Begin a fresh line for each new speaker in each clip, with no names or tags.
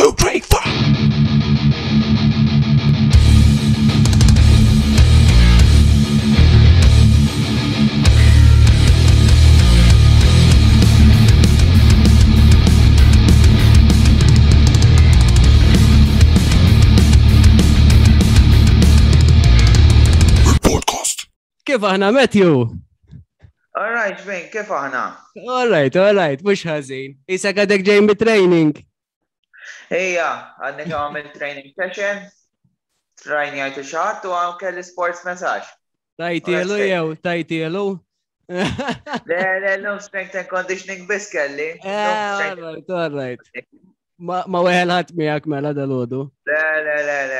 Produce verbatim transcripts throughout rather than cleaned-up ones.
two, three, four. Podcast.
Kif aħna, Matthew?
All right, Vin, kif aħna?
All right, all right, mhux ħażin. Issa għadek ġej mit-training.
Ejja, għadni kemm għamil training session, training għajtu xaħat u għam kelli sports massage.
Tajtielu jew, tajtielu.
Le, le, l-lum strength and conditioning biss kelli.
Eh, all right, all right. Ma ma weħel ħadd miegħek mela dal-għodu.
Le, le, le, le.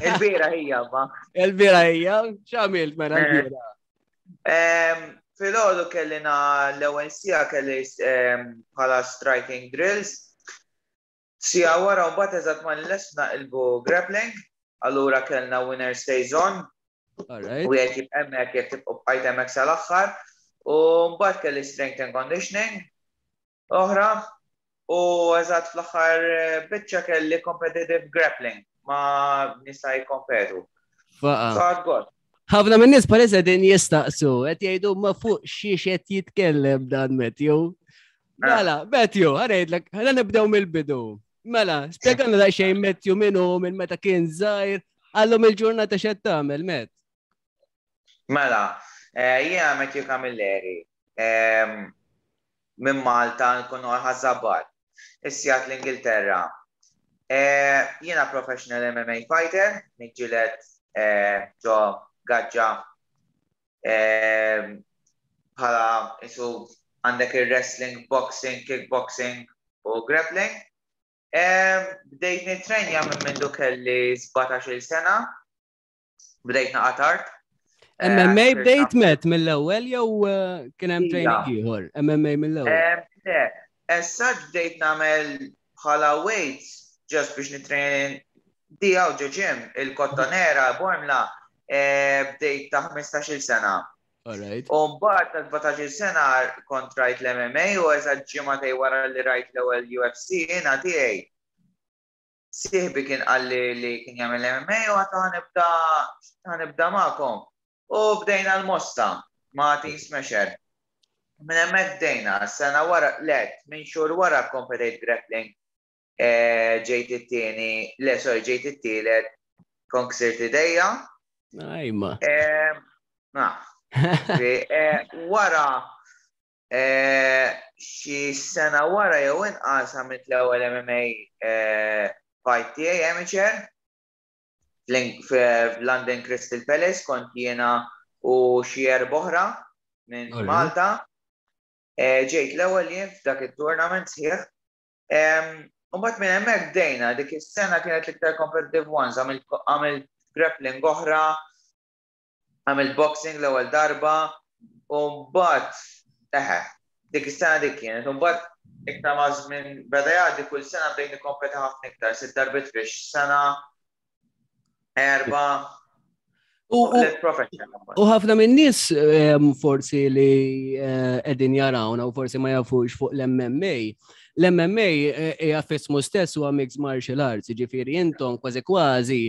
Il-bira hija, ma.
Il-bira hija, x'għamilt mela l-bira?
Em, Filgħodu kellina l-ewwel sija kelli em, bħala striking drills. Sija wara u mbagħad eżatt ma nlest naqilbu grappling, allura kellna winner stays on.
All right.
U jekk jibqa' hemmhekk jekk tibqa' bqajt hemmhekk sal-aħħar. U mbagħad kelli strength and conditioning oħra. U eżatt fl-aħħar eh, biċċa kelli competitive grappling ma nista' jikkompetu.
Faqa.
So għad god.
Ħafna minn nies palissa din jistaqsu, qed jgħidu ma fuq xiex qed jitkellem dan Matthew. Mela, Matthew, ħarejdlek, ħana nibdew mill-bidu. Mela, spjegalna daqsxejn Matthew min hu minn meta kien żgħir, għallhom il-ġurnata x'qed tagħmel, Matt.
Mela, eh, jiena Matthew Camilleri, ehm, minn Malta nkunu Ħaż-Żabbar, issijat l-Ingilterra. Eh, Jiena professional M M A fighter, niġġieled eh, ġo gaġġa ehm, bħala isu għandek il-wrestling, boxing, kickboxing u grappling. Ehm, Bdejt nitrenja minn mindu kelli sbatax-il sena, bdejt naqa tard. Eh,
M M A
sirt
bdejt met mill-ewwel jew eh, kien hemm
Ija.
training ieħor? M M A mill-ewwel.
Em, Le, issa bdejt nagħmel bħala weights just biex nitrain di għaw ġo gym, il-Kottonera, Bormla, eh, bdejt ta' ħmistax-il sena.
All right.
U mbagħad ta' sbatax-il sena kont rajt l-M M A u eżatt ġimgħatej wara li rajt l-ewwel U F C jiena tiegħi. Sieħbi kien qalli li kien jagħmel M M A u għedt ħa nibda ħa nibda magħkom. U bdejna l-Mosta ma' Team Smasher. Minn hemmhekk bdejna, sena wara, le, minn xhur wara kompetejt grappling. Eh, Ġejt it-tieni, le, sorry, ġejt it-tielet, kon ksirt idejja.
Ajma.
Eh, Na, Fi, eh, wara eh, xi sena wara jew inqas għamilt l-ewwel M M A eh, fight tiegħi amateur fl- f'London Crystal Palace, kont jiena u xi erba' oħra minn
Alright.
Malta. Eh, Ġejt l-ewwel jien f'dak it-tournament sħiħ. Em, U mbagħad minn hemmhekk bdejna, dik is-sena kienet l-iktar competitive ones, għamilt għamilt grappling oħra, għamilt boxing l-ewwel darba, u mbagħad eħe, dik is-sena dik kienet, u mbagħad iktar ma żmien beda jgħaddi, kull sena bdejt nikkompeti ħafna iktar, sitt darbiet fix sena, erba,
U u-
let professional.
U ħafna minn nies em, forsi li eh, qegħdin jarawna u forsi ma jafux fuq l-M M A. L-M M A eh, hija f'ismu stess huwa Mixed Martial Arts, jiġifieri intom kważi kważi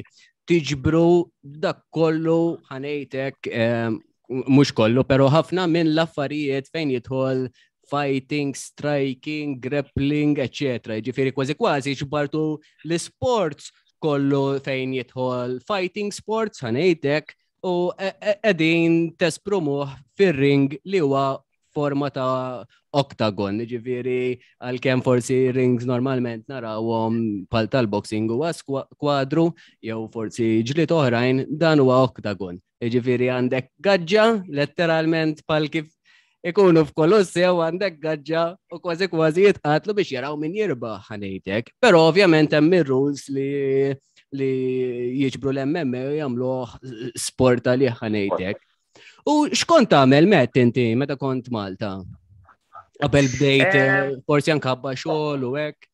tiġbru dak kollu, ħa ngħidlek, em, mhux kollu, però ħafna minn l-affarijiet fejn jidħol fighting, striking, grappling, eccetera. Jiġifieri kważi kważi ġbartu l-sports kollu fejn jidħol fighting sports, ħa ngħidlek, u e- e- qegħdin tesprumuh fir-ring li huwa forma ta' octagon, ġifieri għalkemm forsi rings normalment narawhom pal tal-boxing huwa skwa- kwadru jew forsi ġlied oħrajn, dan huwa octagon. Ġifieri għandek gaġġa, letteralment pal kif ikunu f'Kolossew għandek gaġġa u kważi kważi jitqatlu biex jaraw min jirbaħ, ħa ngħidlek. Però ovvjament hemm ir-rules li li jiġbru l-M M A u jagħmluh sport għalih, ħa ngħidlek. U x'kont tagħmel, Matt, inti meta kont Malta? Qabel bdejt
Eh,
eh, forsi anke ħabba xogħol u hekk.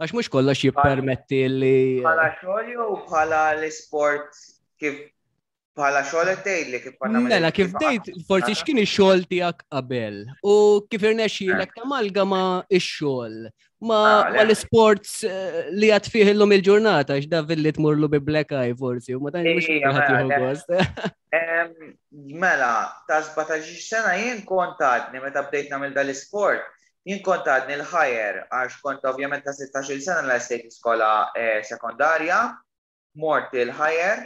Għax mhux kollox jippermetti li
Bħala xogħol jew bħala l-sport kif Bħala xogħol qed tgħidli kif konna
Mela, kif bdejt, forsi x'kien ix-xogħol tiegħek qabel u kif irnexxielek tamalgama ix-xogħol ma
Ah, le.
ma l-sports eh, li għad fih illum il-ġurnata, x'da villi tmurlu bi black eye forsi, u ma tantx mhux
Ija,
kulħadd
mela,
jieħu
le.
gost.
Em, Mela, ta' sbatax-il sena jien kont għadni meta bdejt nagħmel dal-isport, jien kont għadni l-higher, għax kont ovvjament ta' sittax-il sena l-estate iskola eh, sekondarja, mort il-higher,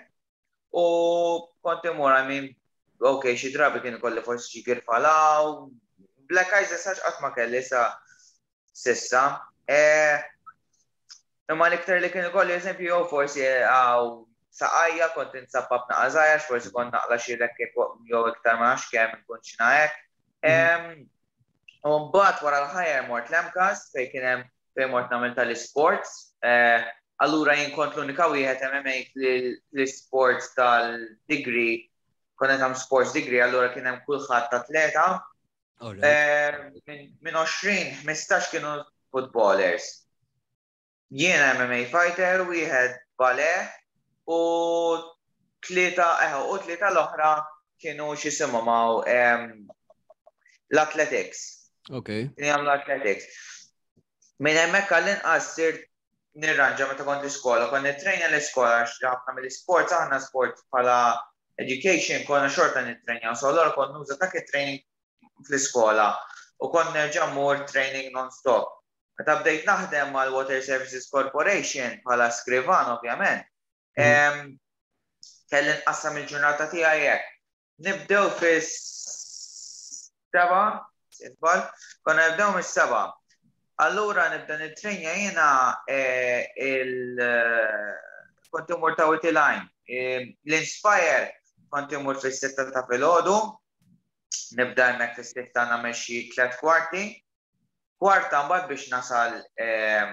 u kont imur, I mean, ok, xi drabi kien ikolli forsi xi girfalaw, black eyes issa qatt ma kelli sa s'issa. Eh, Imma l-iktar li kien ikolli eżempju jew forsi għaw saqajja kont insappab naqażajja, forsi kont naqla xi rekkek jew iktar ma nafx kemm nkun xina hekk. Em, U mbagħad wara l-higher mort l-MCAST fejn kien hemm fejn mort nagħmel tal-sports. Eh, Allura jien kont l-unika wieħed M M A fl-sports tal-degree, kont qed sports degree, allura kien hemm kulħadd atleta.
Alright.
Eh, Minn min għoxrin, ħmistax kienu footballers. Jiena M M A fighter, wieħed ballet u tlieta, eh, u tlieta l-oħra kienu x'isimhom hawn em, l-athletics.
Ok.
Kienu jagħmlu athletics. Minn hemmhekk għall-inqas sirt nirranġa meta kont l-iskola, kont nittrejnja l-iskola għax ħafna mill-sports aħna sport bħala education konna xorta nittrejnja, so allura kont nuża dak it-training fl-iskola u kont nerġa' mmur training non-stop. Meta bdejt naħdem mal-Water Services Corporation bħala skrivan ovvjament, em, kelli nqassam il-ġurnata tiegħi hekk. Nibdew fis-seba, sitbal, konna nibdew mis-seba. Allura nibda nittrejnja jiena eh, il eh, kont imur ta' Wied il-Għajn. Eh, L-Inspire kont imur fis-sitta ta' filgħodu, nibda hemmhekk fis-sitta nagħmel xi tliet kwarti. Kwarta mbagħad biex nasal ehm,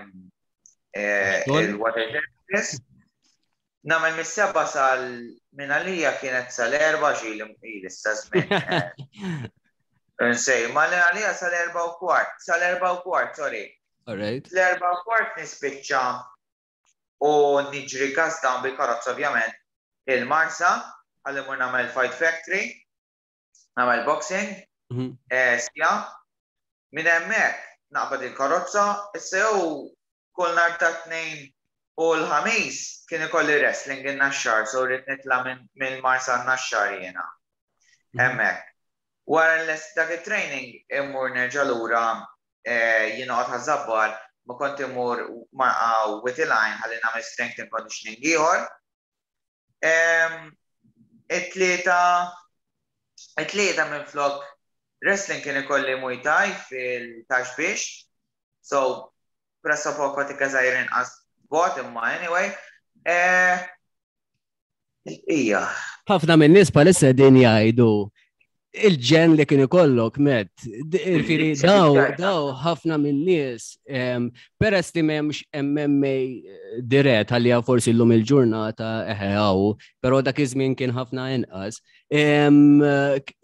eh,
Xogħol?
il-Water Service. Nagħmel mis-seba sal minn għalija kienet sal-erba' xi li issa żmien. eh, Nsej, ma li għalija sal-erba' u kwart, sal-erba' u kwart, sorry.
Alright.
L-erba' u kwart nispiċċa u niġri gas down bil-karozza ovvjament il-Marsa, għalli mur nagħmel Fight Factory, nagħmel boxing,
Mhm.
eh, sija. Minn hemmhekk naqbad il-karozza, issa jew kull nhar ta' Tnejn u l-Ħamis kien ikolli wrestling in-Naxxar, so rrid nitla' minn minn Marsa n-Naxxar jiena. Hemmhekk. Wara l dak it-training immur nerġa' lura eh, jien noqgħod Ħaż-Żabbar, ma kont immur ma' Wied il-Għajn ħalli nagħmel strength and conditioning ieħor. Em, It-tlieta it-tlieta minn flok wrestling kien ikolli Muay Thai fil-Ta' Xbiex. So pressa poco tika żgħir inqas bot imma anyway. Eh, Ija.
Ħafna minn nies bħalissa din jgħidu il-ġenn li kien ikollok met. Ġifieri daw, daw ħafna minn nies, em, peress li m'hemmx M M A dirett għalija forsi llum il-ġurnata eħe hawn, però dak iż-żmien kien ħafna inqas. Em,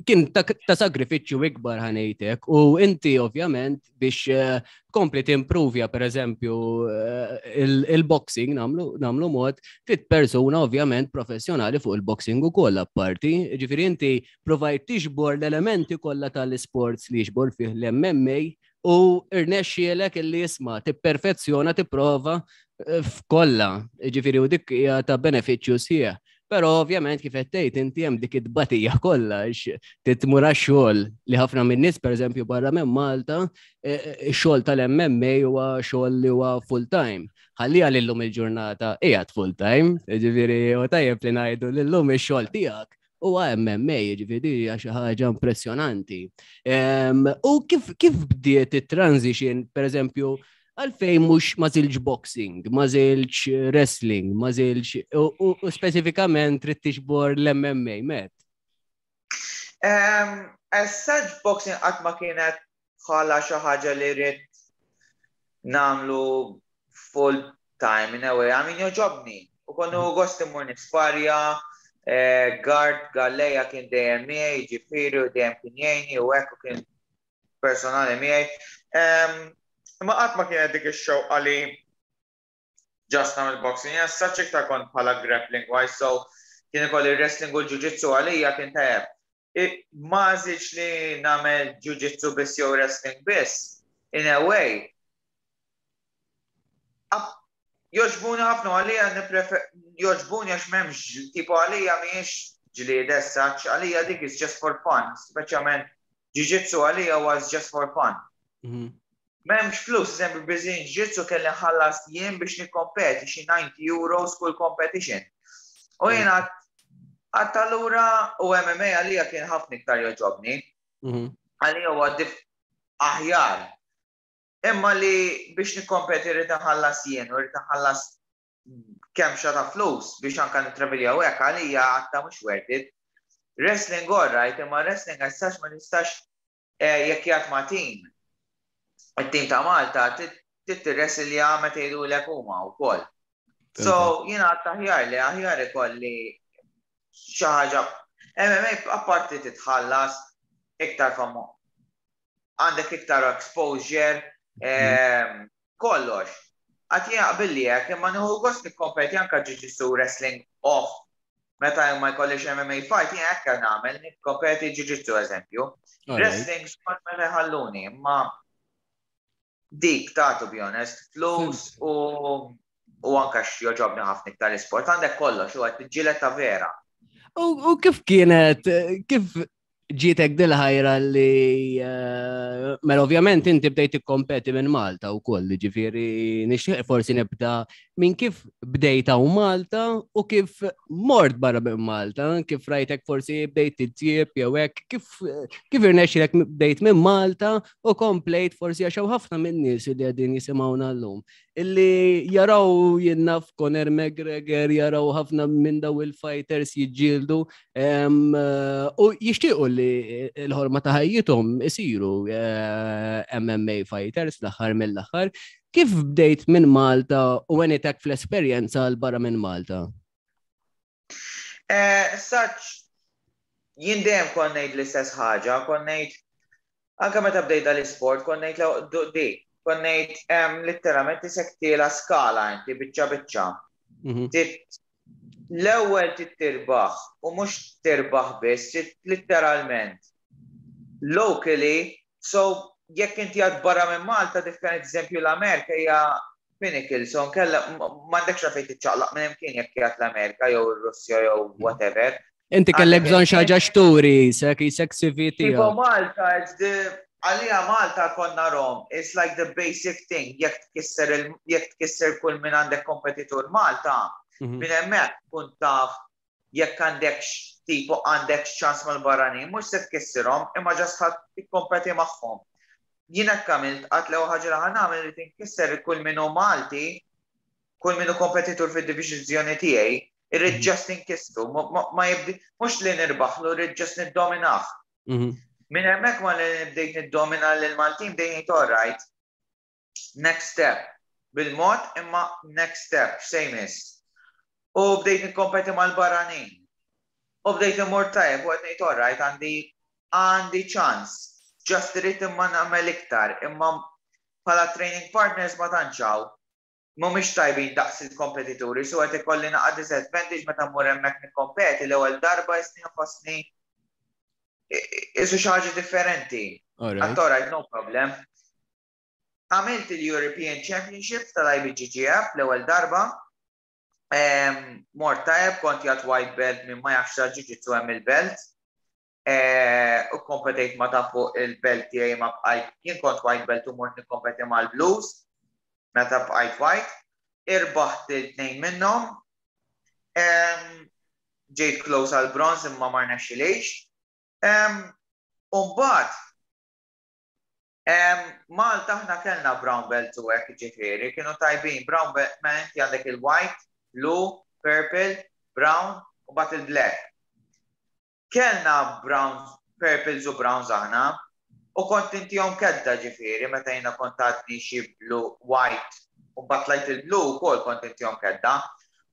Kien ta' ta' sagrifiċċju ikbar ħa ngħidlek u inti ovvjament biex eh, tkompli timprovja per eżempju eh, il- il-boxing nagħmlu nagħmlu mod trid persuna ovvjament professjonali fuq il-boxing ukoll apparti. Ġifieri inti provajt tiġbor l-elementi kollha tal-sports li jiġbor fih l-M M A u irnexxielek illi jisma' tipperfezzjona tipprova eh, f'kollha. Ġifieri u dik hija ta' benefiċċju sħiħ. Però ovvjament kif qed tgħid inti hemm dik it-tbatija kollha għax titmur għax-xogħol li ħafna minn nies pereżempju barra minn Malta, eh, eh, ix-xogħol tal-M M A huwa xogħol li huwa full time. Ħalliha lillum il-ġurnata qiegħed full time, ġifieri u tajjeb li ngħidu lillum ix-xogħol tiegħek huwa M M A, ġifieri hija xi ħaġa impressjonanti. Em, U kif kif bdiet it-transition, pereżempju, għalfejn mhux ma żilġ boxing, ma żilġ wrestling, ma żilġ u, u, u speċifikament trid tiġbor l-M M A, met?
Um, as such boxing qatt ma kienet bħala xi ħaġa li rrid nagħmlu full time in a way. I mean, jogħġobni. U kont gost immur nisparja, eh, guard Galleja kien dejjem miegħi, ġifieri u dejjem kien jgħinni u hekk u kien personali miegħi. Um, Imma qatt ma kienet dik ix-xewqa li just nagħmel boxing. As such iktar kont bħala grappling wise, so Kien ikolli wrestling u l-jiu-jitsu, għalija kien tajjeb. Ma għażiltx li nagħmel jiu-jitsu biss jew wrestling biss. In a way, jogħġbuni ħafna, għalija jogħġbuni għax m'hemmx, tipo, għalija mhijiex ġlied as such, għalija dik is just for fun, speċjalment jiu-jitsu għalija was just for fun. Mhm. M'hemmx flus, eżempju, Brazilian Jiu-Jitsu kelli nħallas jien biex nikkompeti xi disgħin euros kull competition. U jien għedt allura u M M A għalija kien ħafna iktar jogħġobni. Mhm. Għalija huwa aħjar. Imma li biex nikkompeti rrid nħallas jien u rrid nħallas kemm ta' flus biex anka nittravilja u hekk, għalija għedt mhux worth it. Wrestling all right, imma wrestling as such ma nistax eh, jekk jgħat ma' team. Il-team ta' Malta titwrestlja meta jgħidulek huma wkoll. So jiena għedt aħjar li aħjar ikolli xi ħaġa M M A, apparti titħallas iktar famu. Għandek iktar exposure, mhm. kollox. Għedt jien jaqbilli hekk, imma nieħu gost nikkompeti anka jiu-jitsu, wrestling off. Meta ma jkollix M M A fight, jien hekk nagħmel, nikkompeti jiu-jitsu, eżempju. Wrestling skont meta jħalluni, imma dik ta', to be honest, flus u u anka x'jogħġobni ħafna iktar l-isport, għandek kollox, u qed tiġġieled ta' vera.
U kif kienet, kif ġietek dil-ħajra li, eh, mela ovvjament inti bdejt tikkompeti minn Malta u koll, ġifieri nixtieq forsi nibda minn kif bdejt hawn Malta u kif mort barra minn Malta, kif rajtek forsi bdejt titjieb jew hekk, kif kif irnexxilek bdejt minn Malta u komplejt, forsi għax ħafna minn nies li qegħdin jisimgħuna llum illi jaraw, jien naf, Conor McGregor, jaraw ħafna minn daw il-fighters jiġġieldu u jixtiequ li l-ħolma ta' ħajjithom isiru eh, M M A fighters l-aħħar mill-aħħar. Kif bdejt minn Malta u għenitek fl-esperjenza 'l barra minn Malta?
Eh, Saċ, jien dejjem kont ngħid l-istess ħaġa, kont ngħid anke meta bdejt dal-isport, kont ngħid di, kont ngħid literalment isek tiela skala inti biċċa biċċa. Mhm. L-ewwel tirbaħ u mhux tirbaħ biss, literalment. Locally, so jekk inti għad barra minn Malta, different, eżempju l-Amerika hija pinnacle, so nkella m'għandekx fejn tiċċaqlaq minn imkien jekk qiegħed l-Amerika jew ir-Russja jew mhm. whatever.
Inti kellek bżonn xi ħaġa x'turi, sek jisek C V
tiegħek. Tipo Malta, għalija Malta konna rom, it's like the basic thing, jekk tkisser jekk tkisser kull minn għandek kompetitur Malta, mhm. minn hemmhekk kun taf jekk għandek, tipo, għandek ċans mal-barranin, mhux se tkissirhom, imma just ħadd tikkompeti magħhom. Jien hekk għamilt, għedt l ħaġa li ħa nagħmel li tinkisser kull minnu Malti, kull minnu kompetitur fid-divizjoni tiegħi, irrid mhm. just inkissru, ma jibdi, mhux li nirbaħlu, irrid just niddominah. Mhm. Minn hemmhekk ma li bdejt niddomina lil Maltin bdejt, all right. Next step. Bil-mod, imma next step, same is. U bdejt nikkompeti mal-barranin. U bdejt immur tajjeb u qed ngħid, all right, għandi għandi ċans. Just irrid imma nagħmel iktar, imma bħala training partners ma tantx hawn. Mhumiex tajbin daqs il-kompetituri, so qed ikolli naqa' disadvantage meta mmur hemmhekk nikkompeti l-ewwel darba, jisni nħossni isu xi ħaġa differenti. Għedt all right, no problem. Għamilt il-European Championship tal-I B J J F l-ewwel darba. Mort tajjeb, kont jgħat white belt, minn ma jafx jiu-jitsu hemm il-belt. E, u kompetejt ma ta' fuq il-belt tiegħi, ma bqajt, jien kont white belt u mort nikkompeti mal-blues meta bqajt white. Irbaħt il-tnejn minnhom. Ġejt close għal bronze imma ma rnexxilix. Umbagħad, Malta aħna kellna brown belt u hekk, ġifieri, kienu tajbin. Brown belt, ma inti għandek il-white, blue, purple, brown u mbagħad il-black. Kellna brown, purples u browns aħna, u kont intihom kedda, ġifieri, meta jiena kont għadni xi blue, white, u mbagħad tlajt il-blue ukoll kont intihom kedda.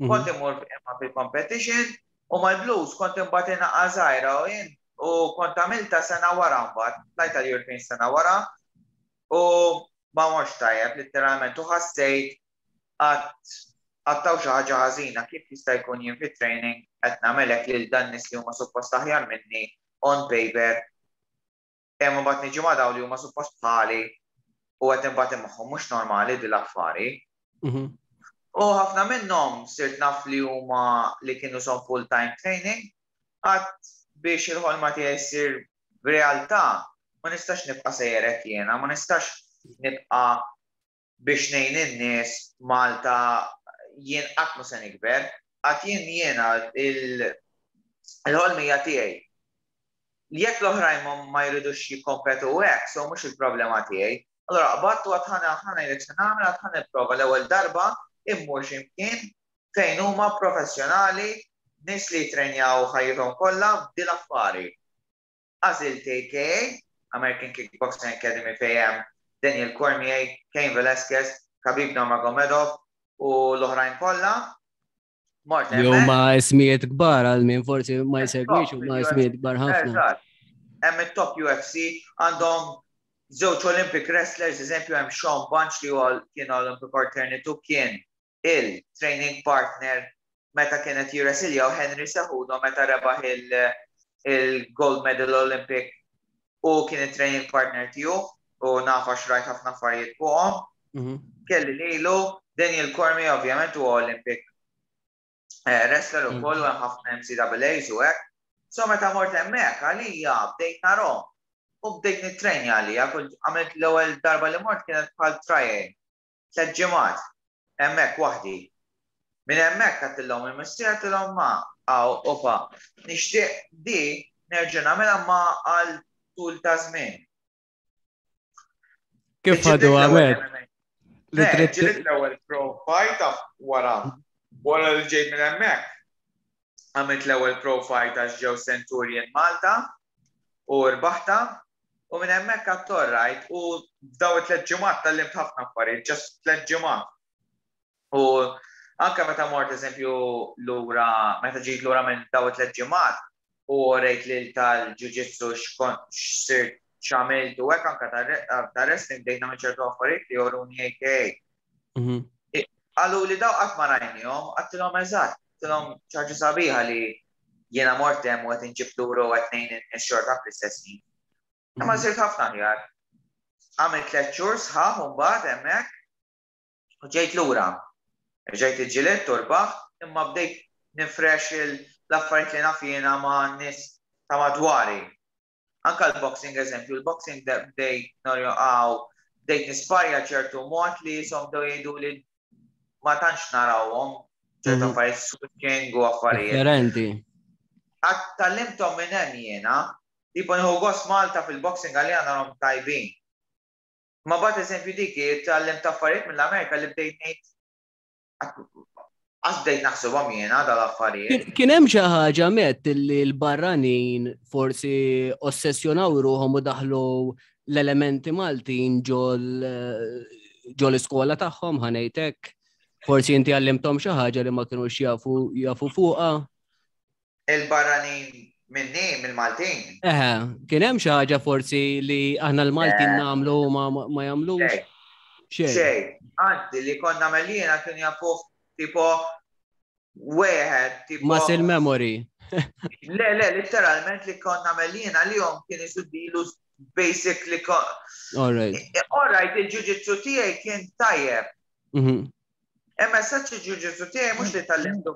Mhm. Kont imur imma fil-competition u mal-blues kont imbagħad inaqa' żgħira u jien u kont għamilta sena wara mbagħad, tlajt għal-European sena wara u ma morx tajjeb literalment u ħassejt għedt Għattaw xi ħaġa ħażina, kif jista' jkun jien fit-training qed nagħmelek lil dan nies li huma suppost aħjar minni on paper, imma mbagħad niġi ma' dawn li huma suppost bħali u qed imbagħad magħhom, mhux normali din l-affari.
Mhm.
U ħafna minnhom sirt naf li huma li kienu son full-time training, għat biex il-ħolma tiegħi ssir realtà ma nistax nibqa' sejjerek jiena, ma nistax nibqa' biex ngħin in-nies Malta, jien qatt ma se nikber, għat jien jiena il-ħolmija tiegħi. Jekk l-oħrajn ma jridux jikkompetu hekk, so mhux il-problema tiegħi. Allora qbadt u għedt ħana ħana jrek se nagħmel, għedt ħa nipprova l-ewwel darba immur x'imkien fejn huma professjonali, nies li jitrenjaw ħajjithom kollha b'dil affari. Għażilt A K A, American Kickboxing Academy, fejn hemm Daniel Cormier, Cain Velasquez, Khabib Nurmagomedov u l-oħrajn kollha. Mort
Jew
hemmhekk.
ma ismijiet kbar, għal min forsi ma jsegwix, u ma ismijiet kbar ħafna.
Eżatt. Hemm it-top U F C, għandhom żewġ Olympic wrestlers, eżempju hemm Shawn Bunch li huwa kien Olympic alternate, kien il-training partner meta kienet jirresilja u Henry Cejudo meta rebaħ il-gold medal Olympic, u kien il-training partner tiegħu u nafa xrajt ħafna affarijiet fuqhom.
Mhm.
Kelli lilu, Daniel Cormier ovvjament huwa Olympic eh, wrestler
Mm.
ukoll u hemm ħafna N C A As u hekk. So meta mort hemmhekk għalija bdejt narahom u bdejt nitrenja għalija, kull għamilt l-ewwel darba li mort kienet bħal trial. Tliet ġimgħat hemmhekk waħdi. Minn hemmhekk għedtilhom il-missier, għedtilhom ma għaw opa, nixtieq di nerġa' nagħmilha ma għal tul ta' żmien.
Kif ħadu għamet? Li
Le,
trid
ġilit l-ewwel pro fight wara. Wara li ġejt minn hemmhekk. Għamilt l-ewwel pro fight għax ġew Centurion Malta u rbaħta u minn hemmhekk għedt alright, u f'daw it-tliet ġimgħat tgħallimt ħafna affarijiet, just tliet ġimgħat. U anke meta mort eżempju lura, meta ġejt lura minn daw it-tliet ġimgħat u rejt lil tal-jiu-jitsu x'sirt x'għamilt u hekk, anke ta' wrestling bdejt nagħmel ċertu affarijiet li joruni A K A.
Mhm.
Qalu li daw qatt ma rajnihom, għedtilhom eżatt, għedtilhom ċaġa sabiħa li jiena mort hemm u qed inġib lura u qed ngħin in-xorta fl-istess ħin. Imma
Mhm.
sirt ħafna aħjar. Għamilt tliet xhur sħaħ u mbagħad hemmhekk u ġejt lura. Ġejt iġġielidt u rbaħt, imma bdejt nifresh l-affarijiet li naf jiena ma' nies ta' madwari. Anka l-boxing eżempju, l-boxing bdejt norjo għaw, bdejt nisparja ċertu mod li jisom bdew jgħidu li ma tantx narawhom, ċertu
Mhm.
affarijiet, switching u affarijiet.
Differenti.
Għat tgħallimthom minn hemm jiena, tipo nieħu gost Malta fil-boxing għalija narhom tajbin. Ma bat eżempju dik tgħallimt affarijiet mill-Amerika li bdejt ngħid għax bdejt naħsibhom jiena dal-affarijiet.
Kien- Kien hemm xi ħaġa met li l-barranin forsi ossessjonaw ruħhom u daħlu l-elementi Maltin ġol ġol iskola tagħhom, ħa ngħidlek. Forsi inti għallimthom xi ħaġa li ma kinux jafu jafu fuqha.
Il-barranin minni, mill-Maltin.
Eħe, kien hemm xi ħaġa forsi li aħna l-Maltin
Eh.
nagħmlu u ma ma jagħmlux.
Xej,
Xejn.
xej. Anzi, li konna mellina kienu jafu tipo wieħed, tipo.
Muscle memory.
Le, le, literalment li konna mellina li jom kien jisuddilu basic li kon.
All right.
All right, il-jiu-jitsu tiegħi kien tajjeb.
Mhm.
Imma saċ il-jiu-jitsu tiegħi mhux li tgħallimtu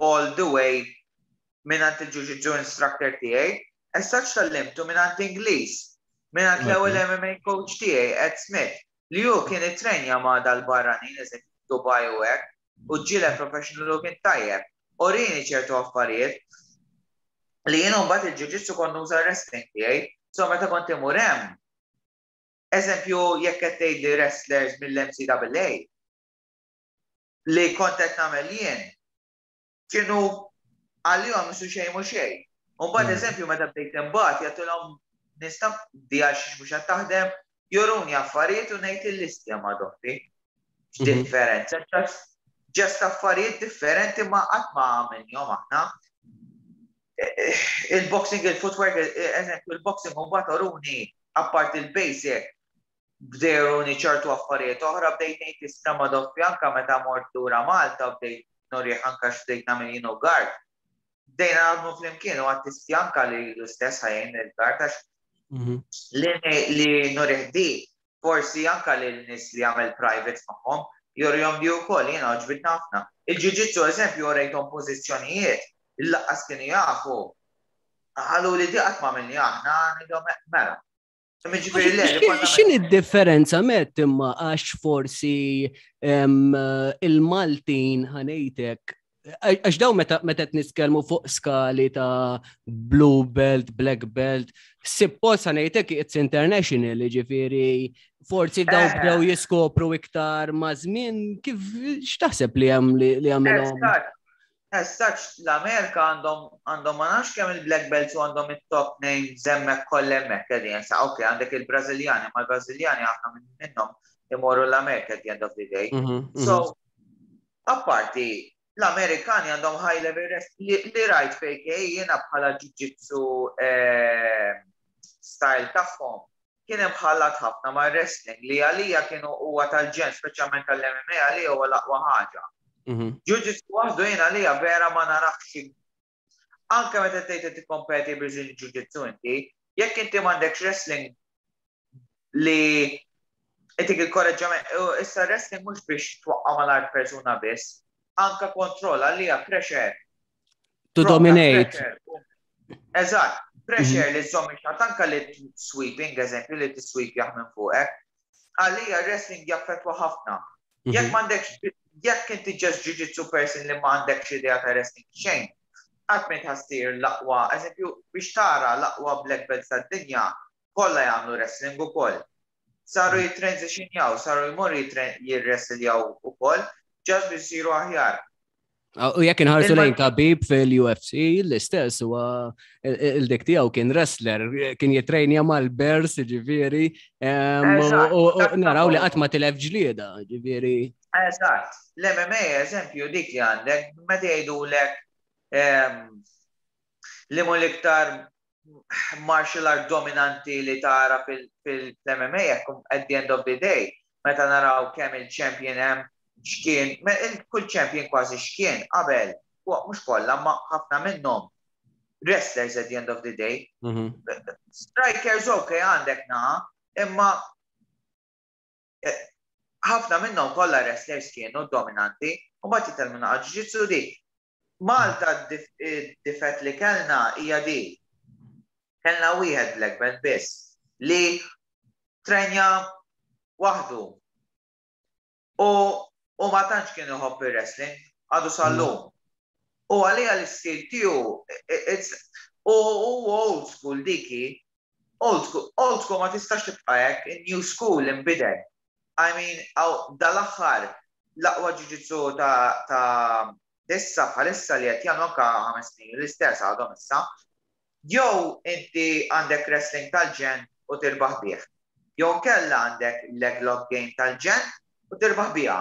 all the way mingħand il-jiu-jitsu instructor tiegħi, essaċ tgħallimtu mingħand Ingliż, mingħand l-ewwel M M A coach tiegħi, Ed Smith, li hu kien itrenja ma' dal-barranin, eżempju Dubai u hekk, u ġieled professional u kien tajjeb. Urini ċertu affarijiet li jien mbagħad il-jiu-jitsu kont nuża wrestling tiegħi, so meta kont imur hemm, eżempju jekk qed tgħidli wrestlers mill-N C A A li kont qed nagħmel jien, kienu għalihom misu xejn mhu xejn. U mbagħad
Mm.
eżempju meta bdejt imbagħad jagħtilhom nista' di għal xiex mhux qed taħdem, juruni affarijiet u ngħid il-listja ma' doħti.
Mhm.
X'differenza, just just affarijiet differenti ma qatt ma għamilniehom aħna. Il-boxing, il-footwork, eżempju, il-boxing u mbagħad uruni apart il-basic. Bdejruni ċertu affarijiet oħra, bdejt ngħid istra ma doffi anka meta mort lura Malta, bdejt nurih anka x'bdejt nagħmel jien u Gard. Bdejna naħdmu flimkien u għattisti anka li l-istess ħa jgħin il-Gard għax mhm. li nurih di forsi anka li l-nies li għamel private magħhom jurihom di wkoll, jiena għoġbitna ħafna. Il-jiu-jitsu, eżempju, urejthom pożizzjonijiet, il-laqqas kienu jafu. Għalu li di qatt ma minni aħna, ngħidhom mela.
X'inhi d-differenza met imma għax forsi il-Maltin, ħa ngħidlek, għax daw meta meta nitkellmu fuq skali ta' blue belt, black belt, suppost, ħa ngħidlek, it's international, ġifieri forsi daw eh. bdew jiskopru iktar ma' żmien, kif x'taħseb li hemm li għamilhom?
As such, l-Amerika għandhom għandhom ma nafx kemm il-black belts u għandhom it-top names hemmhekk kollha hemmhekk qegħdin. Sa ok, għandek il-Brażiljani, ma l-Brażiljani ħafna minnhom imorru l-Amerika at the end of the day. Mhm, mhm. So, apparti, l-Amerikani għandhom high level rest li, li rajt fejk jiena bħala jiu-jitsu eh, style tagħhom kien hemm ħallat ħafna ma' wrestling li għalija kienu huwa tal-ġen, speċjalment tal-M M A, għalija huwa l-aqwa ħaġa. Mhm. Jiu-jitsu waħdu jiena għalija vera ma narafx. Anke meta tgħid tikkompeti Brazilian Jiu-Jitsu inti, jekk inti m'għandekx wrestling li itik il-korreġġament, issa wrestling mhux biex twaqqa' mal-art persuna biss, anka kontroll għalija, pressure.
To dominate.
Eżatt, pressure li żomm ix anka li sweeping, eżempju, li t-sweep minn fuqek. Għalija wrestling jaffetwa ħafna. Jekk mhm. m'għandekx, jekk inti just jiu-jitsu person li m'għandekx idea ta' wrestling xejn, qatt ma ħa ssir l-aqwa, eżempju, biex tara l-aqwa black belts tad-dinja, kollha jagħmlu wrestling ukoll. Saru jittransitionjaw, saru jmorru jirwrestljaw ukoll, just biex isiru aħjar.
U jekk inħarsu lejn Khabib fil-U F C, l-istess huwa il-dik tiegħu kien wrestler, kien jitrejnja mal-Bears, ġifieri, u naraw li qatt ma tilef ġlieda, ġifieri.
Eżatt. L-M M A, eżempju, dik li għandek, meta jgħidulek li mu l-iktar martial art dominanti li tara fil-M M A, at the end of the day, meta naraw kemm il-champion hemm xkien, kull champion kważi xkien qabel, mhux kollha, ma ħafna minnhom wrestlers at the end of the day. Mhm. Strikers ok għandek naħa, imma eh, ħafna minnhom kollha wrestlers kienu dominanti u ma titellmu naqa jiu-jitsu di. Malta difett li kellna hija di. Kellna wieħed black belt biss li trenja waħdu. U, u ma tantx kien iħobb il-wrestling, għadu sal-lum. U għalija l-istil tiegħu, u old school diki, old school, old school ma tistax tibqa' hekk, new school imbidel. I mean, dal-aħħar l-aqwa jiu-jitsu ta' ta' issa bħalissa li qed jagħmlu anke ħames snin l-istess għadhom issa. Jew inti għandek wrestling tal-ġen u tirbaħ bih. Jew kella għandek leg lock game tal-ġen u tirbaħ biha.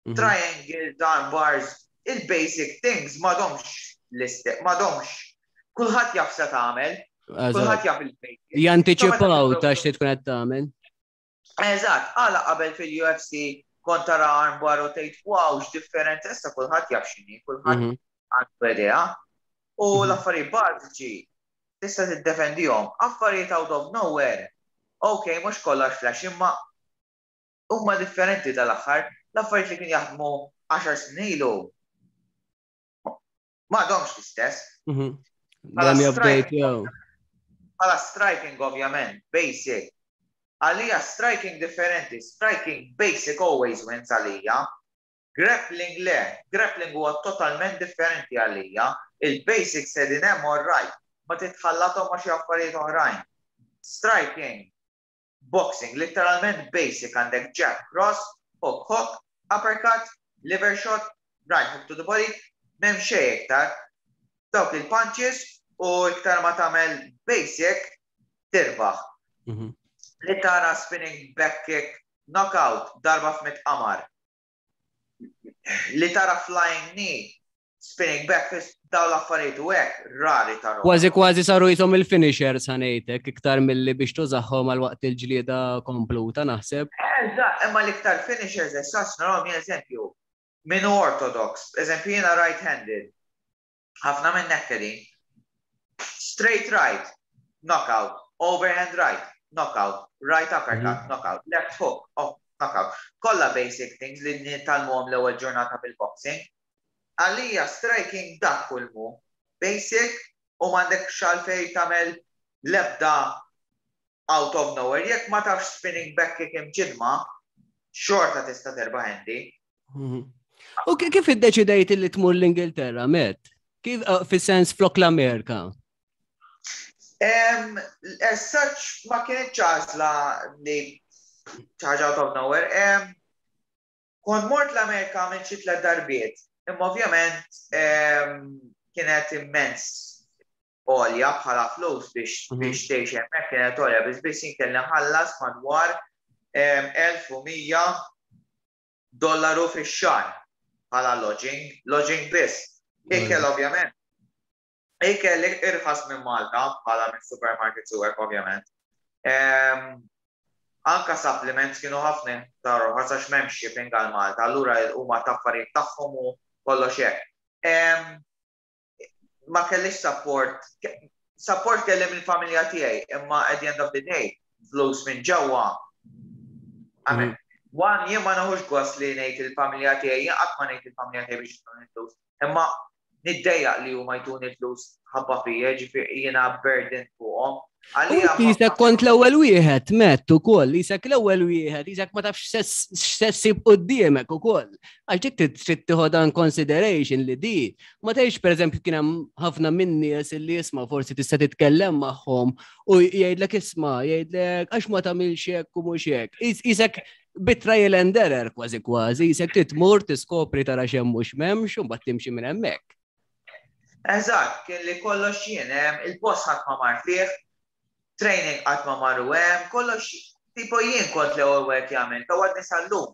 Mhm. Triangle, arm bars, il-basic things m'għadhomx l-istess, m'għadhomx. Kulħadd jaf se tagħmel, kulħadd jaf il-basic.
Jantiċipaw ta' x'ti tkun qed tagħmel.
Eżatt, għala qabel fil-U F C kont tara armbar u tgħid, "Wow, x'differenza," issa kulħadd jaf x'inhi, kulħadd mhm. għandu idea. U mhm. l-affarijiet bażiċi tista' tiddefendihom. Affarijiet out of nowhere. Ok, mhux kollox flash, imma huma differenti tal-aħħar. L-affarijiet li kien jaħdmu għaxar snin ilu m'għadhomx l-istess.
Mhm.
Bħala striking, ovvjament, basic. Għalija striking differenti, striking basic always wins għalija. Grappling le, grappling huwa totalment differenti għalija. Il-basics qegħdin hemm, all right, ma titħallathom ma xi affarijiet oħrajn. Striking, boxing, literalment basic għandek jab, cross, hook, hook, uppercut, liver shot, right hook to the body, m'hemm xejn iktar. Dawk il-punches u iktar ma tagħmel basic tirbaħ. Mhm. Li tara spinning back kick, knockout, darba f'mitt qamar. Li tara flying knee, Spinning back fist, daw l-affarijiet u hekk rari tara.
Kważi kważi saru jisom il-finishers, ħa ngħidlek, iktar milli biex tużahom għal waqt il-ġlieda kompluta, naħseb.
Eżatt, imma l-iktar finishers issa narahom, eżempju, minn orthodox, eżempju jiena right-handed, ħafna minn nekkedin, straight right, knockout, overhand right, knockout, right uppercut, mm -hmm. knockout, left hook, oh, knockout. Kollha basic things li nitgħallmuhom l-ewwel ġurnata bil-boxing. Għalija striking dak kulmu, basic, u m'għandek għalfejn tagħmel lebda out of nowhere. Jekk ma tafx spinning back kick imġidma, xorta tista' terbaħ inti.
Mhm. U kif iddeċidejt li tmur l-Ingilterra, Matt? Kif uh, fis-sens flok l-Amerika?
As such, ma kienet għażla li ħaġa out of nowhere. Kont mort l-Amerika minn xi tliet darbiet, imma ovvjament kienet immens għolja bħala flus biex mhm. biex tgħix hemmhekk, kienet għolja biss biss kelli nħallas madwar elf u mija dollaru fix-xahar bħala lodging, lodging biss. Ikel ovvjament. Ikel irħas minn Malta bħala minn supermarkets u hekk ovvjament. Anka supplements kienu ħafna ta' għax m'hemmx shipping għal Malta, allura huma ta' affarijiet tagħhom u kollox hekk. Ma kellix support, support kelli mill-familja tiegħi, imma at the end of the day, flus minn ġewwa. Mm. One, jien ma nieħux gost li ngħid il-familja tiegħi, jien qatt ma ngħid il-familja tiegħi biex jtuni flus. Imma niddejjaq li huma jtuni flus ħabba fija, ġifieri jiena burden fuqhom.
Qisek kont l-ewwel wieħed, Matt, ukoll, qisek l-ewwel wieħed, qisek ma tafx x'se ssib quddiemek ukoll. Għax dik trid tieħu in consideration li di. Ma tgħidx, pereżempju, kien hemm ħafna min-nies li isma' forsi tista' titkellem magħhom u jgħidlek isma', jgħidlek għax ma tagħmilx hekk u mhux hekk. Qisek bi trial and error kważi kważi, qisek tmur tiskopri, tara x'hemm mhux m'hemmx u mbagħad timxi minn hemmhekk.
Eżatt, kien li kollox jien, il-post ħadd ma mar fih, training qatt ma marru hemm, kollox tipo jien kont l-ewwel wieħed jagħmel, ta' għadni sal-lum.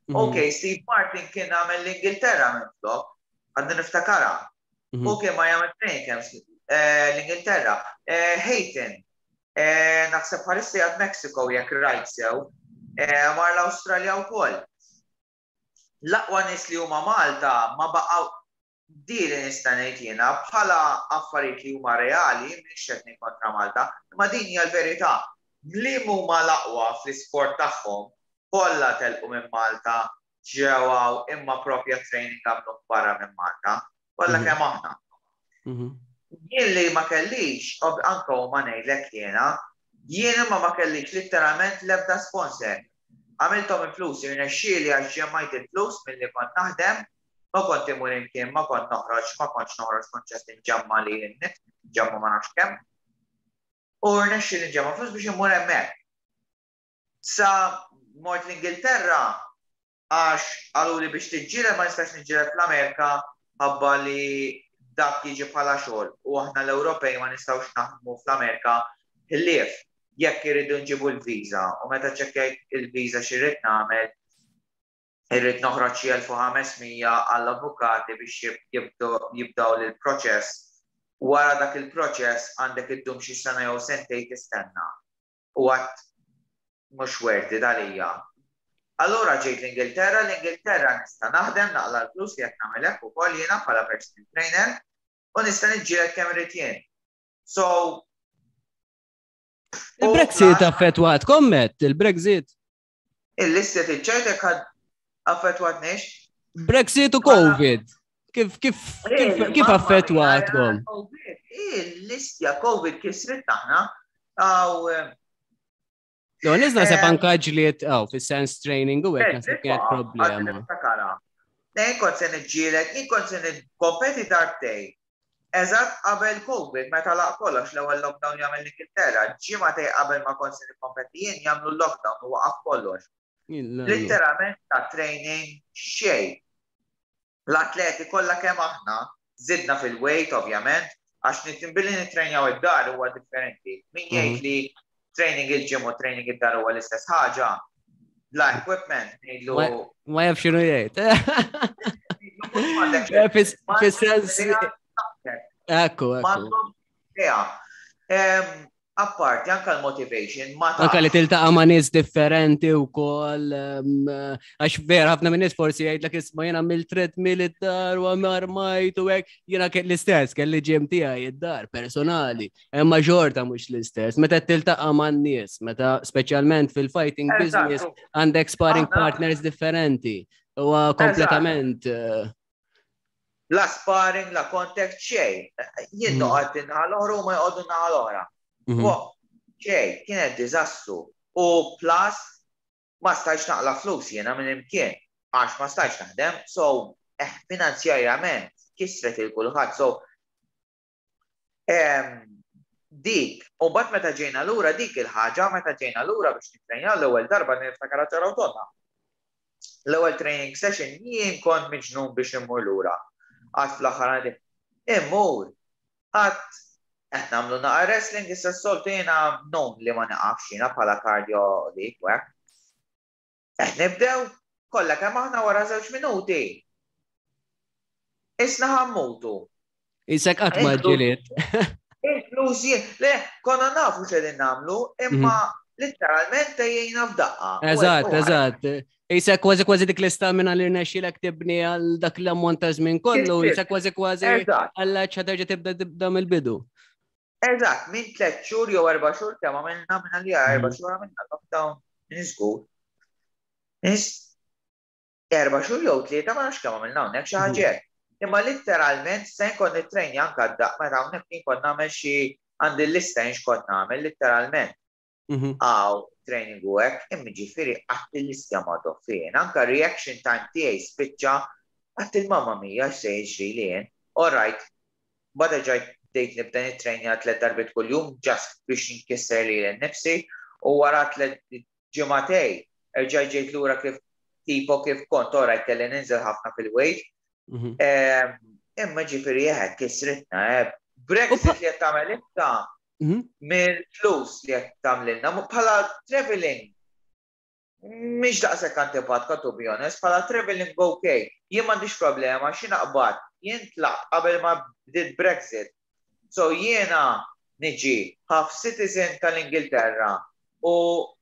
Mhm. Ok, Steve Martin kien għamel l-Ingilterra minn flok, għadni niftakara. Mhm. Ok, ma jagħmel training camps eh, l-Ingilterra. Eh, Hayton, eh, naħseb bħalissa għad Mexico jekk rajt sew, mar l-Awstralja wkoll. L-aqwa nies li huma Malta ma baqgħu di li nista' ngħid jiena bħala affarijiet li huma reali, mhix qed kontra Malta, imma din hija l-verità. Li huma l-aqwa fl-isport tagħhom kollha telqu minn Malta, ġew imma propja training għamlu barra minn Malta, kollha mhm. kemm aħna. Mhm. Jien li ma kellix, anka huma ngħidlek jiena, jien imma ma kellix literalment l-ebda sponsor. Għamilthom il-flus, irnexxieli għax ġemmajt il-flus milli kont naħdem, ma kont imur imkien, ma kont noħroġ, ma kontx noħroġ, kont ġest inġemma li jinnit, ġemma ma nafx kemm. U rnexxieli nġemma flus biex immur hemmhekk. Sa mort l-Ingilterra għax qalu li biex tiġġieled ma nistax niġġieled fl-Amerika ħabba li dak jiġi bħala xogħol u aħna l-Ewropej ma nistgħux naħdmu fl-Amerika ħlief jekk iridu nġibu l-viża, u meta ċekkjajt il-viża x'irrid nagħmel, irrid noħroġ xi elf u ħames mija għall-avukati biex jibdaw l-proċess. Wara dak il-proċess għandek iddum xi sena jew sentejn tistenna. U għedt mhux worth it għalija. Allura ġejt l-Ingilterra, l-Ingilterra nista' naħdem, naqla l-flus li qed nagħmel hekk ukoll jiena bħala personal trainer u nista' niġġieled kemm irid jien. So
Il-Brexit affettwat, kommet, il-Brexit.
Il-lista tiċċajtek affettwatniex?
Brexit u Covid. Kif kif kif kif affettwatkom?
Il-listja Covid kisrit aħna. Għaw.
No, nizna se anka ġliet, għaw, fis-sens training u hekk naħseb kienet problema.
Jien kont se niġġieled, jien kont se nikkompeti darbtejn. Eżatt qabel Covid, meta laq kollox, l-ewwel lockdown jagħmel l-Ingilterra, ġimagħtejn qabel ma kont se nikkompeti jien jagħmlu lockdown u waqaf kollox. Literalment ta' training xejn. L-atleti kollha kemm aħna zidna fil-weight ovvjament, għax billi nitrenjaw id-dar huwa differenti. Min jgħid mhm. li training il-gym u training id-dar huwa l-istess ħaġa, bla equipment, ngħidlu.
Ma jaf x'inhu jgħid. Fis-sens. Ekku, ekku.
Apparti, anka l-motivation, ma
Anka li tiltaqa' ma' nies differenti u koll, għax vera ħafna minn nies forsi jgħidlek, "Isma', jiena mill-treadmill id-dar u armajt u hekk." Jiena l-istess, kelli gym tiegħi id-dar personali, imma xorta mhux l-istess. Meta tiltaqa' ma' nies, meta speċjalment fil-fighting business għandek sparring partners differenti. U kompletament eh,
La sparring, la contact, xejn. Jien mm. noqgħod naħa l-oħra u ma joqogħdu naħa l-oħra. Mhm. Xejn, kienet diżastru. U plus, ma stajx naqla flus jiena minn imkien, għax ma stajx naħdem, so eh, finanzjarjament kisret lil kulħadd. So dik, u mbagħad meta ġejna lura dik il-ħaġa, meta ġejna lura biex nitrenjaw l-ewwel darba, niftakar ċaraw tonna. L-ewwel training session jien kont miġnun biex immur lura. Għad fl-aħħar għandi immur. Għad qed nagħmlu naqa wrestling, issa s-soltu jiena non li ma naqafx jiena bħala cardio dik u hekk. Qed nibdew kollha kemm aħna, wara żewġ minuti. Isna ħa mmutu.
Isek qatt ma ġiliet.
Inkluż jien, le, konna nafu x'qegħdin nagħmlu, imma literalment tgħejjejna f'daqqa.
Eżatt, eżatt. Isek kważi kważi dik l-istamina li rnexxilek tibni għal dak l-ammont ta' żmien kollu, isek kważi kważi għalla ċa tibda tibda mill-bidu.
Eżatt, minn tliet xhur jew erba' xhur kemm għamilna minn għalija erba' mhm. xhur għamilna lockdown, minn żgur. Erba' xhur jew tlieta, ma nafx kemm għamilna hawnhekk, xi ħaġa. Mhm. Imma literalment se nkun nittrejni anka daq meta hawnhekk kien kont nagħmel xi għandi l-lista jien x'kont nagħmel literalment. Mhm. Għaw training u hekk, imma ġifieri qatt il-lista ma fejn. Anka reaction time tiegħi spiċċa, għedt, "Il-mamma mia, x'se jiġri li jien?" All right, bada ġajt bdejt nibda nittrejnja tliet darbiet kuljum just biex nkisser lili nnifsi u wara tliet ġimagħtejn erġajt ġejt lura kif tipo kif kont. Alright, kelli ninżel ħafna fil-weight. Mhm. Imma ġifieri jeħed kisritna, eh. Brexit li qed tagħmel issa mhm. mill-flus li qed tagħmlilna bħala traveling mhix daqshekk antipatka, to be honest, bħala traveling okay. Jien m'għandix problema xi naqbad, jien tlaqt qabel ma bdiet Brexit. So jiena niġi half citizen tal-Ingilterra u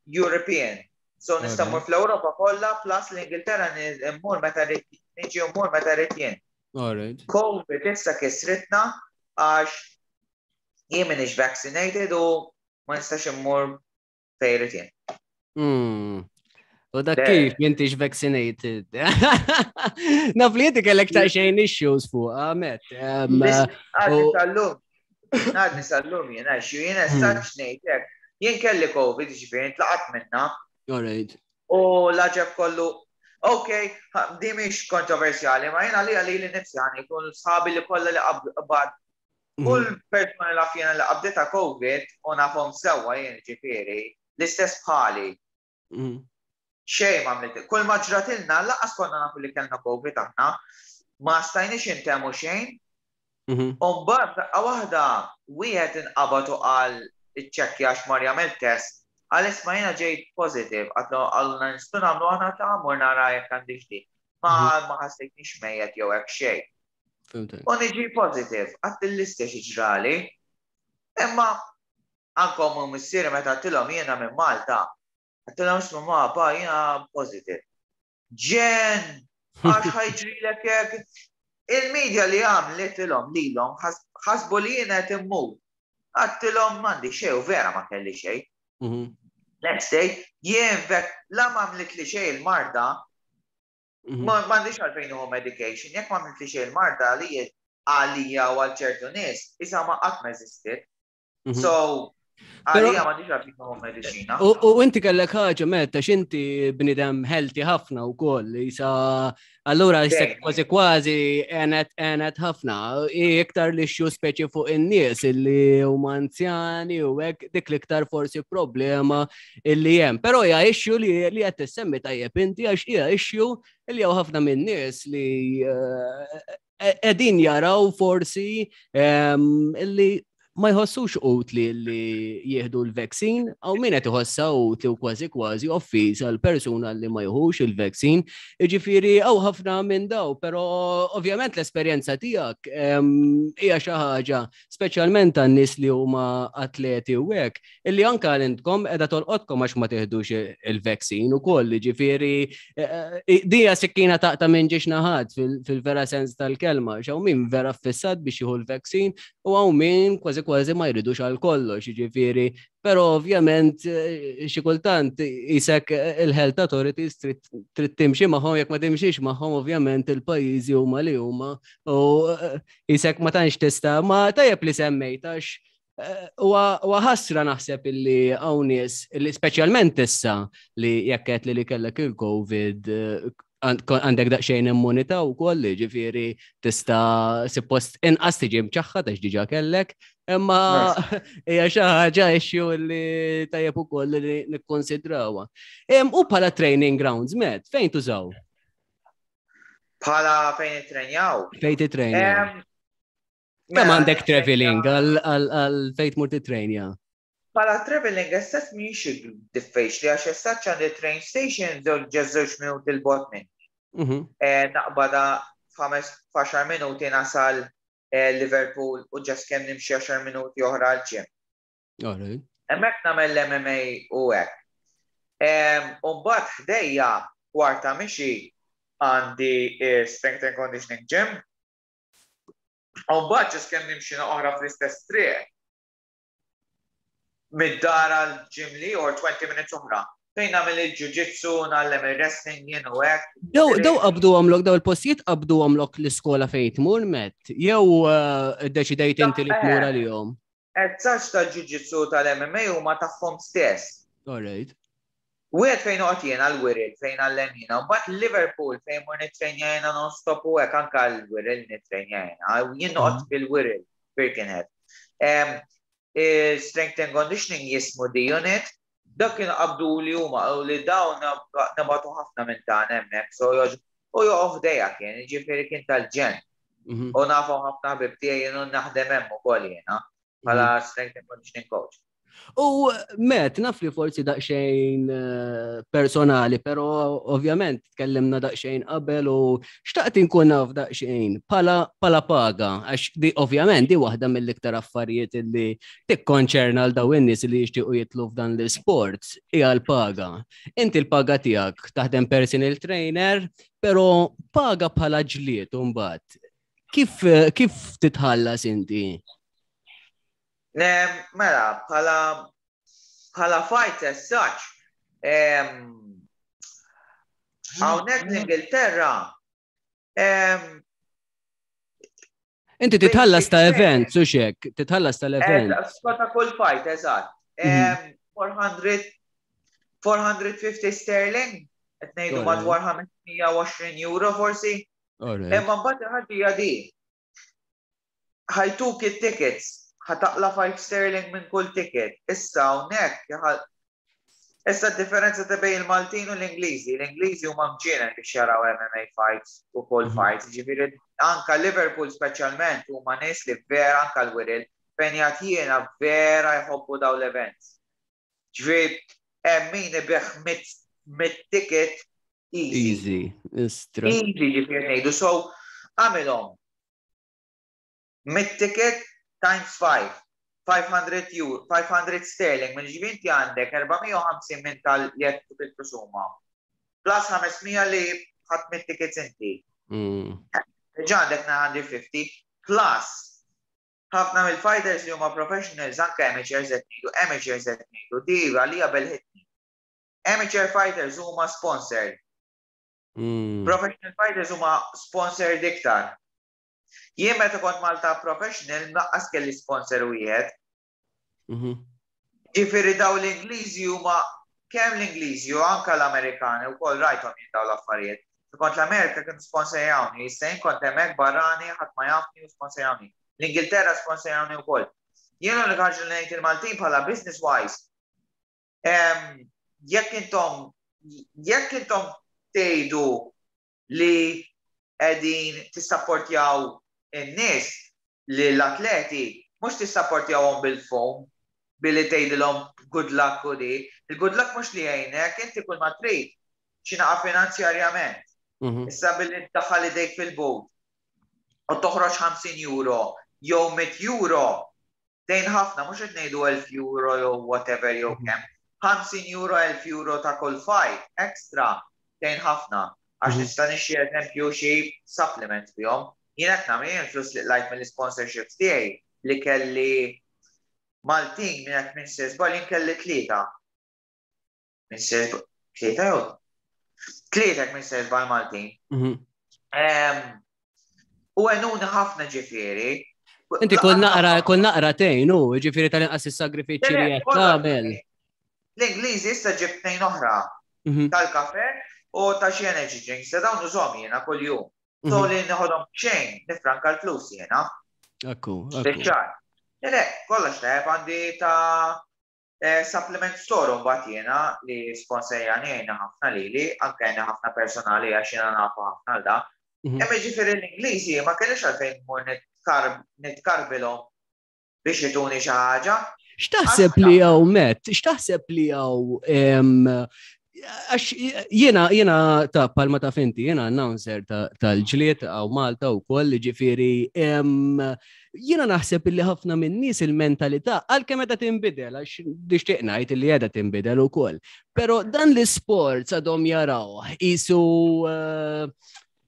European. So nista' mmur fl-Ewropa kollha plus l-Ingilterra, immur meta niġi mmur meta rrid jien. Covid issa kisritna għax jien m'iniex vaccinated u ma nistax immur fejn irrid jien.
Hmm. U dak kif m'intix vaccinated? Naf li inti kellek ta' xejn issues fuq, għamet.
Għadni sal-lum. Għadni sal-lum jena, xu jena hmm. saċ ngħidlek. Jien kelli Covid, ġifieri, tlaqat minna.
Alright.
U l-għaġeb kollu, ok, di mhix kontroversjali, ma jena li għalli li nifsi għani, kun sħabi li kollha li qabad. Mhm. Kull persona li fjena li qabdita Covid u nafhom sewwa jien ġifieri, l-istess bħali. Mhm. Xejn ma għamlet. Kull ma ġratilna, lanqas konna nafu li kellna Covid aħna, ma stajniex intemu xejn. Mhm. U mbagħad daqqa waħda wieħed inqabad u qal iċċekkja għax mar jagħmel test. Qal, "Isma', jiena ġejt positive," għatlu għallna nistgħu nagħmlu aħna ta' mur nara jekk għandix di. Ma mhm. ma ħassejtnix mejjet jew hekk xejn. U niġi positive, għedt l-istess ġrali. Imma anke u missieri meta għedtilhom jiena minn Malta, għedtilhom, "Isma', ma, pa, jiena positive." "Ġen, għax ħa jiġrilek hekk." Il-medja li għamlitilhom lilhom ħasbu li jiena qed immut. Għedtilhom m'għandi xejn u vera ma kelli xejn. Mhm. Next day, jien vek la ma għamlit li xejn il-marda, mhm. ma m'għandix għalfejn nieħu medication, jekk ma għamlit li xejn il-marda li għalija u għal ċertu nies, isa ma qatt ma eżistiet. Mhm. So, għalija m'għandix għalfejn nieħu mediċina.
U inti kellek ħaġa meta x'inti bnidem healthy ħafna wkoll, isa allura jisek kważi kważi għenet għenet ħafna. Iktar li xju speċi fuq in-nies illi huma anzjani u hekk, dik l-iktar forsi problema illi hemm. Però hija issue li li qed tissemmi tajjeb inti għax hija issue li hawn ħafna minn nies li qegħdin jaraw forsi illi Ma jħossux utli li jieħdu l-vaccine, hawn min qed iħossha utli u kważi kważi offiż għal persuna li ma jieħux il-vaccine. Jiġifieri hawn ħafna minn daw, però ovvjament l-esperjenza tiegħek hija xi ħaġa speċjalment għan-nies li huma atleti u hekk, illi anke intkom qiegħda tolqotkom għax ma tieħdux il-vaccine ukoll, ġifieri eh, eh, dija sikkina taqta' minn żewġ naħat fil-vera sens tal-kelma, hawn min vera fissat biex jieħu l-vaccine u hawn min kważi kważi ma jridux għal kollox, ġifieri, però ovvjament eh, xi kultant isek il-health authorities trid timxi magħhom, jekk ma timxix magħhom ovvjament il-pajjiżi huma li huma u isek ma tantx tista', ma tajjeb li semmejt għax eh, huwa ħasra naħseb illi hawn nies illi speċjalment issa li jekk qed li li kellek il-Covid eh, għandek daqsxejn immunità u koll, ġifieri tista' suppost inqas tiġi mċaħħad għax diġà kellek, imma hija xi ħaġa issue li tajjeb ukoll li nikkonsidrawha. U bħala training grounds, Met, fejn tużaw?
Bħala fejn nitrenjaw?
Fejn titrenjaw? Kemm mela, għandek traveling għal fejn tmur titrenja?
Bħala traveling assess mhix diffiċli għax essaċ għandi train station żewġ minuti 'l bogħod minn. Mhm. Eh, naqbada f'ħames f'għaxar minuti nasal eh, Liverpool u just kemm nimxi għaxar minuti oħra għal gym. Hemmhekk nagħmel l-M M A u hekk. U mbagħad ħdejja kwarta mixi għandi eh, strength and conditioning gym. U mbagħad just kemm nimxi oħra fl-istess triq mid-dar għal gym li or twenty minutes oħra. Fejn nagħmel il-jiu-jitsu, ngħallem il-wrestling jien u hekk.
Daw daw qabdu għamlok, daw il-postijiet qabdu għamlok l-iskola fejn tmur, Met, jew eh, deċidejt inti li tmur għalihom?
Eżatt, tal-jiu-jitsu, tal-M M A huma tagħhom stess.
Alright.
Wieħed fejn noqgħod jiena l-Wirral fejn ngħallem jiena, mbagħad Liverpool fejn mur nitrenja jiena non-stop u hekk anke l-Wirral nitrenja jiena. Jien noqgħod mhm. fil-Wirral, Birkenhead. Strength and Conditioning jismu The Unit, dak kienu qabdu li huma u li dawn nabatu ħafna minn ta' hemmhekk, so u joqgħod ħdejja kien, ġifieri kien tal-ġenn. Mhm. U nafu ħafna ħbib tiegħi jien naħdem hemm ukoll jiena bħala mhm. strength and conditioning coach.
U Met, naf li forsi daqxejn eh, personali, pero ovvjament tkellimna daqxejn qabel u xtaqt inkun naf daqxejn pala, pala paga, għax di ovvjament di waħda mill-iktar affarijiet li tikkonċerna għal daw in-nies li jixtiequ jitlu f'dan l-sport hija l-paga. Inti l-paga tiegħek taħdem personal trainer, pero paga bħala ġlied mbagħad. Kif, kif titħallas inti?
Mela, bħala bħala fight as such, hawnhekk l-Ingilterra
Inti titħallas ta' event, su xek, titħallas tal-event.
Ta' kull fight, eżatt. four hundred, four hundred fifty sterling, qed ngħidu madwar ħames mija u għoxrin euro forsi. Imma mbagħad il-ħaġa di. Ħa jtuk it-tickets, ħa taqla' five sterling minn kull ticket. Issa hawnhekk Issa differenza ta' bejn il-Maltin u l-Ingliżi. L-Ingliżi huma mġienen biex jaraw M M A fights u kull mhm. fights. Ġifieri anka Liverpool speċjalment huma nies li vera, anka l-Wirral fejn jgħat jiena, vera jħobbu daw l-events. Ġifieri hemm min ibigħ mitt ticket easy.
Easy.
Istra. Easy, ġifieri ngħidu. So għamilhom mitt ticket times five. five hundred euro, five hundred sterling, minn ġifieri inti għandek erba' mija u ħamsin minn tal jekk bil-prosuma. Plus ħames mija li ħadt mitt tickets inti.
Mm.
Ġa għandek nine hundred fifty plus ħafna mill-fighters li huma professionals, anke amateurs qed ngħidu, amateurs qed ngħidu, di għalija belħitni. Amateur fighters huma sponsored.
Mm.
Professional fighters huma sponsored iktar. Jien meta kont Malta professional naqqas kelli sponsor wieħed.
Mhm.
Ġifieri daw l-Ingliżi huma, kemm l-Ingliżi u anka l-Amerikani u koll rajthom jien daw l-affarijiet. Kont l-Amerika kienu sponsorjawni, issa jien kont hemmhekk barrani, ħadd ma jafni u sponsorjawni. L-Ingilterra sponsorjawni wkoll. Jien l-unika ħaġa li ngħid il-Maltin bħala business wise, jekk intom jekk intom tgħidu li qegħdin tissapportjaw in-nies li l-atleti Mhux tissapportjawhom bil-fomm, billi tgħidilhom good luck u di. Il-good luck mhux li jgħinek, inti kull ma trid xi naqa finanzjarjament. Mhm. Issa billi tdaħħal idejk fil-but u toħroġ ħamsin euro jew mitt euro, tgħin ħafna, mhux qed ngħidu elf euro jew whatever jew mhm. kemm. ħamsin euro, elf euro ta' kull fight extra tgħin ħafna. Għax mhm. nista' nixtri, eżempju, xi supplements bihom. Jien qed nagħmel il-flus li qlajt mill-sponsorships tiegħi li kelli Maltin minn hekk minn sesbal, jien kelli tlieta. Minn sesbal, tlieta jew tlieta minn sesbal Maltin. Mhm. U għenuni ħafna, ġifieri.
Inti kull naqra, kull naqra tgħin, u ġifieri tal-inqas is-sagrifiċċji li qed tagħmel.
L-Ingliżi issa ġibt tnejn oħra mhm. tal-kafe u ta' xi energy drinks, se dawn użhom jiena kuljum. So mhm. li neħodhom xejn, nifranka l-flus jiena.
Ekku.
Ekku. Le, kollox tajjeb, għandi ta' eh, supplement store mbagħad jiena li sponsorjani, jgħinna ħafna lili, anke jgħinna ħafna personali għax jiena nafu ħafna l da. Mhm. Imma ġifieri l-Ingliżi ma kellix għalfejn mur nitkarbilhom biex jtuni xi ħaġa.
X'taħseb li hawn, Matt? X'taħseb li hawn, għax jiena jiena ta' palma ta' finti, jiena announcer tal-ġlied hawn Malta u koll, ġifieri, jiena naħseb li ħafna minn nies il-mentalità, għalkemm meta tinbidel, għax nixtieq ngħid li qiegħda tinbidel ukoll. Però dan l-isport għadhom jaraw qisu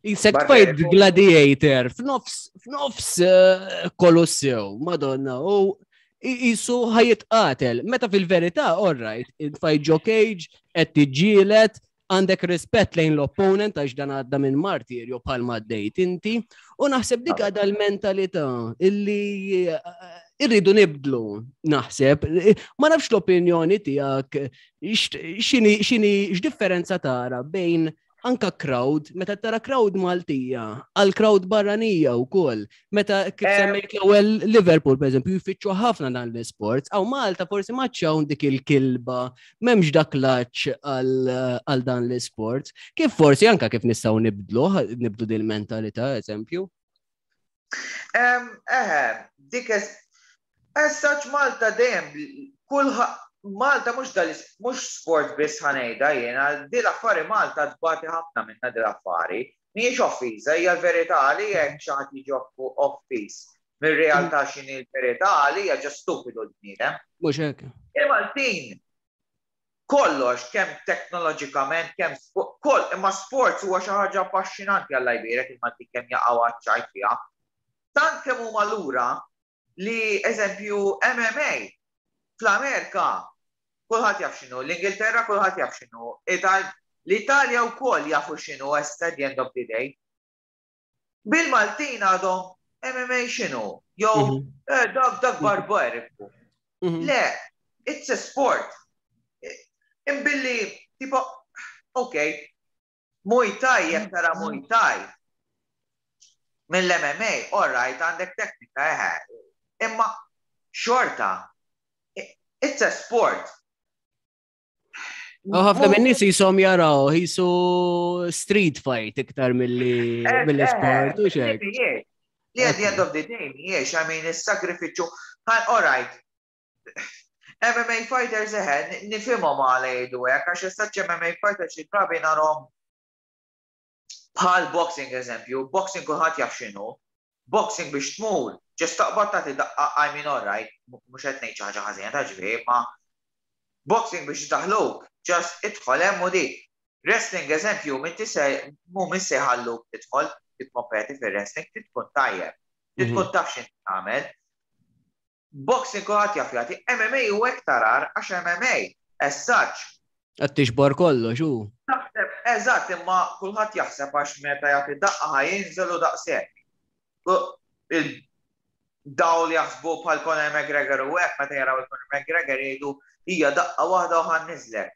qisek fight gladiator f'nofs f'nofs eh, Kolossew, madonna, u qisu ħa jitqatel. Meta fil-verità, all right, fight ġo cage, qed tiġġieled, għandek rispett lejn l-opponent għax dan għadda minn martirju bħal għaddejt inti, u naħseb dik għadha l-mentalità illi eh, irridu nibdlu, naħseb. Ma nafx l-opinjoni tiegħek, x'inhi x'inhi x'differenza tara bejn anka crowd, meta tara crowd Maltija, għal crowd barranija u koll. Meta kif semmejt l-ewwel Liverpool, per eżempju, jfittxu ħafna dan l-sports, hawn Malta forsi maċċawn dik il-kilba, m'hemmx dak l-għatx għal dan l-sports. Kif forsi anka kif nistgħu nibdlu, nibdlu din mentalità, eżempju?
Eħe, dik as such Malta dejjem kull Malta mhux dal mhux sport biss ħa ngħidha jiena, di l-affari Malta tbati ħafna minna di l-affari. Mhijiex offiża, hija l-verità li jekk xi ħadd jiġi offiż mir-realtà x'inhi l-verità li hija ġa stupidu l-bniedem.
Mhux hekk.
Il-Maltin kollox, kemm teknoloġikament, kemm koll, imma sports huwa xi ħaġa affaxxinanti, Alla jbierek il-Maltin kemm jaqgħu għaċ-ċajt fiha. Tant kemm huma lura li, eżempju, M M A fl-Amerika kulħadd jaf x'inhu, l-Ingilterra kulħadd jaf x'inhu, l-Italja wkoll jafu x'inhu at the end of the day. Bil-Maltin għadhom M M A x'inhu, jew mhm. eh, dak dak barbariku. Mhm. Le, it's a sport. Imbilli, tipo, ok, Muay Thai, jekk tara Muay Thai, mill-M M A, all right, għandek teknika, eħe, imma xorta, it's a sport.
U ħafna minn nies qishom jaraw, qisu street fight iktar mill-li eh, eh, sport u xek.
Li at the end of the day, mhijiex, I mean, il-sagrifiċu, all right, M M A fighters, eħe, nifhimhom għala jgħidu hekk, għax issa M M A fighters xi drabi narahom bħal boxing, eżempju, boxing kulħadd jaf x'inhu, boxing biex tmur, just taqbad tagħti daqqa, I mean, all right, mhux qed ngħid xi ħaġa ħażina ta' ġifieri, ma boxing biex daħluk, just idħol hemm u dik. Wrestling, eżempju, minn tise mu minn se jħalluk tidħol tikkompeti fir-wrestling, tkun tajjeb, tkun mhm. taf x'int tagħmel. Boxing kulħadd jaf jagħti, M M A u iktar għax M M A as such.
Qed tiġbor kollox u.
Taħseb, eżatt, imma kulħadd jaħseb għax meta jagħti daqqa ħa jinżel u daqshekk. Daw li jaħsbu bħal Conor McGregor u hekk, meta jaraw il-Conor McGregor jgħidu hija daqqa waħda u ħa nniżżlek.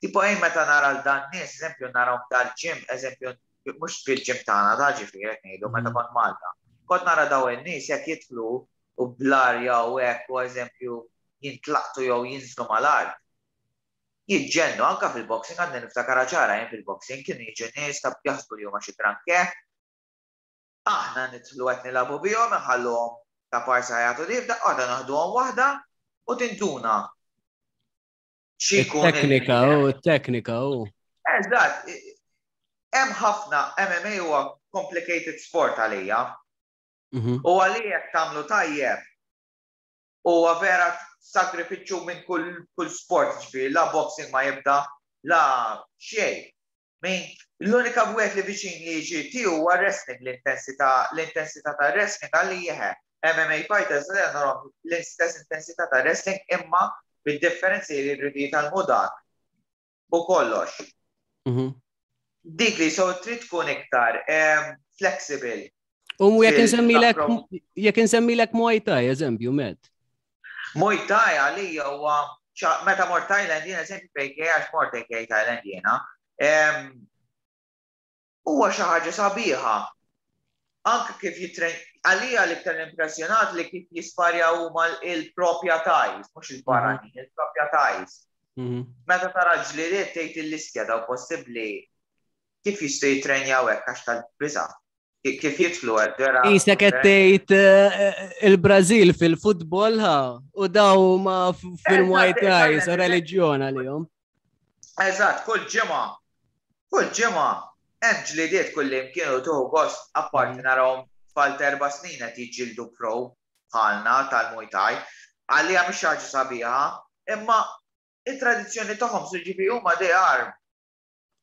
Tipo ejn meta nara l-dan nies, eżempju, narahom dal-gym, eżempju, mhux fil-gym tagħna ta' ġifieri qed ngħidu meta mm. kont Malta. Kont nara daw in-nies jekk jidħlu u bl-arja u hekk u, eżempju, jintlaqtu jew jinżlu mal-art. Jiġġennu, anka fil-boxing għandi niftakar ċara jien, fil-boxing kienu jiġu nies ta' jaħsbu li huma xi granché. Aħna nidħlu qed nilagħbu bihom, inħalluhom. Ta' parsa jagħtu di, f'daqqa naħduhom waħda u tinduna.
X'ikun Teknika, u teknika, u.
Eżatt, hemm ħafna M M A huwa complicated sport għalija. Mhm. U għalija jekk tagħmlu tajjeb huwa vera sagrifiċċju minn kull kull sport, ġifieri la boxing ma jibda la xejn. Min l-unika wieħed li viċin li jiġi tiegħu huwa wrestling, l-intensità l-intensità ta' wrestling għalija. M M A fighters li narahom l-istess intensità ta' wrestling, imma bid-differenzi li jridu jitgħallmu dak u kollox.
Mhm.
Dik li so trid tkun iktar em, flexible.
U jekk
Fil-
insemmilek jekk insemmilek Muay Thai, eżempju, met.
Muay Thai għalija huwa ċa- meta mort Thailand jiena, eżempju, fejn għax mort A K Thailand jiena, em, huwa xi ħaġa sabiħa. Anke kif jitren għalija l-iktar impressjonat li kif jisparja huma il-propja Thais, mhux il-barranin, il-propja Thais.
Mhm.
Meta tara ġlidiet tgħid il-listja daw possibbli kif jistgħu jitrenjaw hekk, għax tal-biża'. Kif jidħlu hekk vera.
Isek qed tgħid eh, il-Brażil fil-futbol ha u daw ma f- fil-Muay
Eżatt,
Thai,
eżatt,
so reliġjon għalihom.
Eżatt, kull ġimgħa. Kull ġimgħa hemm ġlidiet kull imkien u tuħu gost, apparti
Mhm.
narahom tfal ta' erba' snin qed jiġġieldu pro bħalna tal-Muay Thai. Għalija mhix ħaġa sabiħa, imma it-tradizzjoni tagħhom, so ġifieri huma they are.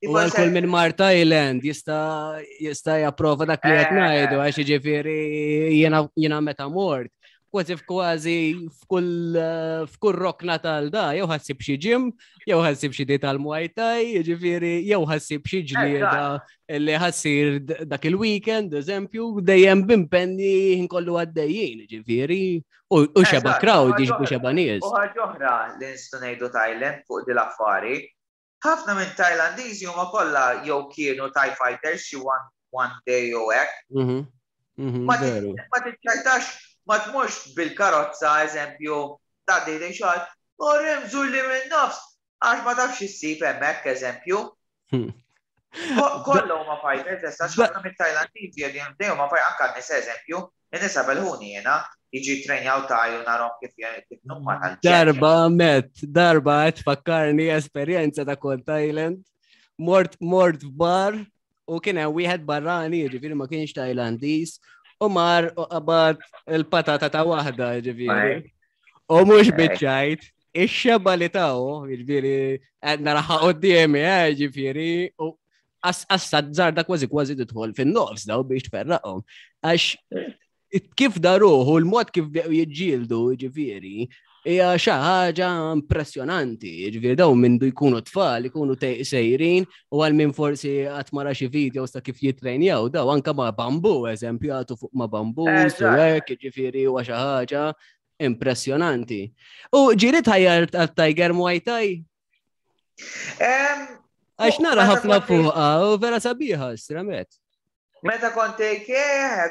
U għal kull minn mar Thailand jista' jista' japprova dak li qed
Eh.
ngħidu, għax jiġifieri jiena jiena meta mort kważi f'kważi f'kull eh, f'kull rokna tal-da, jew ħa ssib xi gym, jew ħa ssib xi di tal-Muay Thai, jiġifieri jew ħa ssib xi ġlieda li ħa ssir d- dak il-weekend, eżempju, dejjem b'impenni nkollu għaddejjin, jiġifieri, u u xeba
Eżatt,
crowd,
u ħaġa
jiġbu xeba nies.
U ħaġa oħra li nistgħu ngħidu Thailand fuq din l-affari, ħafna minn Thailandiżi huma kollha jew kienu Thai fighters xi one, one day jew hekk.
Mhm, mhm,
Ma
Veru.
Ma tiċċajtax, ma tmurx bil-karozza, eżempju, ta' dejn xogħol, u remżu li minn nofs, għax ma tafx issib hemmhekk, eżempju.
Hmm.
Ko- Kollha huma fighters, issa ħafna mit-Tajlandiżi qegħdin dejjem huma fight, anke n-nisa, eżempju, in-nisa belħuni jiena, jiġi trenjaw Thai u narhom kif kif numma tal.
Darba met, darba qed fakkarni esperjenza ta' kont Thailand. Mort mort f'bar u kien hemm wieħed barrani, jiġifieri ma kienx Tajlandiż, u mar u qabad il-patata ta' waħda, jiġifieri. U mhux biċċajt, ix-xeba li taw, jiġifieri qed naraha quddiemi, eh, jiġifieri, u assa żarda kważi kważi tidħol fin-nofs daw biex tferraqhom. Għax kif daruħu, l-mod kif bdew jiġġieldu, jiġifieri, hija xi ħaġa impressjonanti. Jiġifieri daw mindu jkunu tfal, ikunu te- sejrin, u għal min forsi qatt mara xi videos ta' kif jitrenjaw, daw anka ma' bambu, eżempju, għatu fuq ma' bambu,
Eżatt.
su hekk, jiġifieri huwa xi ħaġa impressjonanti. U ġieli tħajjar għal Tiger Muay Thai?
Em,
Għax nara
meta
ħafna
kont-
fuqha u vera sabiħa, stramet.
Meta kont A K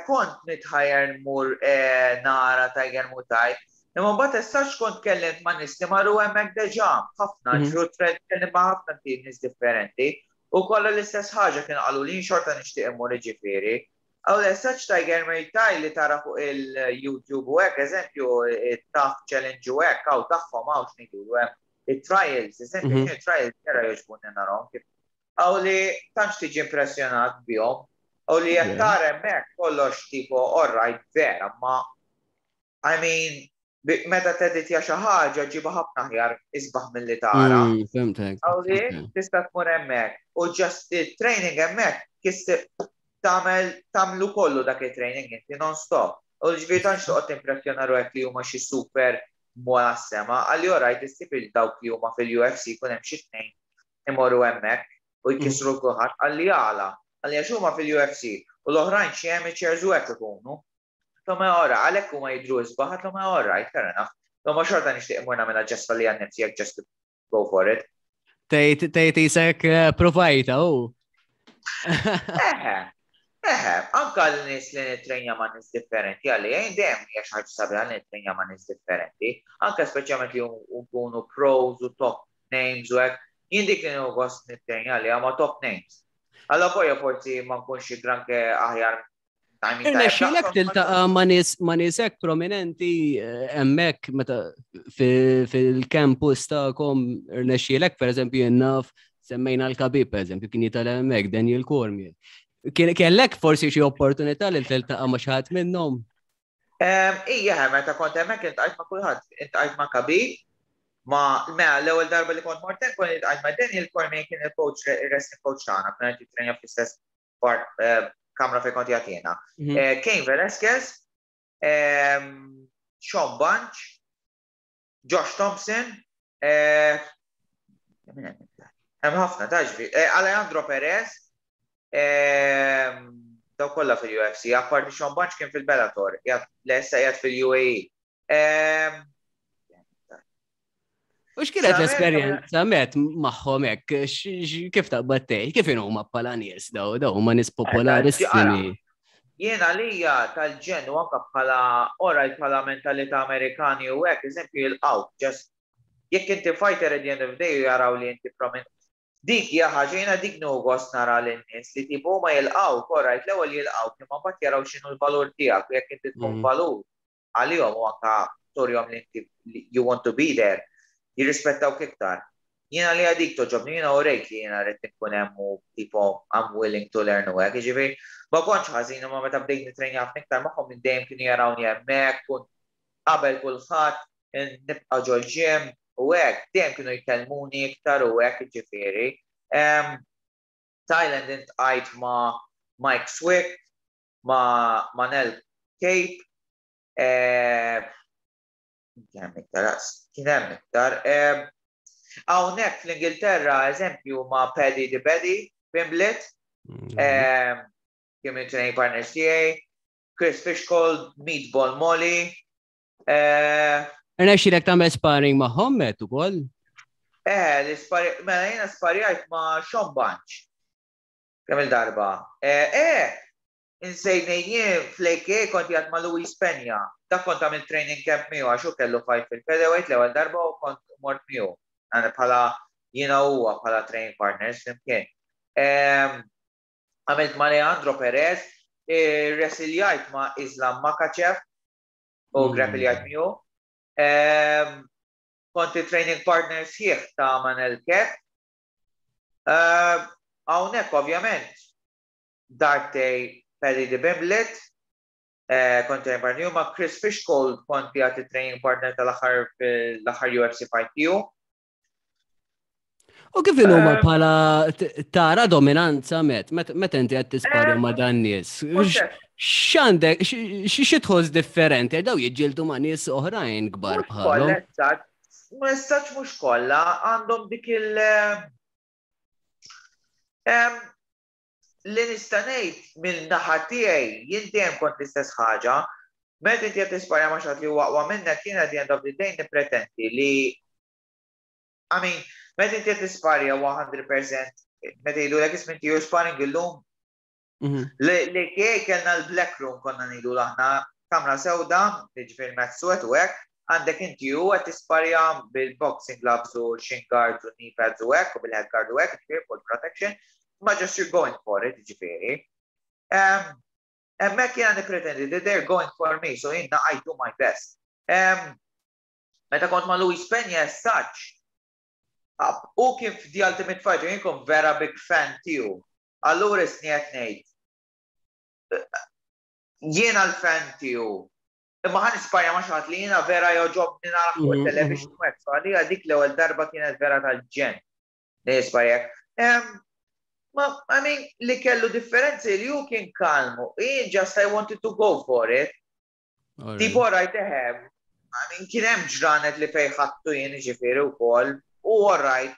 kont nitħajjar nmur eh, nara Tiger Muay Thai. Imma mbagħad essax kont kellimt ma' nies li marru hemmhekk deġà, ħafna,
Mhm.
ġru tkellimt ma' ħafna nies differenti. U kollha l-istess ħaġa kien qalu li xorta nixtieq immur, ġifieri. Għaw l-essax Tiger Muay Thai li tara fuq il-YouTube u hekk, eżempju, il-Tough Challenge u hekk, għaw tagħhom għaw x'ngħidu hemm il-trials, eżempju,
Mhm.
il-trials vera jogħġbuni narahom kif. Għaw li tantx tiġi impressjonat bihom. U li jekk
Yeah.
tara hemmhekk kollox tipo alright vera, ma I mean, bi- meta teditja xi ħaġa ġiba ħafna aħjar isbaħ milli tara.
Mm, Fhimtek.
Għaw li
Okay.
tista' tmur hemmhekk u just il-training hemmhekk kif tagħmel tagħmlu kollu dak il-training inti non-stop. U ġifieri tantx toqgħod timpressjona ruħek li huma xi super mola sema, għalli orajt issib il dawk li huma fil-U F C kun hemm xi tnejn imorru hemmhekk u jkissru kulħadd, għalli għala. Għalli għax huma fil-U F C u l-oħrajn xi amateurs u hekk ikunu. Toma ora, għalhekk huma jidhru isbaħ, toma alright, fair enough. Toma xorta nixtieq imur nagħmilha just għalli għan nifsi just to go for it.
Tgħid tgħid isek eh, provajta u.
Eħe, eħe, anka l-nies li nitrenja ma' nies differenti, għalli jgħin dejjem hija xi ħaġa sabiħa li nitrenja ma' nies differenti, anka speċjalment li jkunu pros u top names u hekk, jien dik li nieħu gost nitrenja li ma' top names. Alla voja forsi ma nkunx granke aħjar
Irnexxielek tiltaqa' ma' nies ma' nies hekk prominenti eh, hemmhekk meta fil-campus tagħkom? Irnexxielek, pereżempju, jien naf semmejna l-Khabib, pereżempju, kien jitgħallem hemmhekk, Daniel Cormier. Kellek forsi xi opportunità li tiltaqa' ma' xi ħadd minnhom?
Ija, meta kont hemmhekk iltqajt ma' kulħadd, iltqajt ma' Khabib, ma mela l-ewwel darba li kont mort kont iltqajt ma' Daniel Cormier, kien il-coach, il-wrestling coach tagħna, kien qed jitrenja fl-istess eh, kamra fejn kont jagħtina. Mhm. Eh, Cain Velasquez, Sean Bunch, Josh Thompson, eh, hemm ħafna taġbi, Alejandro Perez, daw kollha fil-U F C, apparti Sean Bunch kien fil-Bellator, issa qiegħed fil-U A E.
U x'kienet l-esperjenza met magħhom hekk? Kif taqbad tgħid? Kif huma bħala nies daw? Daw huma nies popolarissimi.
Jiena lija tal-ġenn u anka bħala orajt bħala mentalità Amerikani u hekk, eżempju, jilqgħu, just jekk inti fighter, at the end of the day jaraw li inti prominent. Dik hija ħaġa jiena dik nieħu gost nara lin-nies li tipo ma jilqgħu, orajt, l-ewwel jilqgħu, imma mbagħad jaraw x'inhu l-valur tiegħek u jekk inti tkun mm. valur għalihom u anka turihom li inti you want to be there, jirrispettawk iktar. Jiena li għadik togħġobni, jiena u rejt li jiena rrid nkun hemm u tipo I'm willing to learn u hekk, jiġifieri ma kontx ħażin, imma meta bdejt nitrenja ħafna iktar magħhom minn dejjem kienu jarawni hemmhekk, kun qabel kulħadd, nibqa' ġol-gym u hekk, dejjem kienu jkellmuni iktar u hekk, jiġifieri. Thailand iltqajt ma' Mike Swick, ma' Manel Kape, eh, kien hemm iktar, kien hemm iktar. Hawnhekk fl-Ingilterra, eżempju, ma' Paddy the Baddy Pimblett, mhm. kien minn training partners tiegħi, Chris Fishgold, Meatball Molly.
Irnexxielek tagħmel sparring magħhom met ukoll?
Eh, l-sparring, mela jiena sparjajt ma' Sean Bunch. Kemm il-darba. Eh, eh, insejt, jien fl-A K A kont qiegħed ma' Luis Peña. Dak kont għamil training camp miegħu għax hu kellu fight fil-featherweight l-ewwel darba u kont mort miegħu. Għana bħala jiena huwa bħala training partners flimkien. Għamilt ma' Leandro Perez, wrestljajt ma' Islam Makhachev u mm. grappljajt miegħu. Kont training partner sħiħ ta' Manel Kape. Hawnhekk ovvjament darbtejn Paddy the Pimblett, eh, kont training partner ma' Chris Fishgold, kont qiegħed training partner tal-aħħar l-aħħar U F C fight tiegħu.
U kif huma eh, bħala tara dominanza met, meta inti qed tisparja ma' dan nies? X'għandek, xi tħoss differenti? Daw jiġġieldu ma' nies oħrajn kbar bħalhom.
Ma nistax, mhux kollha għandhom dik il- Li nista' ngħid mill-naħa tiegħi, jien dejjem kont l-istess ħaġa. Meta inti qed tisparja ma' xi ħadd li huwa aqwa minnek, jien at the end of the day nippretendi li, I mean, meta inti qed tisparja mija fil-mija, meta jgħidulek, "Isma', inti you're sparring illum." Mhm. Li kie kellna l-black room konna ngħidu aħna, kamra sewda, ġifieri mat suwed u hekk, għandek inti u qed tisparja bil-boxing gloves u shin guards u knee pads u hekk u bil-head guard u hekk, ġifieri full protection, ma just you're going for it, ġifieri. Hemmhekk jiena nipretendi that they're going for me, so jiena I do my best. Meta kont ma' Luis Peña as such, u kien f'The Ultimate Fighter, jien kont vera big fan tiegħu. Allura isni qed ngħid, jiena l-fan tiegħu. Imma ħa nisparja ma' xi ħadd li jiena vera jogħġobni nara fuq mhm, television mhm. u hekk, so għalija dik l-ewwel darba kienet vera tal-ġenn. Nisparja. Ma, I mean, li kellu differenzi li hu kien kalmu. Jien just I wanted to go for it. Tipo rajt eħem. I mean, kien hemm ġranet li fej ħattu jien, ġifieri wkoll. U alright.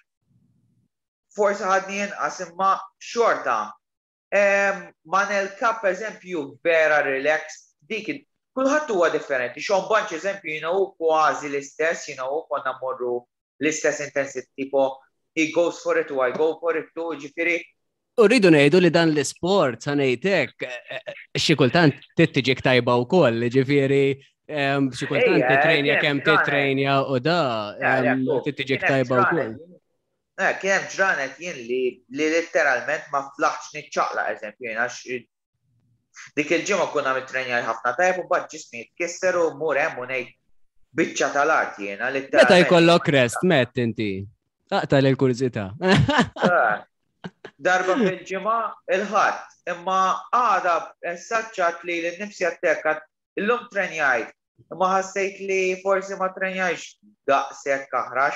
Forsi ħadni inqas, imma xorta. Manel Kape, eżempju, vera relax. Dik kulħadd huwa differenti. Sean Bunch, eżempju, jiena u kważi l-istess, jiena u konna morru l-istess intensity, tipo he goes for it u I go for it too, ġifieri.
U rridu ngħidu li dan l-isport, sa ngħidlek, xi kultant tittiġik tajba wkoll, ġifieri xi kultant titrejnja kemm titrejnja u da tittiġik tajba wkoll.
Eh, kien hemm ġranet jien li li letteralment ma flaħx niċċaqla, eżempju, jien għax Dik il-ġimgħa kun għamilt trenjaj ħafna tajjeb u mbagħad ġismi jitkisser u mur hemm u ngħid biċċa tal-art jiena.
Meta jkollok rest, Matt, inti? Aqta' l-kurżità.
Ah, darba fil-ġimgħa, il-Ħadd, imma għada saċċat li l-nifsi għattek illum trenjajt, imma ħassejt li forsi ma trenjajx daqshekk aħrax.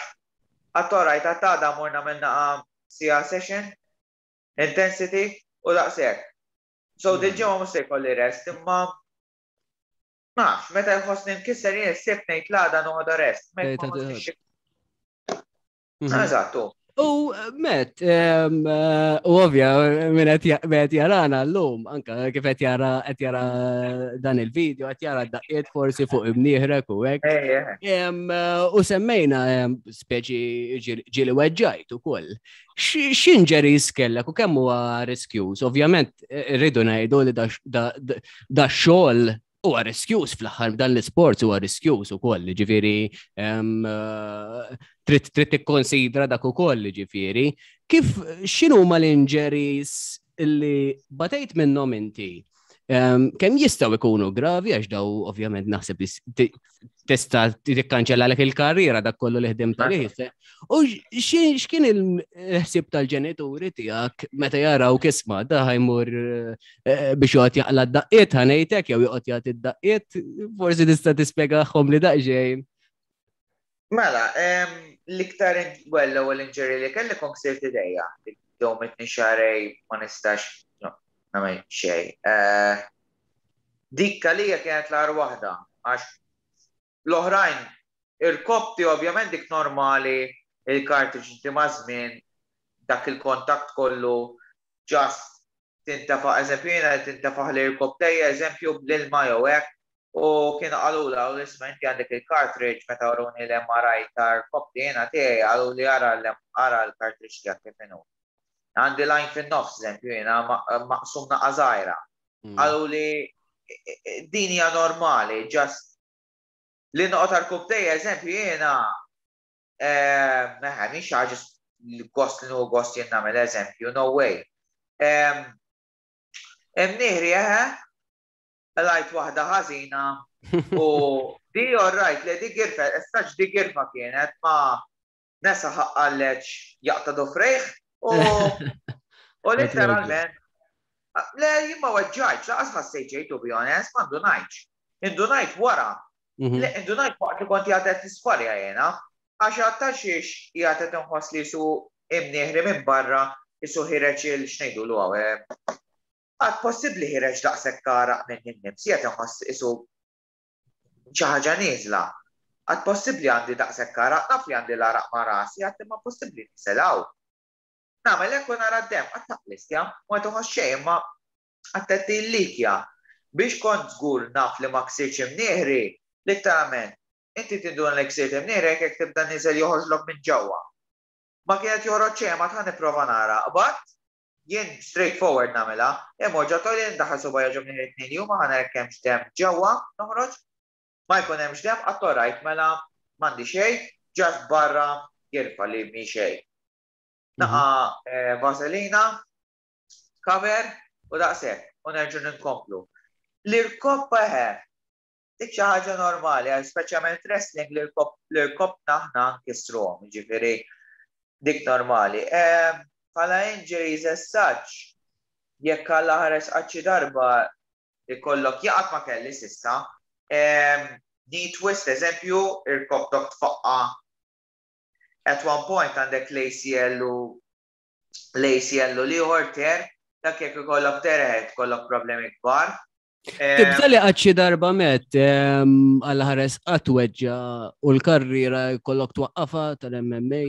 Għattorajt għattada morna minna sija session, intensity u daqshekk. So dil-ġimgħa mhux se jkolli rest, imma nafx, meta jħossni nkisser jien s-Sibt ngħid l-għada noħodha rest. Mhm. Eżattu.
U Matt, u ovvja, minn qed jarana l-lum, anka kif qed jara qed jara dan il-video, qed jara daqqiet forsi fuq imnieħrek u hekk. U semmejna speċi ġieli weġġajt ukoll. X'injuries kellek u kemm huwa riskjuż? Ovvjament rridu ngħidu li da xogħol huwa riskjuż fl-aħħar, dan l-isport huwa riskjuż ukoll, ġifieri trid trid tikkonsidra dak ukoll, ġifieri. Kif x'inhu ma l-injuries li batejt minnhom inti? Kemm jistgħu jkunu gravi, għax daw ovvjament naħseb tista' tikkanċella lek il-karriera, dak kollu li ħdimt għalih. U x'kien il-ħsieb tal-ġenituri tiegħek meta jaraw kisma da ħa jmur eh, biex joqgħod jaqla d-daqqiet, ħa ngħidlek, jew joqgħod jagħti d-daqqiet, forsi tista' tispjegahom li daqsxejn?
Mela, l-iktar, well, l-ewwel injury li kelli kont ksirt idejja. Domitni xahrejn ma nistax nagħmel xejn. Eh, dik għalija kienet l-agħar waħda, għax l-oħrajn, il-kopti ovvjament dik normali, il-cartilage inti ma' żmien, dak il-kontakt kollu, just tintafa, eżempju jiena tintafaħ li l-koptejja, eżempju bl-ilma jew hekk, u kienu qalula u l-isma inti għandek il-cartilage. Meta uruni l-M R I tal-kopti jiena tiegħi, qalu li ara ara l-cartilage tiegħek kif inhu. Għandi line fin-nofs, eżempju jiena maqsum naqa żgħira. Mm. Qalu li din hija normali, just li noqgħod għal-koptejja, eżempju jiena, meħa, mhix ħaġa gost li nieħu gost jien nagħmel, eżempju, no way. Imnieħri eħe, lajt waħda ħażina u di alright, li di girfa, estaċ di girfa kienet ma nesa ħaqqalleċ jaqta dofrejh u u literalment le jien ma weġġajtx, lanqas ħassejt xejn, to be honest, ma ndunajtx. Indunajt wara. Mhm. Le, indunajt waqt li kont jgħadet nisparja jena, għax għatta xiex jgħadet nħoss li su imnieħri minn barra jisu ħireċ il x'ngħidu l għawe. Għad possibli ħireġ daqshekk għaraq minn nifsi, qed inħoss isu xi ħaġa nieżla. Għad possibli għandi daqshekk għaraq, naf li għandi l-għaraq ma' rasi, għad imma possibli niselaw. Nagħmel hekk u nara d-dem, għad taqlistja, ma toħoss xejn, imma għad tillikja. Biex kont żgur naf li ma ksirx imnieħri, literalment, inti tinduna li ksirt imnieħri jekk tibda niżel joħorġlok minn ġewwa. Ma kienet joħroġ xejn, ma tħan nipprova nara. But jien straightforward nagħmilha, imma ġo toilet ndaħħal subgħajja ġo minn it-tnejn li huma, ħa nara hemmx dem ġewwa noħroġ, ma jkun hemmx dem, għattu rajt mela m'għandi xejn, just barra girfa li mi xejn. Naqa eh, vaselina, cover u daqshekk u nerġu ninkomplu. L-irkoppa eħe, dik xi ħaġa normali, għal speċjalment wrestling l-irkopp naħna nkissruhom, ġifieri dik normali. Bħala injuries as such, jekk Alla ħares qatt xi darba ikollok jaqat, ma kelli s'issa, knee twist, eżempju, irkopptok tfaqqa at one point għandek l-A C L u l-A C L u l-ieħor tear, dak jekk ikollok tear kollok problemi kbar.
Tibda li qatt xi darba, Matt, Alla ħares qatt weġġa u l-karriera jkollok twaqqafa tal-M M A?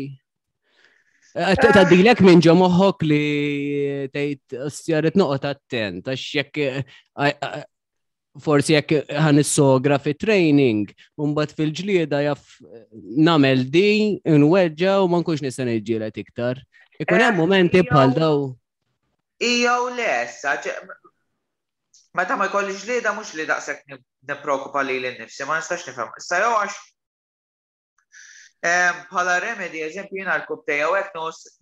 Tgħaddilek minn ġo moħħok li tgħid ostja rrid noqgħod attent, għax jekk forsi jekk ħa nissogra fi training, u mbagħad fil-ġlieda jaf nagħmel di, nweġġa u ma nkunx nista' niġġieled iktar. Ikun hemm momenti bħal daw.
Ija u le, sa meta ma jkollix ġlieda mhux li daqshekk nippreokkupa li l-nifsi, ma nistax nifhem. Issa jew għax bħala remedy, eżempju, jiena l-kubtejja u hekk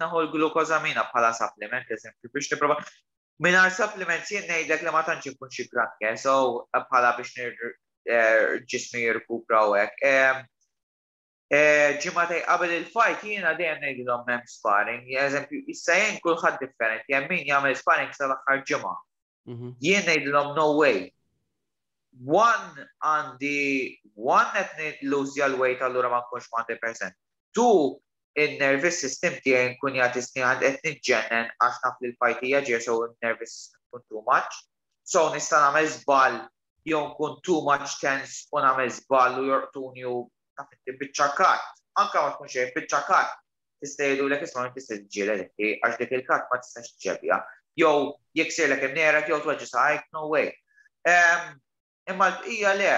naħu l-glukozamina bħala supplement, eżempju, biex nipprova. Mingħajr supplements jien ngħidlek li ma tantx inkun xi granke, so bħala biex eh, ġismi jirkupra u hekk. Eh, ġimagħtejn qabel il-fight jiena dejjem ngħidilhom m'hemm sparring. Eżempju, issa jien kulħadd differenti, hemm min jagħmel sparring sal-aħħar ġimgħa. Mhm. Jien ngħidilhom no way. One għandi one qed nillużja l-weight allura ma nkunx mija fil-mija. Two, in-nervous system tiegħi nkun jagħti snin qed niġġennen għax naf li l-fight hija ġej so in-nervous system tkun too much. So nista' nagħmel żball jew nkun too much tense u nagħmel żball u jorqtuni u taf inti biċċa cut. Anka ma tkun xejn biċċa cut. Tista' jgħidulek isma' tista' tiġġieled inti għax dik il-cut ma tistax ġġebja. Jew jeksirlek imnerek jew tweġġa' saqajk, no way. Imma l-bqija le,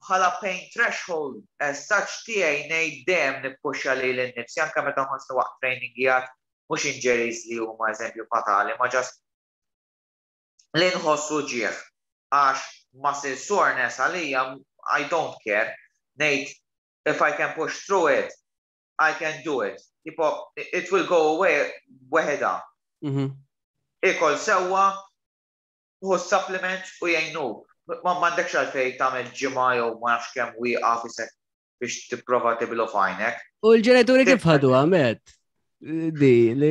bħala pain threshold, as such tiegħi ngħid dejjem nippuxxa lili nnifsi anke meta nħossni waqt training jgħat mhux injuries li huma eżempju fatali, ma just li nħossu ġieħ għax muscle soreness għalija I don't care. Ngħid if I can push through it, I can do it. Tipo, it will go away weħeda. Mhm. Ikol sewwa, hu supplements u jgħinu. Ma m'għandekx għalfejn tagħmel ġimgħa jew ma nafx kemm wieqaf isek biex tipprova tiblu fajnek.
U l-ġenituri kif ħadu għamet? Di, li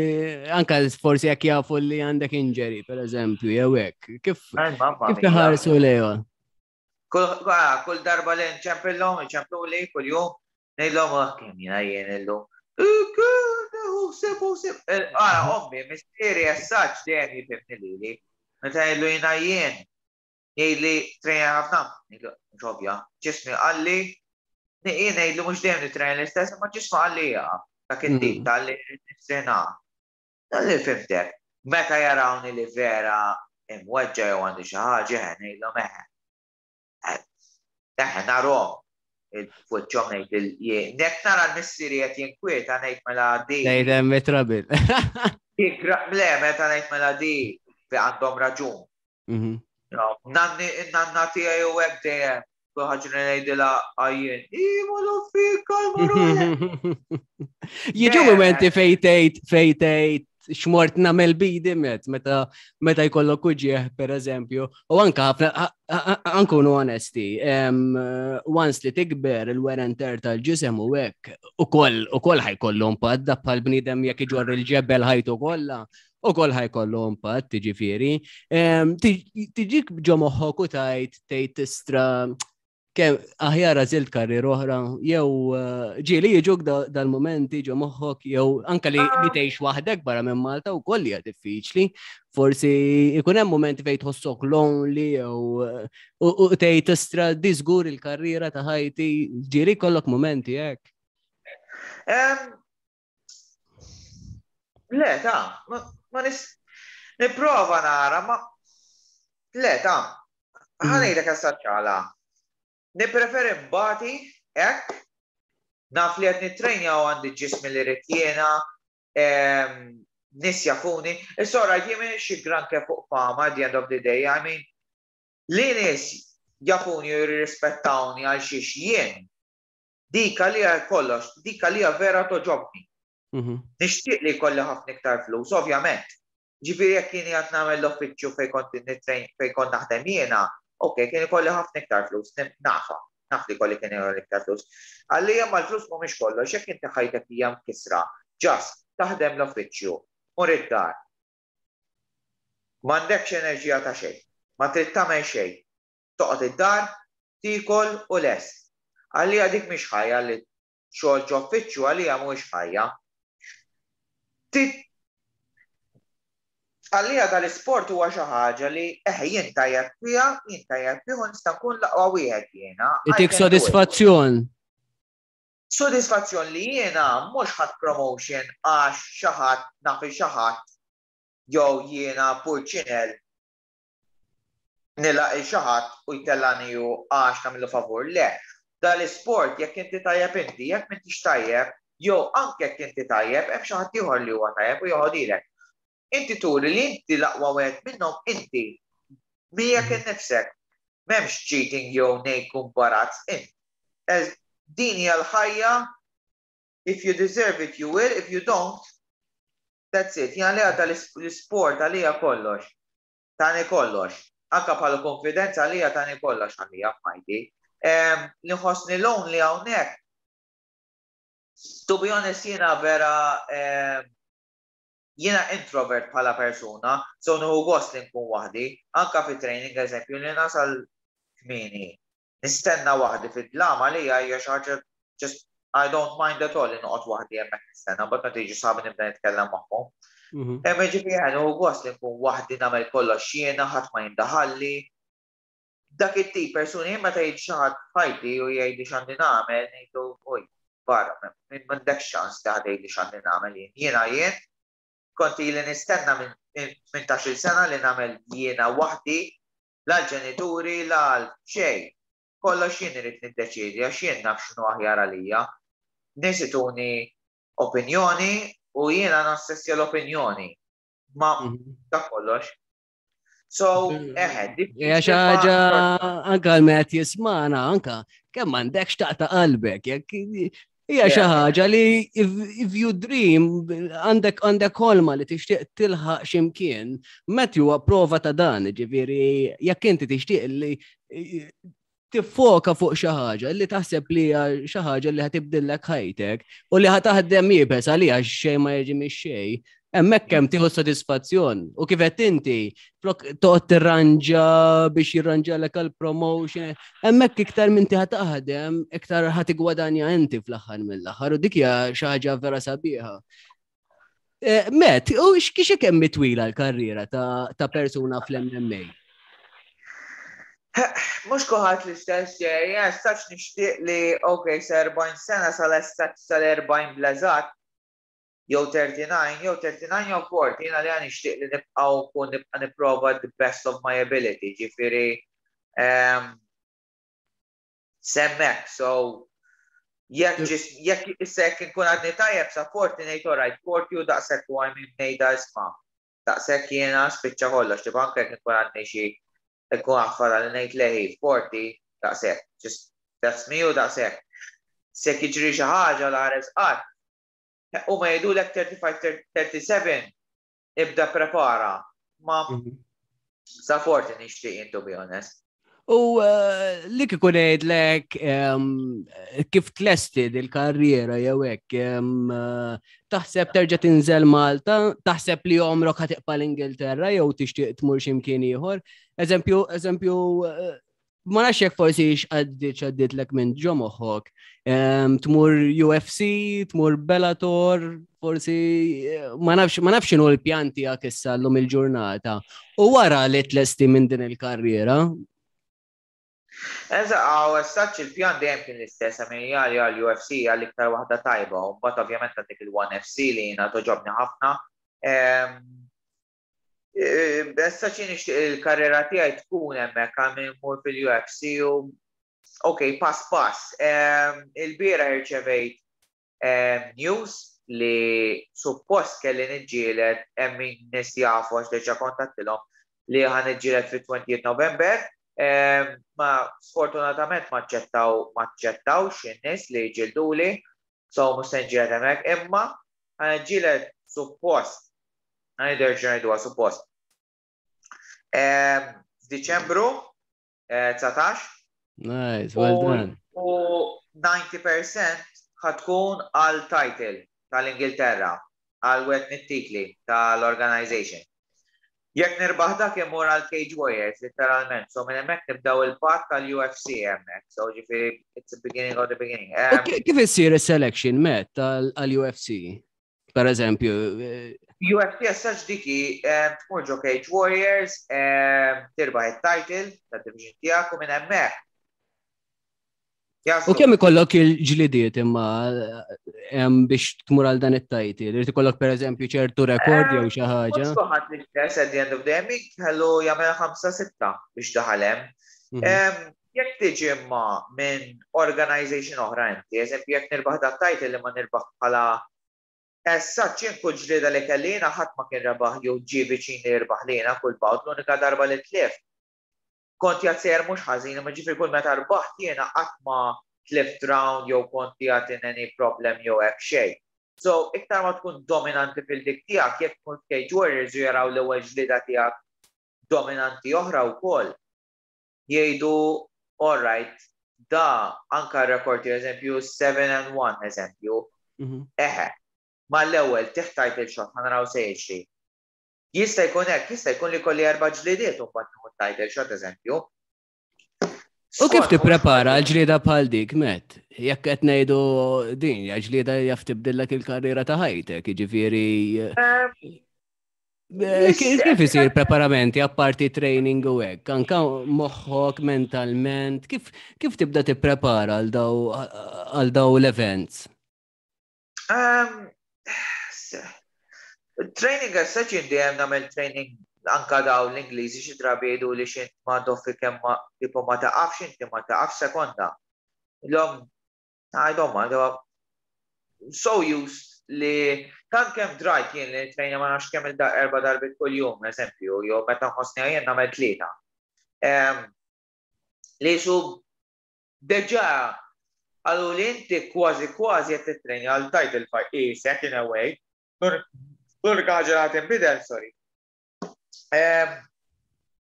anka forsi jekk jafu li għandek injury, per eżempju, jew hekk. Kif kif iħarsu lejha?
Kull ah, kull darba li nċempillhom, iċemplu li kull jum, ngħidlhom ah kemm jiena jien illum. Sib, sib. Ah, ommi, missieri as such dejjem jifhimni lili. Meta ngħidlu jiena jien, jgħidli trejna ħafna, ngħidlu mhux ovvja, ġismi qalli, jien ngħidlu mhux dejjem nitrejna l-istess, ma ġismi qalli jaqa' dak it-tip Mm. tal-li nistrena. Dalli fhimtek. Meta jarawni li vera imweġġa jew għandi xi ħaġa, eħe ngħidlhom eħe. Eħe narhom il-fuċċom ngħid il nek nara l-missieri qed jinkwieta ngħid mela di.
Ngħid hemm trouble.
Le, meta ngħid mela di fi għandhom raġun.
Mhm.
No, Nanni, nanna tiegħi u hekk dejjem kull ħaġa li ngħidilha għajjien. Iva fika l
Jiġu momenti fejn tgħid fejn tgħid x'mort nagħmel bidi met meta meta jkollok uġieħ per eżempju. U anka ħafna ankunu onesti, em, once li tikber il-wear and tear tal-ġisem u hekk ukoll ukoll ħa jkollu impatt da bħal bniedem jekk iġorr il-ġebel ħajtu kollha. Ukoll ħa jkollu impatt, tiġifieri. Em, Tiġik ġo moħħok u tgħid tgħid tistra kemm aħjar għażilt karriera oħra, jew eh, ġieli jiġuk da- dal-momenti ġo moħħok, jew anka li li tgħix waħdek barra minn Malta wkoll hija diffiċli. Forsi ikun hemm momenti fejn tħossok lonely jew eh, u u tgħid tistra di żgur il-karriera ta' ħajti, ġieli kollok momenti hekk.
Em, Le, ta' ma ma nis nipprova nara, ma le, ta' ħa ngħidlek ċala. Nippreferi mbati hekk, naf li qed nittrejnja u għandi ġismi li rrid jiena, em, nies jafuni. Issa ora jien xi granke fuq fama at the end of the day, I mean, li nies jafuni u jirrispettawni għal xiex jien, dik għalija kollox, dik għalija vera togħġobni.
Mhm.
Nixtieq li jkolli ħafna iktar flus, ovvjament. Ġifieri jekk kien qed nagħmel l-uffiċċju fejn kont nittrejn fejn kont naħdem jiena, ok, kien ikolli ħafna iktar flus, nim- nafa, naf li kolli kien ikolli iktar flus. Għalija ma l-flus mhumiex kollox, jekk inti ħajtek hija mkisra, just taħdem l-uffiċċju, mur id-dar. M'għandekx enerġija ta' xejn, ma trid tagħmel xejn. Toqgħod id-dar, tikol u lest. Għalija dik mhix ħajja li xogħol ġo uffiċċju għalija mhuwiex ħajja. Tit- Għalija dal-isport huwa xi ħaġa li eħe jien tajjeb fiha, jien tajjeb fih u nista' nkun l-aqwa wieħed jiena. I
Itik
can do it.
sodisfazzjon.
Sodisfazzjon li jiena mhux ħadd promotion għax xi ħadd naf xi ħadd jew jiena purċinel nilaq il xi ħadd u jtellani ju għax nagħmlu favur. Le, dal-isport jekk inti tajjeb inti, jekk m'intix tajjeb, jew anke jekk inti tajjeb, hemm xi ħadd ieħor li huwa tajjeb u joħodilek. Inti turi li inti l-aqwa wieħed minnhom inti miegħek innifsek. M'hemmx cheating jew nejk imbarazz int. Ez din hija l-ħajja, if you deserve it you will, if you don't, That's it. Jien li għadda l-sport għalija kollox. Tani kollox. Anka bħala konfidenza għalija tani kollox għalija f'ħajti. Li nħossni lonely hawnhekk. To be honest, jiena vera jiena introvert bħala persuna, so nieħu gost li nkun waħdi, anka fi training, eżempju, li nasal kmieni. Nistenna waħdi fid-dlam għalija hija xi ħaġa just I don't mind at all li noqgħod waħdi hemmhekk nistenna, but meta jiġu sħabi nibda nitkellem magħhom. Mhm. Hemm ġifieri nieħu gost li nkun waħdi, nagħmel kollox jiena, ħadd ma jindaħalli. Dak it-tip persuni, meta jiġi xi ħadd f'ħajti u jgħidli x'għandi nagħmel, ngħidu oj, barra, minn m'għandekx ċans li ħadd jgħidli x'għandi nagħmel jien. Jiena jien kont ili nistenna minn tmintax-il sena li nagħmel jiena waħdi, la l-ġenituri, la xejn. Kollox jien irid niddeċiedi għax jien naf x'inhu aħjar għalija. Nies ituni opinjoni u jiena nassessja l-opinjoni. Ma mhm. dak kollox. So, eħe,
Hija xi ħaġa anka l-met jismana, anka kemm m'għandekx taqta' qalbek, jekk hija xi ħaġa li if, if you dream, għandek għandek ħolma li tixtieq tilħaq x'imkien, Matthew huwa prova ta' dan, ġifieri jekk inti tixtieq li tiffoka fuq xi ħaġa li taħseb li hija xi ħaġa li ħa tibdillek ħajtek u li ħa taħdem iebes għaliha, xejn ma jiġi mix-xejn. Hemmhekk kemm tieħu sodisfazzjon u kif qed inti flok toqgħod tirranġa biex jirranġalek għal promotion, hemmhekk iktar minn ħa taħdem, iktar ħa tigwadanja inti fl-aħħar mill-aħħar u dik hija xi ħaġa vera sabiħa. Eh, Matt, u x'kiex kemm twila l-karriera ta' ta' persuna fl-M M A?
Mhux kulħadd l-istess, jien stax nixtieq li, ok, sa erbgħin sena, sal-estat sal-erbgħin bl-eżatt, jew tlieta u tletin, jew tlieta u tletin jew erbgħin, jiena li għan nixtieq li nibqa' nkun nibqa' nipprova the best of my ability, ġifieri um, s'hemmhekk, so jekk ġis- jekk issa jekk inkun għadni tajjeb sa erbgħin, ngħid alright, erbgħin u daqshekk u għajmin ngħidha isma'. Daqshekk jiena spiċċa kollox, tipo anke jekk inkun għadni xi ikun għaffara li ngħid leħi erbgħin daqshekk, just that's me u daqshekk. Se jiġri xi ħaġa la ħares qatt. U ma jgħidulek tlieta u tletin, tlieta u sebgħin ibda prepara. Ma sa erbgħin nixtieq jien, to be honest.
U eh, li kieku ngħidlek em, kif tlesti dil-karriera jew hekk, em, eh, taħseb terġa' tinżel Malta, taħseb li għomrok ħa tibqa' l-Ingilterra jew tixtieq tmur x'imkien ieħor? Eżempju, eżempju, eh, ma nafx jekk forsi x'għaddiet x'għaddiet minn ġo moħħok. Em, Tmur U F C, tmur Bellator, forsi eh, ma nafx ma nafx x'inhu l-pjan tiegħek issa llum il-ġurnata. U wara li tlesti minn din il-karriera,
Eżatt, għaw, essaċ il-pjan dejjem kien l-istess, għamin għal għal U F C għal iktar waħda tajba, u mbagħad ovvjament għandek il-ONE F C li jiena togħġobni ħafna. Ehm, eh, Issa ċi nixtieq il-karriera tiegħi tkun hemmhekk għal min mur fil-U F C u ok, pass pass. Ehm, Il-bieraħ irċevejt ehm, news li suppost kelli niġġieled, hemm min nies jafu għax diġà kontattilhom li ħa niġġieled fit-twenty November. Ehm, Ma sfortunatament ma ċċettaw ma ċċettawx in-nies li jġilduli, so mhux se nġieled hemmhekk, imma ħa niġġieled suppost, ħa nerġa' ngħiduha suppost. Ehm, F'Diċembru eh, dsatax
Nice, well
u
done.
u disgħin fil-mija ħa tkun għal title tal-Ingilterra, għal wieħed mit-titli tal-organization. Jekk nirbaħ dak imur għal Cage Warriors, literalment. So minn hemmhekk nibdaw il-path tal-U F C hemmhekk. So ġifieri it's the beginning of the beginning.
U
Um,
ki- Kif issir is-selection, Matt, għal-U F C? Per eżempju, eh,
U F C essaċ diki um, tmur ġo Cage Warriors, um, tirbaħ il-title tad-division tiegħek u minn hemmhekk.
U
Jaslu.
kemm ikollok il-ġlidiet imma em, biex tmur għal dan it-title? Irid ikollok per eżempju ċertu rekord jew xi ħaġa?
Mhux kulħadd l-istess at the end of the day, min kellu jagħmel ħamsa sitta biex daħal hemm.
Mhm.
Em, Jekk tiġi imma minn organization oħra inti, eżempju jekk nirbaħ dat title li ma nirbaħ bħala Essa ċin kull ġlieda li kellina ħadd ma kien rebaħ jew ġie viċin li jirbaħ lina kull bout, l-unika darba li tlift. Kont jgħat mhux ħażin, imma ġifieri kull meta rbaħt jiena qatt ma tlift round jew kont jgħat in any problem jew hekk xejn. So, iktar ma tkun dominanti fil-dik tiegħek, jekk tkun Cage Warriors u jaraw l-ewwel ġlida tiegħek dominanti oħra wkoll, jgħidu, all right, da anka rekord, eżempju, seven and one, eżempju, mhm. eħe, ma l-ewwel tih title shot, ħa naraw se jiġri. Jista' jkun hekk, jista' jkun li kolli erba' ġlidiet u mbagħad title shot, eżempju.
U kif tipprepara l-ġlieda bħal dik, Matt? Jekk qed ngħidu din, ja ġlieda jaf tibdillek il-karriera ta' ħajtek, jiġifieri ehm, eh, kif isir preparamenti apparti training u hekk? Anka moħħok mentalment, kif kif tibda tipprepara għal daw l-events?
Ehm, training as such, dejjem nagħmel training. Anka daw l-Ingliżi xi drabi jgħidu li xint ma doffi kemm ma tipo ma taqafx, inti ma taqafx sekonda. L-om għajdhom ma so used li tant kemm drajt jien li trejna ma nafx kemm il erba' darbit kuljum, eżempju, jew meta nħossni jien nagħmel tlieta. Li su deġa għallu li inti kważi kważi qed titrejna għal title fight isek in a way. L-unika ħaġa li tinbidel, sorry,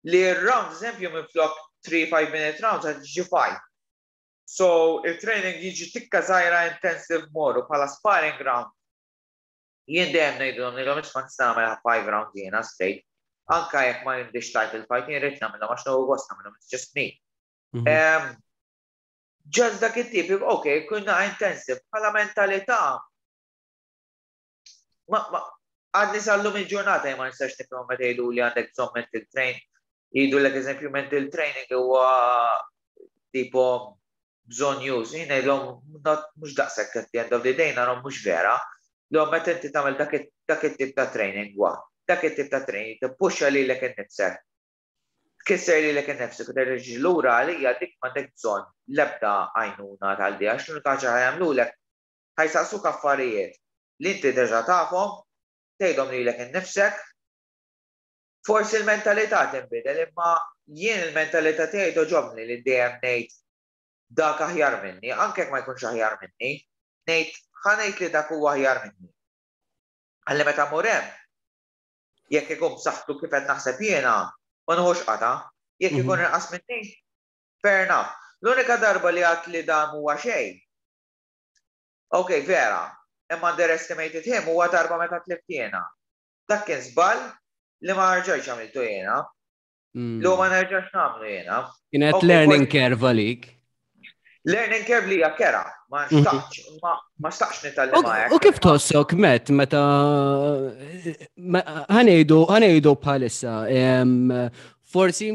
li r-round, eżempju, minn flok three five minute rounds għad ġi five. So, il-training jiġi tikka żgħira intensive more u bħala sparring round. Jien dejjem ngħidulhom ngħidulhom isma', nista' nagħmel five round jiena straight. Anka jekk ma għandix title fight, jien rrid nagħmilhom għax nieħu gost nagħmilhom, it's just me. Mhm. Just dak it-tip, ok, kunna intensive, bħala mentalità. Ma, ma, għadni sal-lum il-ġurnata ma nistax nifhem meta jgħidu li għandek bżonn mental train. Jgħidu l eżempju mental training huwa tipo bżonn use. Jien ngħidlhom mhux daqshekk, at the end of the day narhom mhux vera. L meta inti tagħmel dak it-tip ta' training wa, dak it-tip ta' training tippuxxa lilek innifsek. Tkisser lilek innifsek u terġa' lura, għalija dik m'għandek bżonn l-ebda għajnuna tal-di, għax l-unika ħaġa ħa jagħmlulek, ħa jsaqsuk affarijiet li inti deġa tafhom, tgħidhom lilek innifsek. Forsi l-mentalità tinbidel, imma jien il-mentalità tiegħi togħġobni li dejjem ngħid dak aħjar minni, anke jekk ma jkunx aħjar minni, ngħid ħa ngħid li dak huwa aħjar minni. Għalli meta mur hemm, jekk ikun b'saħħtu kif qed naħseb jiena, ma nieħux qata, jekk ikun mhm. inqas minni, fair enough. L-unika darba li għat li dan huwa xejn. Ok, vera, imma underestimated him, huwa darba meta tlift jiena. Dak kien żball li ma rġajtx għamiltu jiena. Mm. Li ma nerġax nagħmlu jiena.
Kienet learning curve għalik.
Learning curve li hija kera, ma mhm. xtaqx, ma xtaqx nitgħallem.
U kif tħossok, Matt, meta ħa ngħidu ħa ngħidu bħalissa, forsi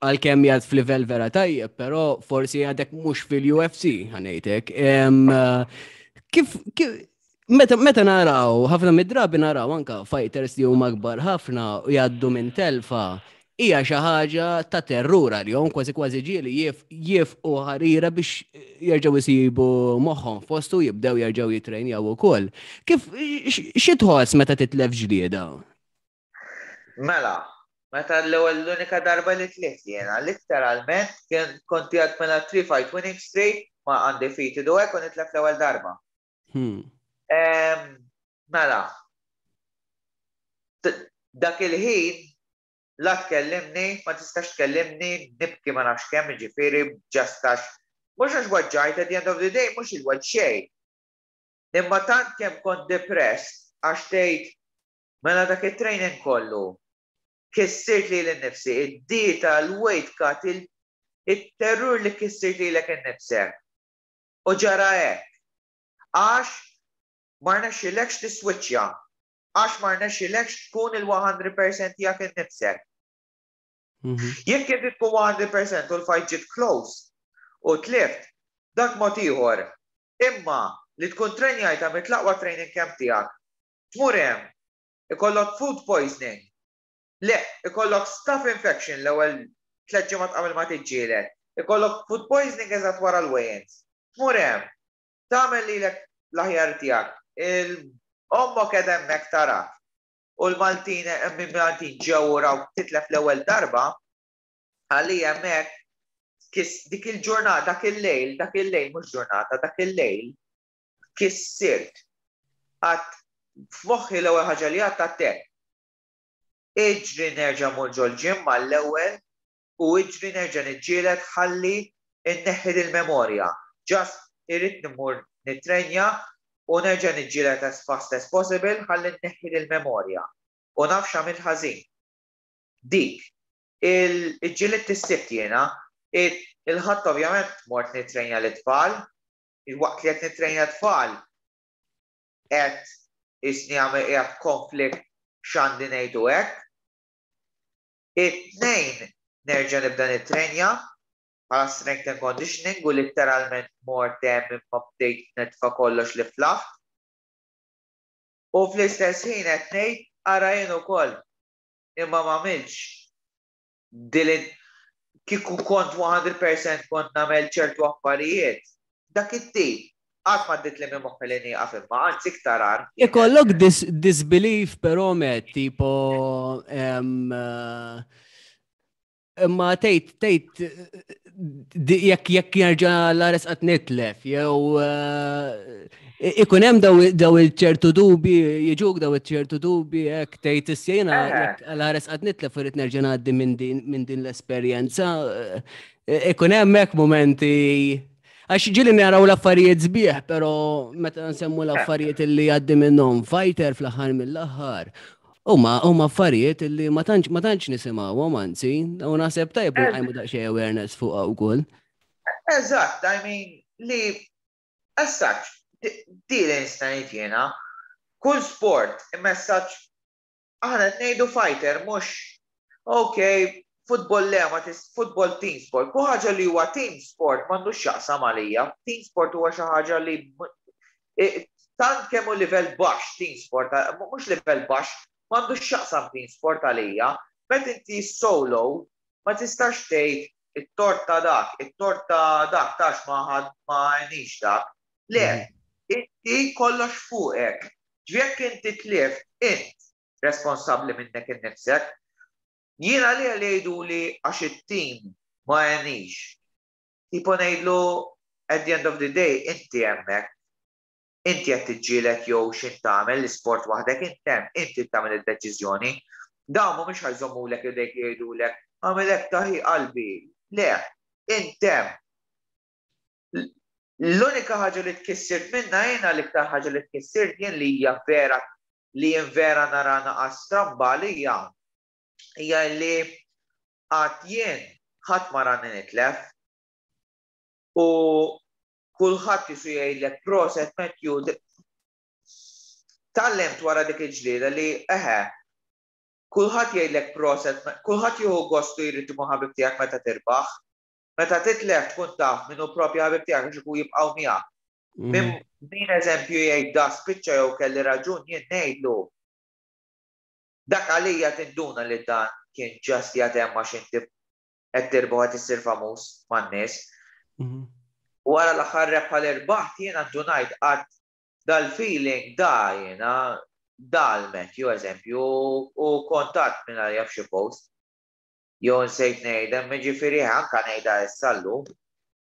għalkemm jgħad f'livell vera tajjeb, però forsi għadek mhux fil-U F C, ħa ngħidlek. Kif, kif Meta, meta naraw, ħafna mid-drabi naraw anka fighters li huma kbar ħafna u jgħaddu minn telfa, hija xi ħaġa ta' terrur għalihom, kważi kważi ġieli jifqu ħarira biex jerġgħu jsibu moħħhom fostu, jibdew jerġgħu jitrejnjaw ukoll. Kif xi tħoss meta titlef ġlieda?
Mela, meta l-ewwel l-unika darba li tlift jiena, literalment kien konti għad mela three fight winning streak ma undefeated u hekk u nitlef l-ewwel darba. Hmm. Mela, dak il-ħin la tkellimni, ma tistax tkellimni, nibki ma nafx kemm, ġifieri, just għax mhux għax weġġajt, at the end of the day, mhux il-weġġ xejn. Imma tant kemm kont depressed għax tgħid mela dak it-training kollu kissirt lili nnifsi, id-dieta, l-weight cut, il-terror li kissirt lilek innifsek. U ġara hekk. Għax ma rnexxilekx tiswiċċja. Għax ma rnexxilekx tkun il-mija fil-mija tiegħek innifsek. Mhm. Jekk inti tkun mija fil-mija u l-fight ġiet close u tlift, dak mod ieħor. Imma li tkun trenjajta mit-l-aqwa training camp tiegħek, tmur hemm, ikollok food poisoning, le, ikollok staph infection l-ewwel tliet ġimgħat qabel ma tiġġieled, ikollok food poisoning eżatt wara l-weigh-ins. Tmur hemm, tagħmel lilek l-aħjar tiegħek. Il-ommok qed hemmhekk tarak. U l-Maltin, minn Maltin ġew raw titlef l-ewwel darba, għalli hemmhekk kis dik il-ġurnata, dak il-lejl, dak il-lejl, mhux ġurnata, dak il-lejl, kissirt. Għedt f'moħħi l-ewwel ħaġa li għedt għedtek. Iġri nerġa' mur ġol-gym mal-ewwel u iġri nerġa' niġġieled ħalli inneħħi il-memorja. Just irrid nimur nitrenja u nerġa' niġġieled as fast as possible ħalli nneħħi il-memorja. U naf x'għamilt ħażin. Dik, il-ġilidt is-Sibt jiena, il-Ħadd ovvjament mort nitrenja l-tfal, il-waqt li qed nitrenja tfal, qed isni għamil qiegħed konflikt x'għandi ngħidu hekk. It-Tnejn nerġa' nibda nitrenja bħala strength and conditioning u literalment mort hemm imma bdejt nitfa' kollox li flaħt. U fl-istess ħin qed ngħid ara jien ukoll imma m'għamilx dilin kieku kont mija fil-mija kont nagħmel ċertu affarijiet. Dak it-tip qatt ma għaddiet li minn moħħi li nieqaf imma anzi iktar agħar.
Ikollok dis disbelief però met, tipo, em, eh, imma tgħid tgħid di- jekk jekk jerġa' l-ares qatt nitlef, jew eh, ikun hemm daw daw il-ċertu dubi, jiġuk daw il-ċertu dubi, hekk tgħid issejna
Eh.
jekk l-ares qatt nitlef irid nerġa' ngħaddi minn din minn din l-esperjenza, eh, ikun hemm hekk momenti. Għax ġieli naraw l-affarijiet sbieħ, pero meta nsemmu l-affarijiet li għaddi minnhom fighter fl-aħħar mill-aħħar. Huma huma affarijiet li ma tantx ma tantx nisimgħuhom anzi, u naħseb tajjeb li nqajmu daqsxejn awareness fuqha wkoll.
Eżatt, I mean, li as such, di li nista' ngħid jiena, kull sport, il-messaġġ aħna qed ngħidu fighter mhux ok, football le, ma tis football team sport. Kull ħaġa li huwa team sport m'għandux x'jaqsam għalija. Team sport huwa xi ħaġa li eh, tant kemm hu livell baxx team sport, mhux livell baxx, m'għandux x'jaqsam team sport għalija. Meta inti solo, ma tistax tgħid it-tort ta' dak, it-tort ta' dak tax ma ħad ma għenix dak. Le, inti kollox fuqek. Ġvijek inti tlift, int responsabbli minnek innifsek. Jiena li għalli jgħidu li għax it-team ma għenix. Tipo ngħidlu at the end of the day, inti hemmhekk. Inti qed tiġġieled jew x'int tagħmel l-isport waħdek int hemm, inti tagħmel id-deċiżjoni. Dawn mhumiex ħa jżommulek idejk jgħidulek għamilek taħi qalbi. Le, int hemm. L-unika ħaġa li tkissert minna jiena, l-iktar ħaġa li tkissert jien li hija vera li jien vera nara naqas stramba li hija hija li għad jien ħadd ma rani nitlef u kulħadd jisu jgħidlek proset Matthew. Tgħallimt wara dik il-ġlieda li eħe kulħadd jgħidlek proset, kulħadd jieħu gostu jrid ikun ħabib tiegħek meta tirbaħ. Meta titlef tkun taf min hu propju ħabib tiegħek għax ikun jibqgħu miegħek. Min min eżempju jgħid da spiċċa jew kelli raġun jien ngħidlu. Dak għalija tinduna li dan kien just jagħtem għax inti qed tirbaħ qed issir famuż man-nies. Wara l-aħħar rebħa li rbaħt jiena ndunajt għad dal-feeling da jiena dal-Matthew eżempju u kontat minn għalija f'xi post. Jew nsejt ngħidha, jiġifieri anka ngħidha issa llum.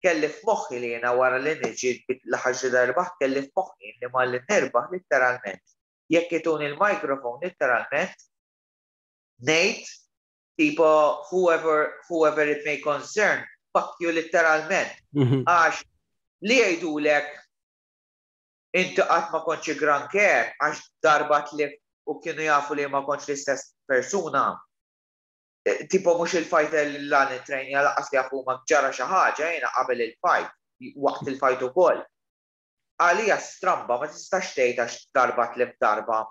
Kelli f'moħħi li jiena wara li niġi l-aħħar xi darbaħ kelli f'moħħi li ma li nirbaħ literalment. Jekk ituni il-mikrofon literalment ngħid tipo whoever whoever it may concern, fuck you literalment. Għax li jgħidulek inti qatt ma kontx granché għax darba tlift u kienu jafu li ma kontx l-istess persuna. Eh, Tipo mhux il-fighter li lan it-trainja lanqas li jafu ma ġara xi ħaġa jiena qabel il-fight, waqt il-fight ukoll. Għalija stramba ma tistax tgħid għax darba tlift darba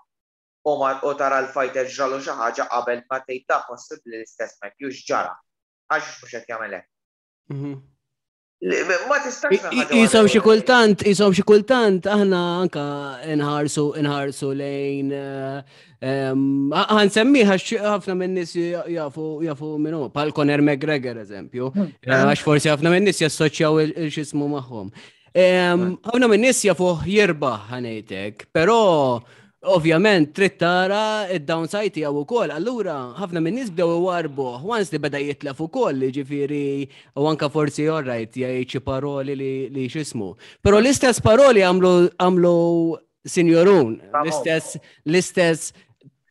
u ma u tara l-fighter ġralu xi ħaġa qabel ma tgħid ta' possibbli l-istess Matthew x'ġara. Għax mhux qed jagħmel hekk. Li- Ma tistax
Jisom xi kultant, jisom xi kultant aħna anka nħarsu nħarsu lejn ħa nsemmiha ħafna minn nies jafu jafu minnu, bħal Conor McGregor eżempju, għax forsi ħafna minn nies jassoċjaw il-xismu magħhom. Ħafna minn nies jafu jirbaħ ħa ngħidlek, però ovvjament trid tara id-downside tiegħu wkoll. Allura ħafna minn nies bdew iwarbuh once li beda jitlef ukoll, ġifieri u anka forsi alright jgħid xi paroli li li x'ismu. Però l-istess paroli għamlu għamlu Sinjorun, l-istess l-istess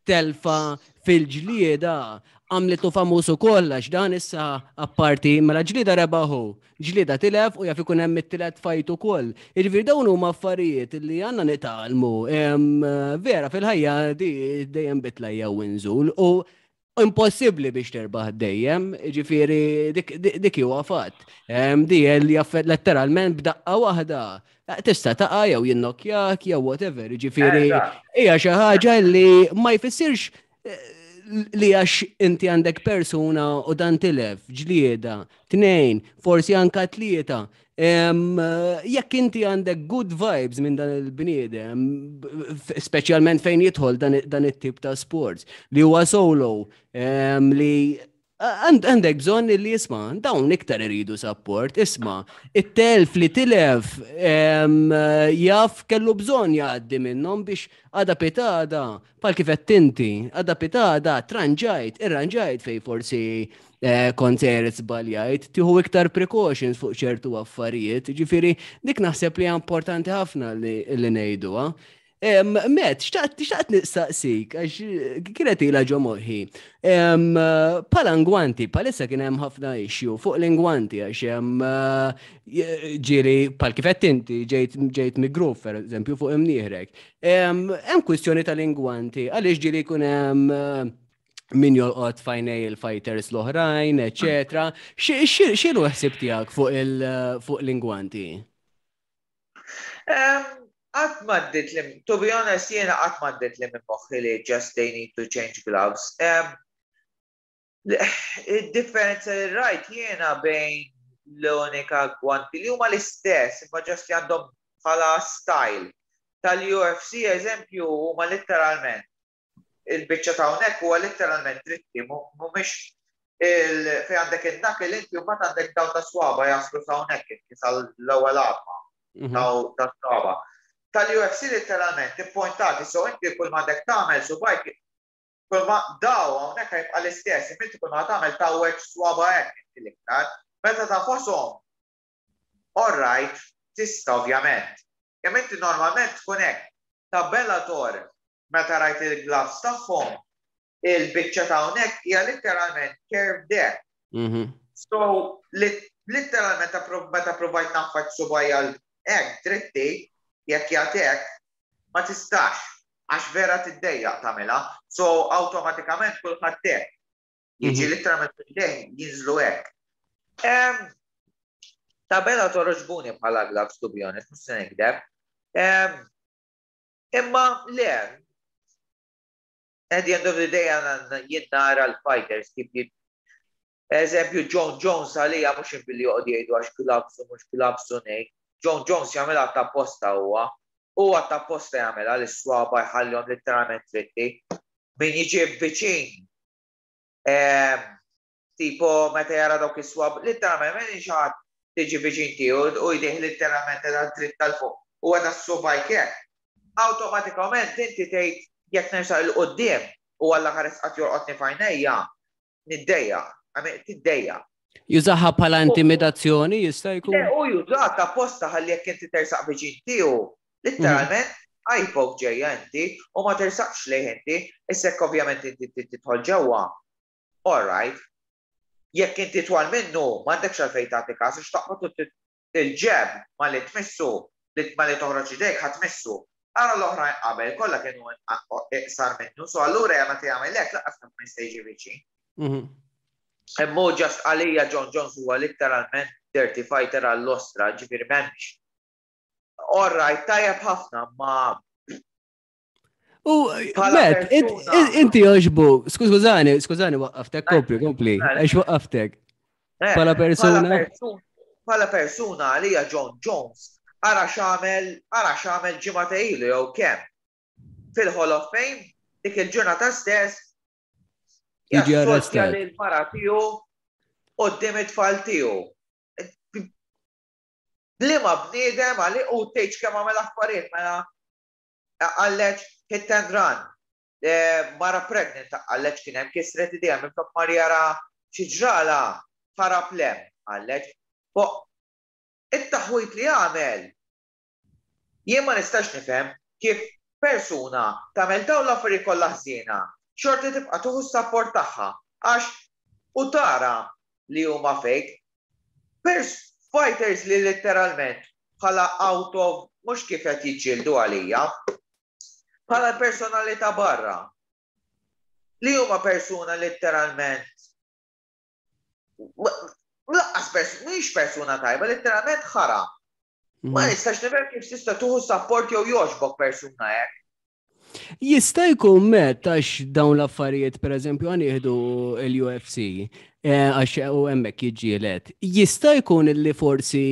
telfa fil-ġlieda għamlitu famuż ukoll, għax dan issa apparti mela ġlieda rebaħu, ġlieda tilef u jaf ikun hemm it-tielet fight ukoll. Jiġifieri dawn huma affarijiet li għandna nitgħallmu. Vera, fil-ħajja di dejjem bitlajja u nżul u impossibbli biex terbaħ dejjem, ġifieri dik huwa fatt. Di li letteralment b'daqqa waħda tista' taqa' jew jinnokjak jew whatever, ġifieri hija xi ħaġa li ma jfissirx eh, li għax inti għandek persuna u dan tilef, ġlieda, tnejn, forsi anka tlieta. Jekk inti għandek good vibes minn dan il-bniedem, speċjalment fejn jidħol dan it-tip ta' sports, li huwa solo, li għandek bżonn li jisma, dawn iktar iridu support, isma, it-telf li tilef jaf kellu bżonn jgħaddi minnhom biex għada pitgħada, bħal kif inti, għada pitgħada, tranġajt, irranġajt fej forsi eh, kont żbaljajt, tieħu iktar precautions fuq ċertu affarijiet, ġifieri dik naħseb li importanti ħafna li ngħiduha. Met, xtaqt xtaqt nistaqsik, għax kienet ila ġo moħħi. Bħala ngwanti, bħalissa kien hemm ħafna issue fuq l-ingwanti, għax hemm ġieli, bħal kif inti ġejt ġejt migruf, per eżempju, fuq imnieħrek. Hemm kwistjoni tal-ingwanti, għaliex ġieli jkun hemm min jolqot f'għajnejn il-fighters l-oħrajn, eccetera. X'inhu ħsib tiegħek fuq l-ingwanti?
Qatt m'għaddiet li, to be honest, jiena qatt m'għaddiet li minn moħħi li just they need to change gloves. Il-differenza li rajt jiena bejn l-unika gwanti li huma l-istess, imma just li għandhom bħala style. Tal-U F C, eżempju, huma letteralment il-biċċa ta' hawnhekk huwa letteralment dritti, mhumiex il fej għandek il-knuckle inti u mbagħad għandek daw ta' swaba jaslu sa hawnhekk inti sal-ewwel għadma mhm. ta' swaba. Tal-U F C letteralment ippointati, so inti kull ma għandek tagħmel subgħajk, kull ma daw hawnhekk jibqa' l-istess, inti kull ma tagħmel tawweġ swaba hekk inti l-iktar. Meta ta' fosom, all right, tista' ovvjament. Kemm inti normalment tkun hekk. Ta' Bellator, meta rajt il-gloves tagħhom, il-biċċa ta' hawnhekk hija letteralment curved there. Mhm. So, letteralment meta provajt nagħfas subgħajja hekk dritti, jekk jagħtek, ma tistax, għax vera tiddejjaq tagħmilha. So, awtomatikament kulħadd hekk. Jiġi mhm. letteralment fil jinżlu hekk. Ta' Bellator għoġbuni bħala gloves, to be honest, mhux se nikdeb. Imma le, at the end of the day jien nara l-fighters kif jid Eżempju, Jon Jones għalija mhux billi joqgħod jgħidu għax gloves u mhux gloves u ngħid. Jon Jones jagħmilha ta' posta huwa. Huwa ta' posta jagħmilha l-swaba jħallihom letteralment dritti. Min jiġi viċin, tipo meta jara dawk is-swab, letteralment min xi ħadd tiġi viċin tiegħu u jdejh letteralment ta' dritt tal-fuq u għada s-subgħajk hekk. Awtomatikament inti tgħid jekk nersaq 'il quddiem u għalla ħares qatt jolqotni f'għajnejja, niddejjaq, tiddejjaq.
Jużaha bħala intimidazzjoni jista' jkun?
U jużaha ta' posta ħalli jekk inti tersaq viċin tiegħu, letteralment eye ġejja inti u ma tersaqx lejh inti, issa ovvjament inti tidħol ġewwa. All right. Jekk inti twal minnu, m'għandekx għalfejn tagħti każ, għax taqbad il-jab ma li tmissu, li ma li toħroġ idejk ħadd tmissu. Ara l-oħrajn qabel kollha kienu iqsar minnu, so allura meta jagħmel hekk lanqas ma jista' jiġi viċin. Mhm. Imma just għalija Jon Jones huwa letteralment dirty fighter għall-ostra, ġifieri m'hemmx. All right, tajjeb ħafna, ma
U, Met, inti joġbu, skużani, skużani, waqqaftek, kompli, kompli, għax waqqaftek.
Eh, bħala persuna? Bħala persuna għalija Jon Jones, ara x'għamel, ara x'għamel ġimgħa ilu jew kemm. Fil-Hall of Fame, dik il-ġurnata stess,
jiġi arrestat.
Il-mara tiegħu quddiem it-tfal tiegħu. Liema bniedem għali u tgħidx kemm għamel affarijiet mela għalleġ hit and run. Mara pregnant għalleġ kien hemm kisret idea minn flok mar jara xi ġrala ħarab lem għalleġ. It-taħwit li għamel jien ma nistax nifhem. Kif persuna tagħmel dawn l-affarijiet kollha ħżiena, xorti tibqa' tieħu s-support tagħha għax u tara li huma fake. Pers fighters li letteralment bħala out of, mhux kif qed jiġġieldu għalija, bħala personalità barra. Li huma persuna letteralment lanqas mhix persuna tajba, letteralment ħara. Ma mhm. nistax nifhem kif tista' tieħu support jew jogħġbok persuna hekk.
Jista' jkun met għax dawn l-affarijiet, per eżempju, għan jieħdu l-U F C, eh, għax u hemmhekk jiġġieled. Jista' jkun li forsi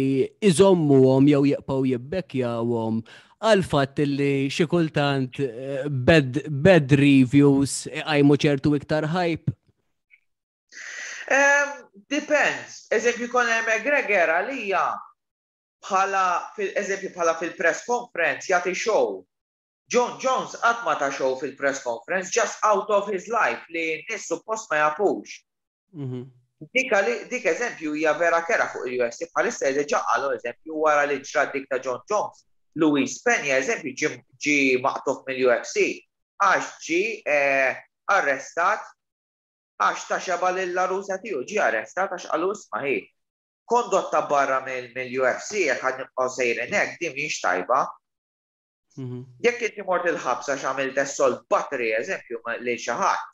iżommuhom jew jibqgħu jibbekkjawhom għal fatt li xi kultant eh, bad, bad reviews għajmu ċertu iktar hype?
Um, depends. Eżempju, Conor McGregor għalija bħala, eżempju, bħala fil-press conference jagħti show. Jon Jones qatt ma ta show fil-press conference, just out of his life li n-nies suppost ma jafux. Mhm. Dik, dik eżempju hija vera kera fuq il-U F C bħalissa, diġà qalu, eżempju, wara li ġrat dik ta' Jon Jones. Luis Peña, eżempju, ġi maqtugħ mill-U F C għax ġi eh, arrestat għax ta xebgħa lill-għarusa tiegħu, ġi arrestat għax qalu, "Isma' ħi, kondotta barra mill-U F C jekk ħa nibqgħu sejrin hekk, din mhix tajba." Mhm. Jekk inti mort il-ħabs għax għamilt assault battery, eżempju, lil xi ħadd,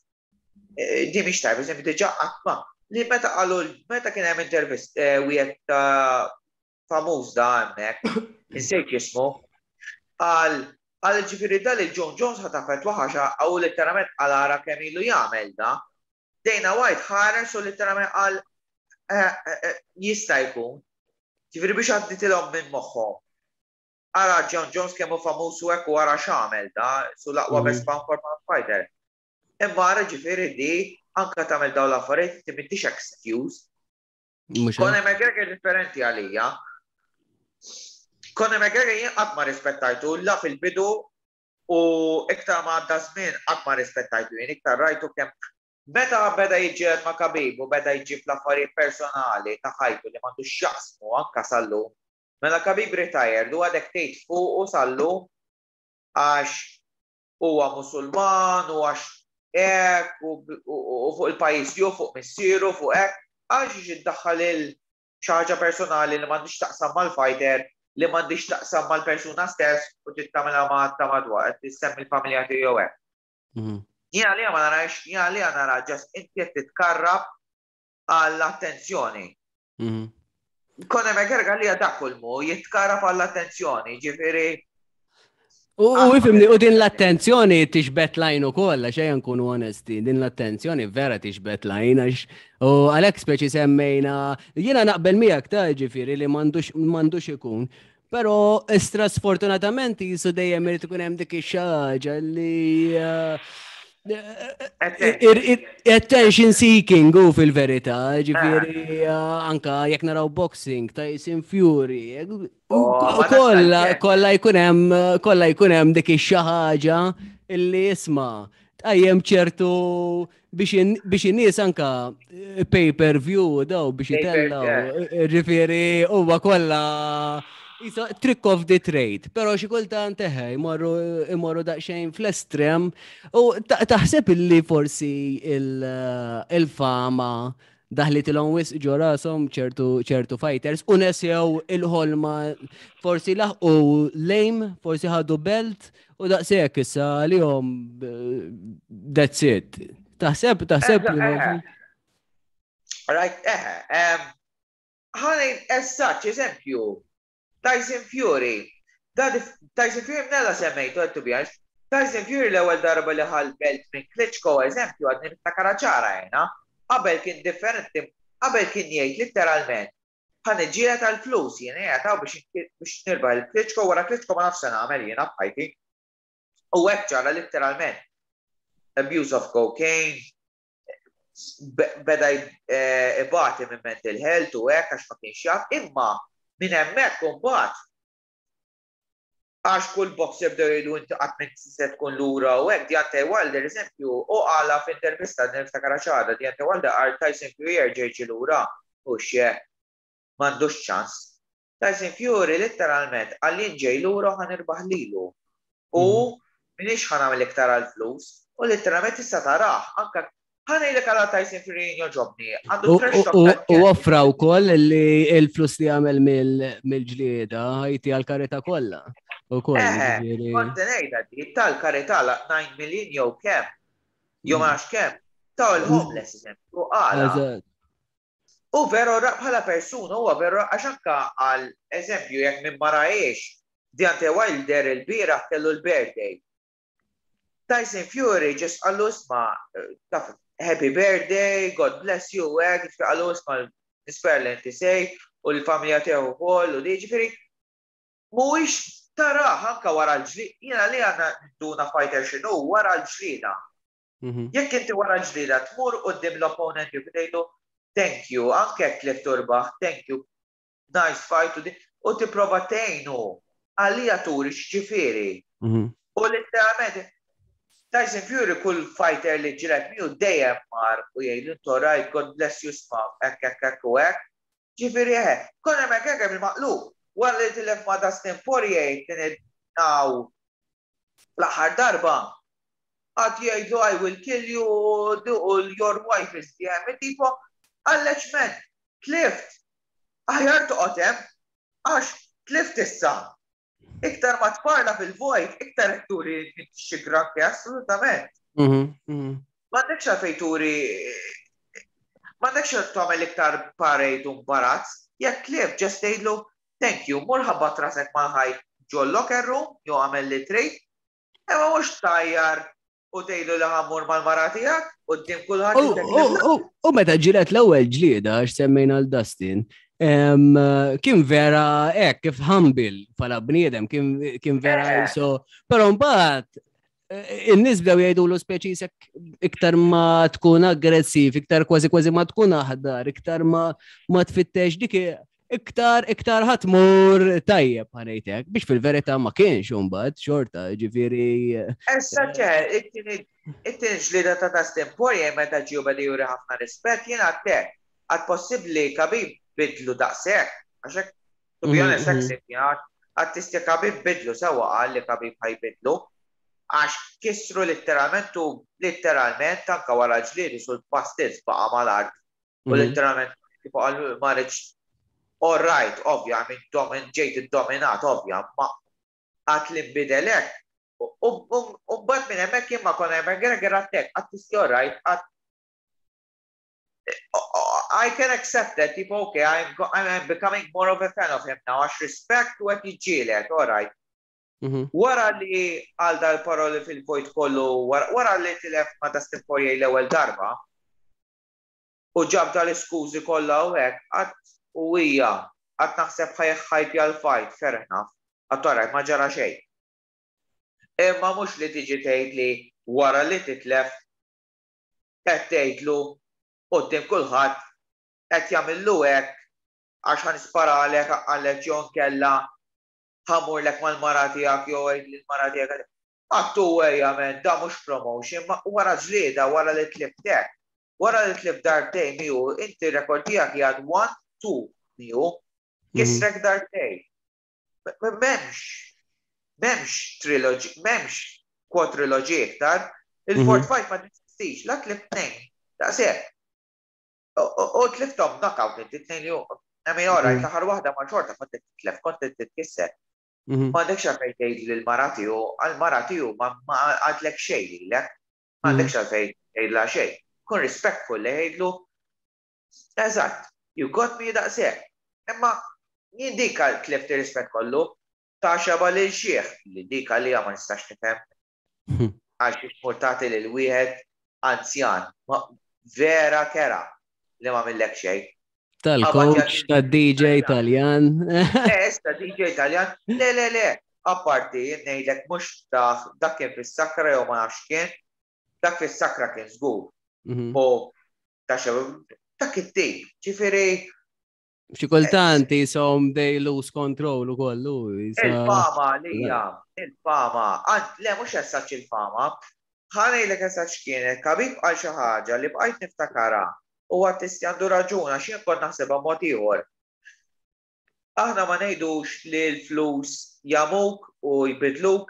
eh, din mhix tajba, eżempju, diġà qatt ma li meta qalu, meta kien hemm intervist eh, wieħed ta' famuż da hemmhekk, insejt jismu, qal qal ġifieri dal il-Jon Jones ħa taffettwa ħaxa għaw letteralment għal ara kemm ilu jagħmel da. Dana White ħares u letteralment qal eh, jista' jkun. Ġifieri biex għadditilhom minn moħħhom. Ara Jon Jones kemm hu famuż u hekk u ara x'għamel da, su l-aqwa mhm. best pound for pound fighter. Imma ara ġifieri di anka tagħmel dawn l-affarijiet inti m'intix excuse. Conor McGregor differenti għalija. Conor McGregor jien qatt ma rispettajtu la fil-bidu u iktar ma għadda żmien qatt ma rispettajtu jien, iktar rajtu kemm meta beda jiġġieled ma' Khabib u beda jġib l-affarijiet personali ta' ħajtu li m'għandu x'jaqsmu anka sal-lum. Mela Khabib retired u għadek tgħid fuq u sal-lum għax huwa Musulman u għax hekk u fuq il-pajjiż jew fuq missieru, fuq hekk, għax iddaħħal il xi ħaġa personali li m'għandix taqsam mal-fighter, li m'għandix taqsam mal-persuna stess u trid tagħmilha ma' ta' madwar, qed tissemmi l-familja tiegħu hekk. Mhm. Jien għalija ma narax, jien għalija nara just inti qed titkarrab għall-attenzjoni. Mhm. Conor McGregor għalija dak kulmu jitkarrab għall-attenzjoni, ġifieri.
U ifhimni, u din l-attenzjoni tiġbed l-għajn ukoll, għax ejja nkunu onesti, din l-attenzjoni vera tiġbed l-għajn, għax u għalek speċi semmejna, jiena naqbel miegħek ta' ġifieri li m'għandux ikun, pero istra sfortunatament jisu dejjem irid ikun hemm dik ix-xaġa li eh, attention seeking u fil-verità, ġifieri eh, anka jekk naraw boxing, Tyson Fury, oh, kolla kolla jkun hemm kolla jkun hemm dik ix-xi ħaġa illi isma' tqajjem ċertu biex in-nies anka eh, pay per view daw biex jitellaw, ġifieri huwa kollha trick of the trade, pero xi kultant eħe, imorru imorru daqsxejn fl-estrem u taħseb illi forsi il-fama daħlitilhom wisq ġo rashom ċertu ċertu fighters u nesew il-ħolma, forsi laħqu lejm, forsi ħadu belt u daqshekk issa għalihom that's it. Taħseb, taħseb.
Right, eħe. Ħa ngħid as such, eżempju, Tyson Fury. Tyson Fury mnella semmejtu għed, to be honest. Tyson Fury l-ewwel darba li ħa l-belt minn Klitschko, eżempju, għadni niftakar ċara jena. Qabel kien differenti, qabel kien jgħid literalment, "Ħa niġġieled tal-flus jiena jgħataw biex nirbaħ il-Klitschko, wara Klitschko ma nafx nagħmel jiena b'ħajti." U hekk ġara literalment. Abuse of cocaine, beda eh, ibati minn mental health u hekk għax ma kienx jaf, imma minn hemmhekk imbagħad għax kull boxer bdew jgħidu, "Inti qatt minn se tkun lura" u hekk. Deontay Wilder, eżempju, u qala f'intervista, niftakar ċara, Deontay Wilder qal Tyson Fury jerġa' jiġi lura u xie m'għandux ċans. Tyson Fury letteralment qal, "Ġej lura, ħa nirbaħ lilu." U m'iniex ħa nagħmel iktar għal-flus. U literalment tista' tarah, anka ħa ngħidlek għala Tyson Fury jogħġobni. Għandu trash talk
U
tal-ġenn.
Offra wkoll li il-flus li għamel mill-ġlieda ħa jti għal-karità kollha. Ukoll,
Eħe,
jiġifieri-
kont ngħidha di tal-karità la nine million jew kemm, jew ma nafx kemm, taw il-homeless, eżempju, għala.
Eżatt.
U veru ra- bħala persuna huwa veru, għax anka għal eżempju jekk minn ma rajiex, Deontay Wilder il-bieraħ kellu l-birthday. Tyson Fury just qallu, "Isma', taf, happy birthday, God bless you," hekk, ġifieri qallu, "Isma', nispera li inti sej u l-familja tiegħu wkoll," u di ġifieri mhuwiex tarah anka wara l-ġlieda, jiena li għandna duna fighter x'inhu wara l-ġlieda.
Mhm.
Jekk inti wara l-ġlieda tmur quddiem l-opponent u tgħidlu "Thank you," anke jekk tlift turbaħ, "Thank you, nice fight," u di- u tipprova tgħinu għalija turi x'ġifieri.
Mhm.
U literalment Tyson Fury kull fighter li ġieled miegħu dejjem mar u jgħidu, "All right, God bless you, isma', hekk, hekk, hekk u hekk." Ġifieri eħe, Conor McGregor bil-maqlub, wara li tilef ma' Dustin Poirier kien naw l-aħħar darba, għad jgħidu, "I will kill you," u "Your wife is the enemy," tipo, għalleċ men, tlift, aħjar toqgħod hemm, għax tlift issa. Iktar ma tparla fil-vojt, iktar turi xi granki, assolutament.
Mhm. Mhm.
M'għandekx għalfejn turi, m'għandekx tagħmel iktar parade u imbarazz, jekk tlift, just tgħidlu, "Thank you," mur ħabbat rasek mal-ħajt ġol locker room, jew għamel li trid, imma mhux tajjar u tgħidlu li ħa mmur mal-mara tiegħek quddiem kulħadd.
U- u- u- U meta ġilet l-ewwel ġlieda, għax semmejna l-Dustin, em, kien vera hekk kif humble bħala bniedem, kien kien vera
Eh.
so, però mbagħad eh, in-nies bdew jgħidulu speċi sek iktar ma tkun aggressiv, iktar kważi kważi ma tkun aħdar, iktar ma ma tfittex dik, iktar iktar ħa tmur tajjeb, ħa ngħidlek, biex fil-verità ma kienx imbagħad xorta, ġifieri.
Issa ċe, it-tieni it-tieni ġlieda ta' Dustin Poirier meta ġew beda juri ħafna rispett, jiena għattek, għad possibbli Khabib bidlu daqshekk, għax hekk, to be
Mhm,
honest, hekk
mhm.
sibt jien, għad Khabib bidlu sewwa, qal li Khabib ħa jbidlu, għax kisru literalment u literalment anka wara ġliedi sul pastizz baqa' mal-art u
Mhm.
literalment tipo qal ma rridx. All right, ovvja, minn domin ġejt id-dominat, ovvja, ma għat li nbidelek. U mbagħad minn hemmhekk jien ma Conor McGregor għattek, għat tisti all right, għat I can accept that, tipo, okay, I'm, go- I'm becoming more of a fan of him now, għax respect u għet jiġġieled, all right.
Mhm.
Wara li għal dal-paroli fil-vojt kollu, wara wara li tilef ma' Dustin Poirier l-ewwel darba, u ġab dal-iskużi kollha u hekk, għat u hija, għat naħseb ħajħajpja l-fight, fair enough, għat alright, ma ġara xejn. Imma mhux li tiġi tgħid li wara li titlef qed tgħidlu quddiem kulħadd qed jagħmillu hekk għax ħa nisparalek għalek jew kella ħa mmurlek mal-mara tiegħek jew għid lill-mara tiegħek. Għattu ejja men, da mhux promotion, ma wara ġlieda, wara li tliftek. Wara li tlift darbtejn miegħu, inti rekord tiegħek jgħad one two miegħu, kisrek darbtejn. M'hemmx, m'hemmx trilogy, m'hemmx quadrilogy iktar, il-fourth fight ma tistix, la tlift tnejn, daqshekk. U tliftom knockout inti tnejn li I mean, all right,
Mhm.
l-aħħar waħda ma xorta kont titlef, kont titkisser.
Mhm.
Ma għandekx għalfejn tgħid lill-mara tiegħu, għall-mara tiegħu ma ma għadlek xejn lilek. Ma għandekx għalfejn tgħidla xejn. Kun respectful li jgħidlu, "Eżatt, you got me," daqshekk. Imma jien dik tlift ir-rispett kollu ta' xaba lil xieħ li dik għalija ma nistax nifhem għax xmurtati lil wieħed anzjan. Ma vera kera li ma millek xejn.
Tal-coach, tad-D J Taljan.
Eh, issa D J Taljan, le, le, le, apparti, ngħidlek mhux ta' dak kien fis-sakra jew ma nafx kien, dak fis-sakra kien żgur.
Mhm.
U ta' xew, dak it-tip, ġifieri
Xi kultant jisom they lose control u kollu. jisa-
Il-fama li hija, il-fama, għand, le mhux essaċ il-fama, ħa ngħidlek essaċ kienet, Khabib għal xi ħaġa li bqajt niftakara u għattisti għandu raġun għax jien kont naħsebha mod ieħor. Aħna ma ngħidux li l-flus jamuk u jbidluk,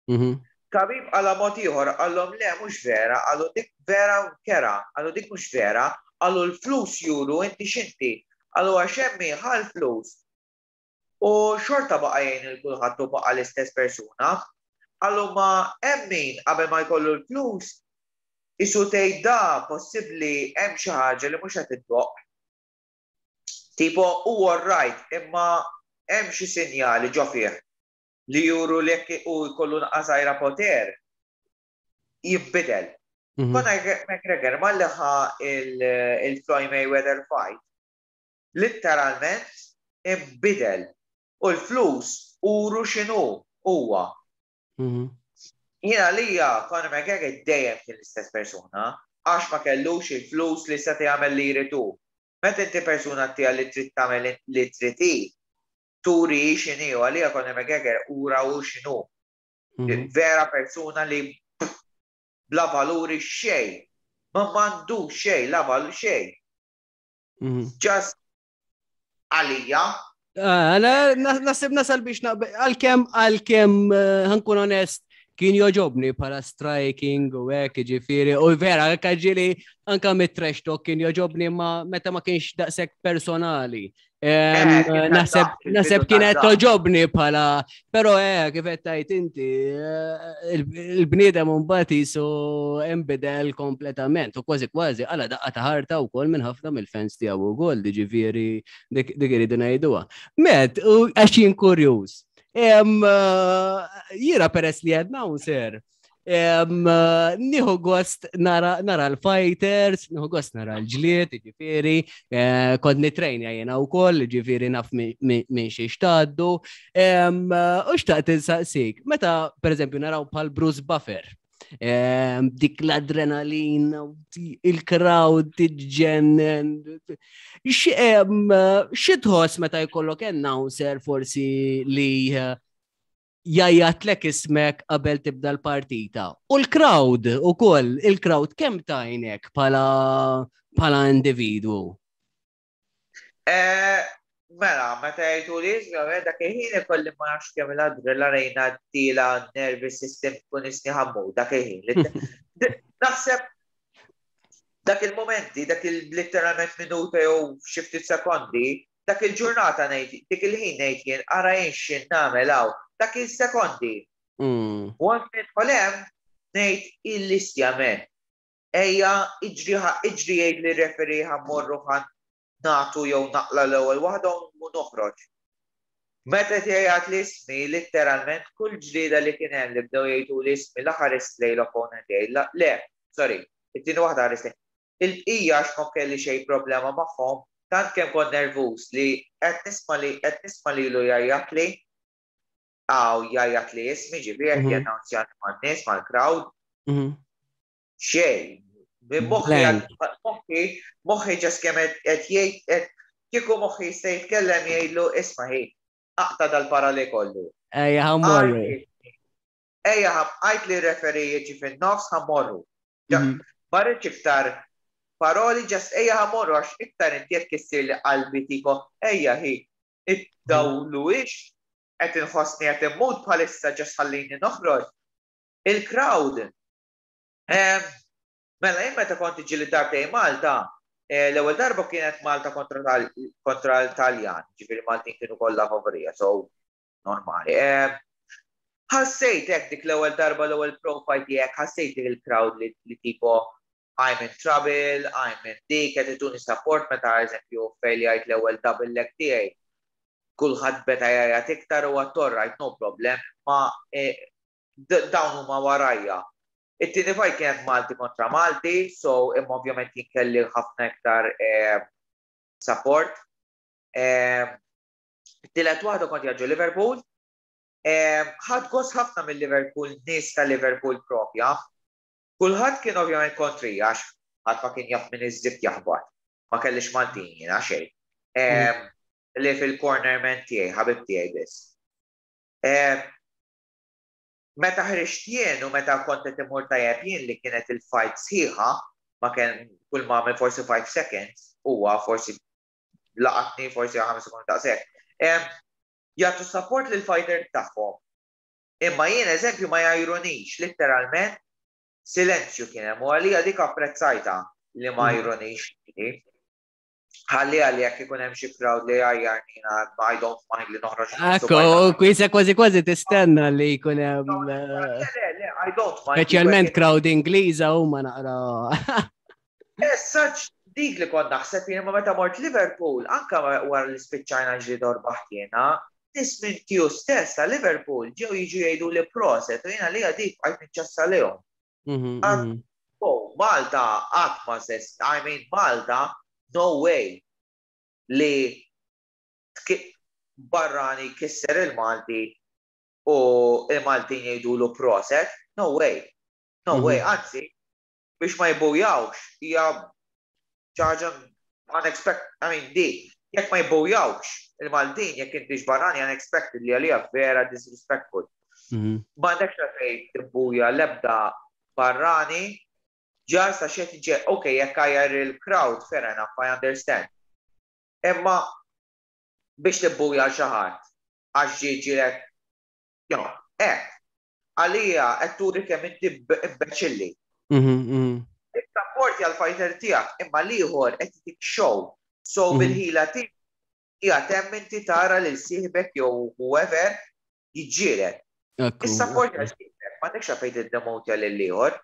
Mhm.
Khabib għala mod ieħor, qallhom le, mhux vera, qallu dik vera u kera, qallu dik mhux vera, qallu l-flus juru inti x'inti, qallu għax hemm ħa l-flus. U xorta baqa' jgħin lil kulħadd u baqa' l-istess persuna. Qallu ma hemm min qabel ma jkollu l-flus isu tgħid da possibbli hemm xi ħaġa li mhux qed iddoqq. Tipo huwa right, imma hemm xi sinjali ġo fih li juru li jekk u jkollu naqra żgħira poter jibbidel.
Mhm.
Conor McGregor malli ħa il-Floyd Mayweather fight, literalment imbidel u l-flus uru x'inhu huwa.
Mhm.
Jiena lija Conor McGregor dejjem kien l-istess persuna, għax ma kellux il-flus li seta' jagħmel li jridu. Meta inti persuna tiegħek li trid tagħmel li trid hi, turi x'inhi u għalija Conor McGregor ura u x'inhu.
Mhm.
Vera persuna li bla valuri xejn. Ma m'għandu xejn, la valur xejn.
Mhm.
Just għalija.
Ah, Għana naħseb nasal biex naqbel, għalkemm, għalkemm, eh, ħa nkun onest, kien joġobni bħala striking u hekk, ġifieri, u vera, anka ġieli, anka mit-trash talk kien joġobni ma meta ma kienx daqshekk personali. Em,
Eh, kien
Naħseb
ta' il-bidu
naħseb kienet
ta'
toġobni bħala, pero eh, kif qed tgħid inti, eh, il- il-bniedem mbagħad jisu imbidel kompletament u kważi kważi għala daqqa ta' ħarta wkoll minn ħafna mill-fans tiegħu wkoll, ġifieri dik dik iridu ngħiduha. Met, u għax jien kurjuż. Em, eh, Jiena peress li announcer, em, eh, nieħu gost nara, nara l-fighters, nieħu gost nara l-ġlied, ġifieri, eh, kont nitrejnja jiena wkoll, ġifieri naf mi- mi- minn xi xtaddu. Em, eh, U xtaqt insaqsik, meta per eżempju naraw bħal Bruce Buffer, em, dik l-adrenalina, il-crowd tiġġennen. Xi em, xi tħoss meta jkollok announcer forsi li eh, jgħajjatlek ismek qabel tibda l-partita? U l-crowd ukoll, il-crowd kemm tgħinek bħala bħala individwu?
Eh, Mela, meta jgħidu li ismi, dak il-ħin ikolli ma nafx kemm l-adrenalina tila nervous system tkun isni ħammu, dak il-ħin. Naħseb dak il-momenti, dak il-literalment minuta jew xi ftit sekondi, dak il-ġurnata ngħid, dik il-ħin ngħid jien ara jien x'in nagħmel hawn, dak il-sekondi.
Mm.
Once nidħol hemm ngħid il-listja men. Ejja, iġri iġri jgħid li referee ħa mmorru, ħa nagħtu jew naqla l-ewwel waħda u noħroġ. Meta jgħid li ismi, literalment kull ġlieda li kien hemm li bdew jgħidu li ismi la ħarist lejn l-opponent tiegħi, la- le, sorry, it-tieni waħda ħarist lejn. Il-bqija għax ma kelli xejn problema magħhom, tant kemm kont nervuż li qed nisma' li qed nisma' lilu jgħajjat li għaw jgħajjat li ismi, ġifieri qed
Mhm.
jannunzjani man-nies, mal-crowd,
Mhm.
xejn. Minn moħħi
Blank.
moħħi moħħi just kemm qed qed jgħid qed kieku moħħi jista' jitkellem jgħidlu isma' ħi, aqta' dal-parali kollu.
Ejja, ħa mmorru.
Ejja, għajt li referee jiġi fin-nofs, ħa mmorru. Ja,
Mhm.
Ma rridx iktar paroli, just ejja ħa mmorru, għax iktar inti qed kissir li qalbi tipo ejja ħi, iddawlu ix qed inħossni qed immut bħalissa, just ħallini noħroġ. Il-crowd. Em, Mela, jien meta kont iġi darbtej Malta, eh, l-ewwel darba kienet Malta kontra tal- kontra l-Taljan, ġifieri Maltin kienu kollha favorija, so normali. Em, Ħassejt hekk dik l-ewwel darba, l-ewwel pro fight tiegħek, ħassejt dik il-crowd li, li tipo I'm in trouble, I'm in dik, qed ituni support meta eżempju fejljajt l-ewwel double leg tiegħi. Kulħadd beda jgħajjat iktar u għedt right, no problem, ma eh, d- dawn huma warajja. It-tieni fight kienet Malti kontra Malti, so imma ovvjament jien kelli ħafna iktar eh, support. Eh, It-tielet waħda kont jaġu Liverpool. Eh, Ħadt gost ħafna mill-Liverpool, nies ta' Liverpool propja. Kulħadd kien ovvjament kontri għax ħadd ma kien jaf minn iż-żift jaħbat. Ma kellix Maltin jiena xejn. Eh, Li fil-cornerman tiegħi, ħabib tiegħi biss. Eh, Meta ħriġt jien u meta kont qed imur tajjeb jien li kienet il-fight sħiħa, ma kien kull ma għamel forsi five seconds, huwa forsi laqatni forsi ħames sekondi daqshekk. Em, Jagħtu support lil fighter tagħhom. Imma jien, eżempju, ma jgħajrunix, literalment, silenzju kien hemm u għalija dik apprezzajta li ma
Mm.
jgħajrunix. Ħalli għalli jekk ikun hemm xi crowd li jgħajjarni, I don't mind li noħroġ.
Ekku, kwisa kważi kważi tistenna li jkun hemm eh,
Le, le, le, I don't mind.
Speċjalment crowd Ingliża huma naqra.
As such, dik li kont naħseb jien, ma meta mort Liverpool, anka wara li spiċċajna ġlieda u rbaħt jiena, nies minn tiju stess ta' Liverpool ġew jiġu jgħidu li proset u jiena li dik għajt niċċassa lehom.
Mhm,
Ah.
mhm.
Oh, Malta qatt ma sess, I mean, Malta, no way li tki- barrani kisser il-Malti u il-Maltin jgħidulu proset, no way. No way,
Mhm.
anzi, biex ma jbujawx, hija ħaġa unexpected, I mean, di, jekk ma jbujawx il-Maltin, jekk inti barrani, unexpected li għalija vera disrespectful.
Mhm.
M'għandekx għalfejn tibbuja lebda barrani, just għax qed ġe, ok, jekk għajjar il-crowd, fair enough, I understand. Imma biex tibbuja xi ħadd, għax ġiġilek, you know, hekk, għalija qed turi kemm inti imbeċilli.
Mhm, mhm.
Issapporti għal-fighter tiegħek, imma l-ieħor qed jtik show. So
Mhm.
bil-ħila tiegħek qiegħed hemm inti tara lil sieħbek jew whoever jiġġieled.
Ekku.
Issapporti għal sieħbek, m'għandekx għalfejn tiddemotja lil ieħor.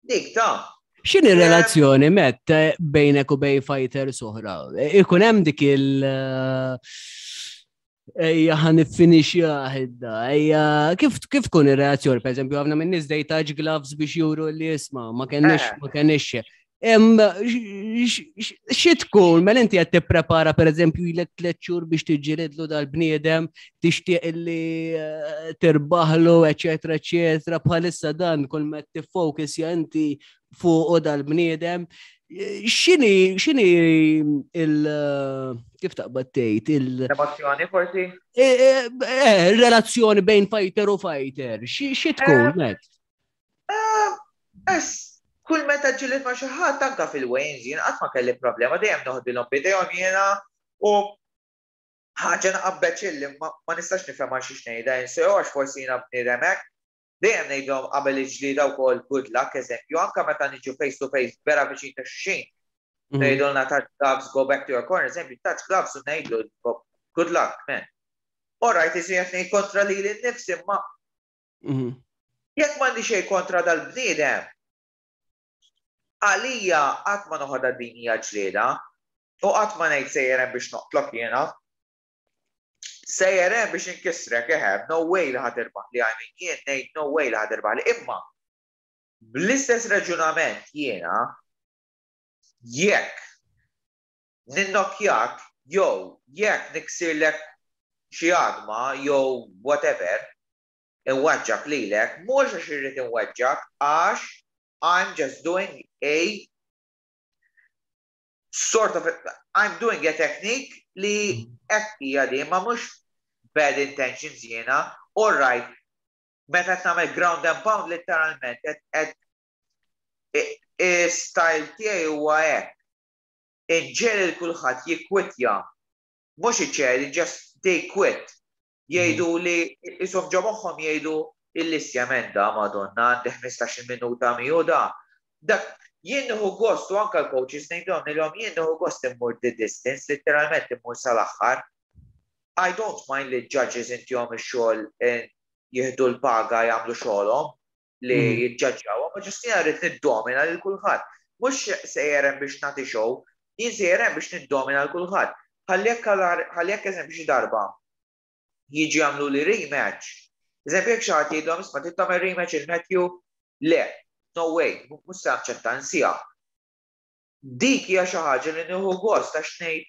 Dik ta'
X'inhi relazzjoni, Matt, eh, bejnek u bejn fighters oħra? Ikun hemm dik il- eh, Ejja, ħa niffinixja ħidda, ejja, kif kif tkun ir-reazzjoni? Per eżempju, għafna minn nies they touch gloves biex juru li jisma, ma kenniex,
Eh.
ma kenniex. Em, xi tkun, mela inti qed tipprepara, per eżempju, ilek tliet xhur biex tiġġielidlu dal-bniedem, tixtieq illi eh, tirbaħlu, eċetera, eċetera, bħalissa dan kull ma tiffokus ja inti fuq dal-bniedem. X'inhi x'inhi il kif taqbad tgħid il
Emozzjoni forsi?
eh, eh, relazzjoni bejn fighter u fighter, xi xi tkun, Matt?
Eh, Es, kull meta ġilidt ma' xi ħadd, anka fil-weigh-ins, jien qatt ma kelli problema, dejjem noħdilhom b'idejhom jiena u ħaġa naqabbeċ ma ma nistax nifhem għal xiex ngħidha jinsew, għax forsi jiena bniedem hekk. Dejjem ngħidhom qabel il-ġlieda wkoll good luck, eżempju, anka meta niġu face to face vera viċin ta' xulxin.
Mhm.
Ngħidulna "Touch gloves, go back to your corner", eżempju, touch gloves u ngħidlu "Good luck, man." All right, iżu qed ngħid kontra lili nnifsi, ma
Mhm.
jekk m'għandi xejn kontra dal-bniedem, għalija qatt ma noħodha din hija ġlieda u qatt ma ngħid sejjer hemm biex noqtlok jiena. Sejjer hemm biex inkissrek, eħe, no way li ħa tirbaħ li, I mean, jien ngħid no way li ħa tirbaħ li, imma bl-istess raġunament jiena jekk ninnokjak jew jekk niksirlek xi għadma jew whatever, inweġġak lilek, mhux għax irrid inweġġak, għax I'm just doing a sort of, I'm doing a technique li hekk hija di, ma mhux bad intentions jiena, all right, meta qed nagħmel ground and pound, literalment qed qed style tiegħi huwa hekk. Inġiegħel lil kulħadd jikkwitja. Mhux iċedi, just they quit. Jgħidu li isom ġo moħħhom jgħidu il-listja menda, madonna, għandi ħmistax-il minuta miegħu da. Dak jien nieħu gost u anka l-coaches ngħidhom lilhom, jien nieħu gost immur the distance, literalment immur sal-aħħar. I don't mind li judges intihom ix-xogħol, eh, jieħdu l-paga, jagħmlu xogħolhom li
Mhm.
jiġġaġġaw, ma just jiena rrid niddomina lil kulħadd. Mhux sejjer hemm biex nagħti show, jien sejjer hemm biex niddomina lil kulħadd. Ħalli jekk ħalli jekk eżempju xi darba jiġi jagħmlu li rematch. Eżempju, jekk xi ħadd jgħidlhom, "Isma', trid tagħmel rematch il-Matthew?" Le, no way, mhux se naċċetta, nsija. Dik hija xi ħaġa li nieħu gost għax ngħid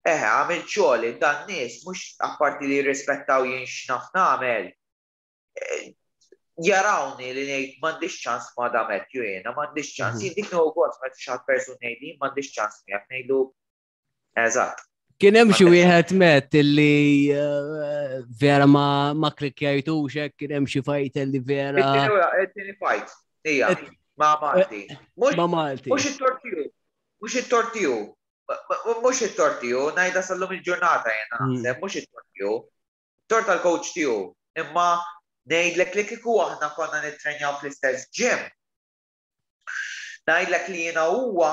eħe, għamilt xogħli, dan nies mhux apparti li jirrispettaw jien x'naf nagħmel. Eh, Jarawni li ngħid m'għandix ċans ma' da Matthew jiena, m'għandix ċans.
Mhm.
Jien dik nieħu gost meta xi ħadd persun ngħidli m'għandix ċans miegħek, ngħidu eżatt.
Kien hemm xi
M'għandekx.
wieħed, Matt, illi eh, vera ma ma klikkjajtux hekk, kien hemm xi fight li vera
It-tieni fight, hija,
Et-
ma' Malti. Mhux
ma' Malti.
Mhux it-tortiju, mhux it-tortiju, mhux it-tortiju, ngħidha sal-lum il-ġurnata jena
Mm.
naħseb, mhux it-tortiju. Tort tal-coach tiegħu Imma ngħidlek li kieku aħna konna nittrenjaw fl-istess gym, ngħidlek li jiena huwa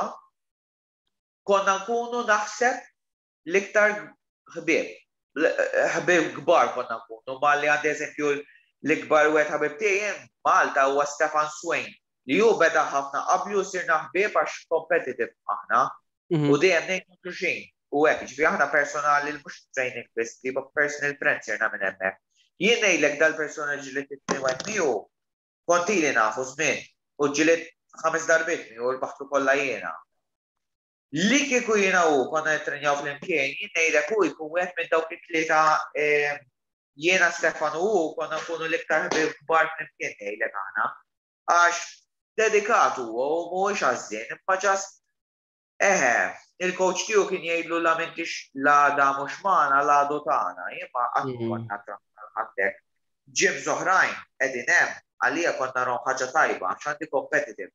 konna nkunu naħseb l-iktar ħbieb. Ħbieb kbar konna nkunu, ma li għandi eżempju l-ikbar wieħed ħabib tiegħi Malta huwa Stefan Swain, li hu beda ħafna qabli u sirna ħbieb għax competitive aħna
Mhm.
u dejjem ngħidu xulxin. U hekk, ġifieri aħna personali, mhux training biss, li personal friends sirna minn hemmhekk. Jien ngħidlek dal-persona ġlidt it-tnejn miegħu, kont ili nafu żmien u ġlidt ħames darbiet miegħu u rbaħtu kollha jiena. Li kieku jiena u konna nittrenjaw flimkien, jien ngħidlek hu jkun wieħed minn dawk it-tlieta, eh, jiena, Stefan u hu konna nkunu l-iktar ħbieb kbar flimkien, ngħidlek aħna. Għax dedikat huwa u mhuwiex għażżien, imma just eħe, il-coach tiegħu kien jgħidlu la m'intix la da mhux magħna la għadu tagħna, jien ma qatt
Mhm.
konna ħattek. Gyms oħrajn qegħdin hemm, għalija konna narahom ħaġa tajba għax għandi competitive.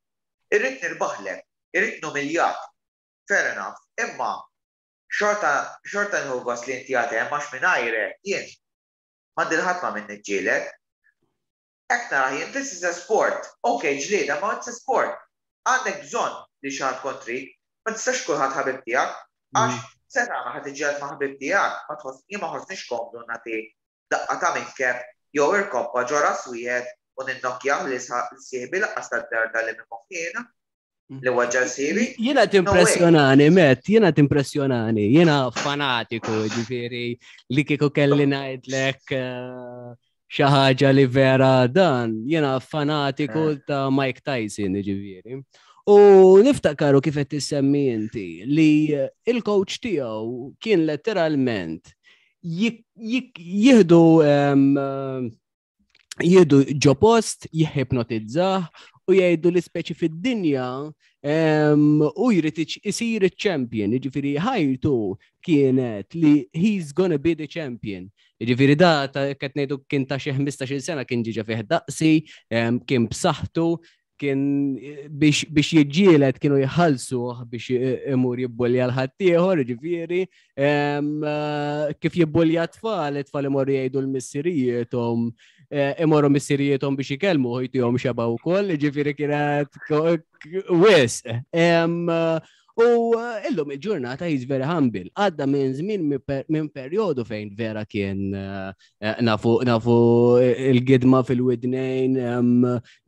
Irrid nirbaħlek, irrid numiljak. Fair enough, imma xorta xorta nieħu gost li inti għad hemm għax mingħajrek jien m'għandi ħadd ma' min niġġieled. Hekk nara jien, this is a sport. Ok, ġlieda, ma it's a sport. Għandek bżonn li xi ħadd kontrik, ma tistax kulħadd ħabib tiegħek, għax se tagħmel, ħadd iġġieled ma' ħabib tiegħek, ma tħoss, jien ma ħossniex komdu nagħti daqqa ta' minkeb jew irkoppa ġo ras wieħed u ninnokkjah li sieħbi lanqas tad-darda li minn moħħiena li weġġa' sieħbi.
Jiena timpressjonani, Matt, jiena timpressjonani, jiena fanatiku, ġifieri, li kieku kelli ngħidlek eh, xi ħaġa li vera dan, jiena fanatiku
Eh.
ta' Mike Tyson, ġifieri. U niftakaru kif qed tissemmi inti li il-coach tiegħu kien letteralment jik- jik- jieħdu em, jieħdu ġo post, jihipnotizzah u jgħidu li speċi fid-dinja em, u jrid iċ- isir il-champion, jiġifieri ħajtu kienet li he's gonna be the champion. Jiġifieri da ta' qed ngħidu kien ta' xi ħmistax-il sena, kien ġiġa fih daqsi, em, kien b'saħħtu, kien biex, biex jiġġieled kienu jħallsuh biex imur jibbulja l-ħaddieħor, ġifieri, em, eh, kif jibbulja tfal, it-tfal imorru jgħidu l-missirijiethom, eh, imorru missirijiethom biex ikellmu u jtihom xeba wkoll, ġifieri kienet ko- k- wisq. Em, eh, U eh, illum il-ġurnata he's very humble. Għadda minn żmien minn per- minn perjodu fejn vera kien eh, eh, nafu nafu il-gidma fil-widnejn em,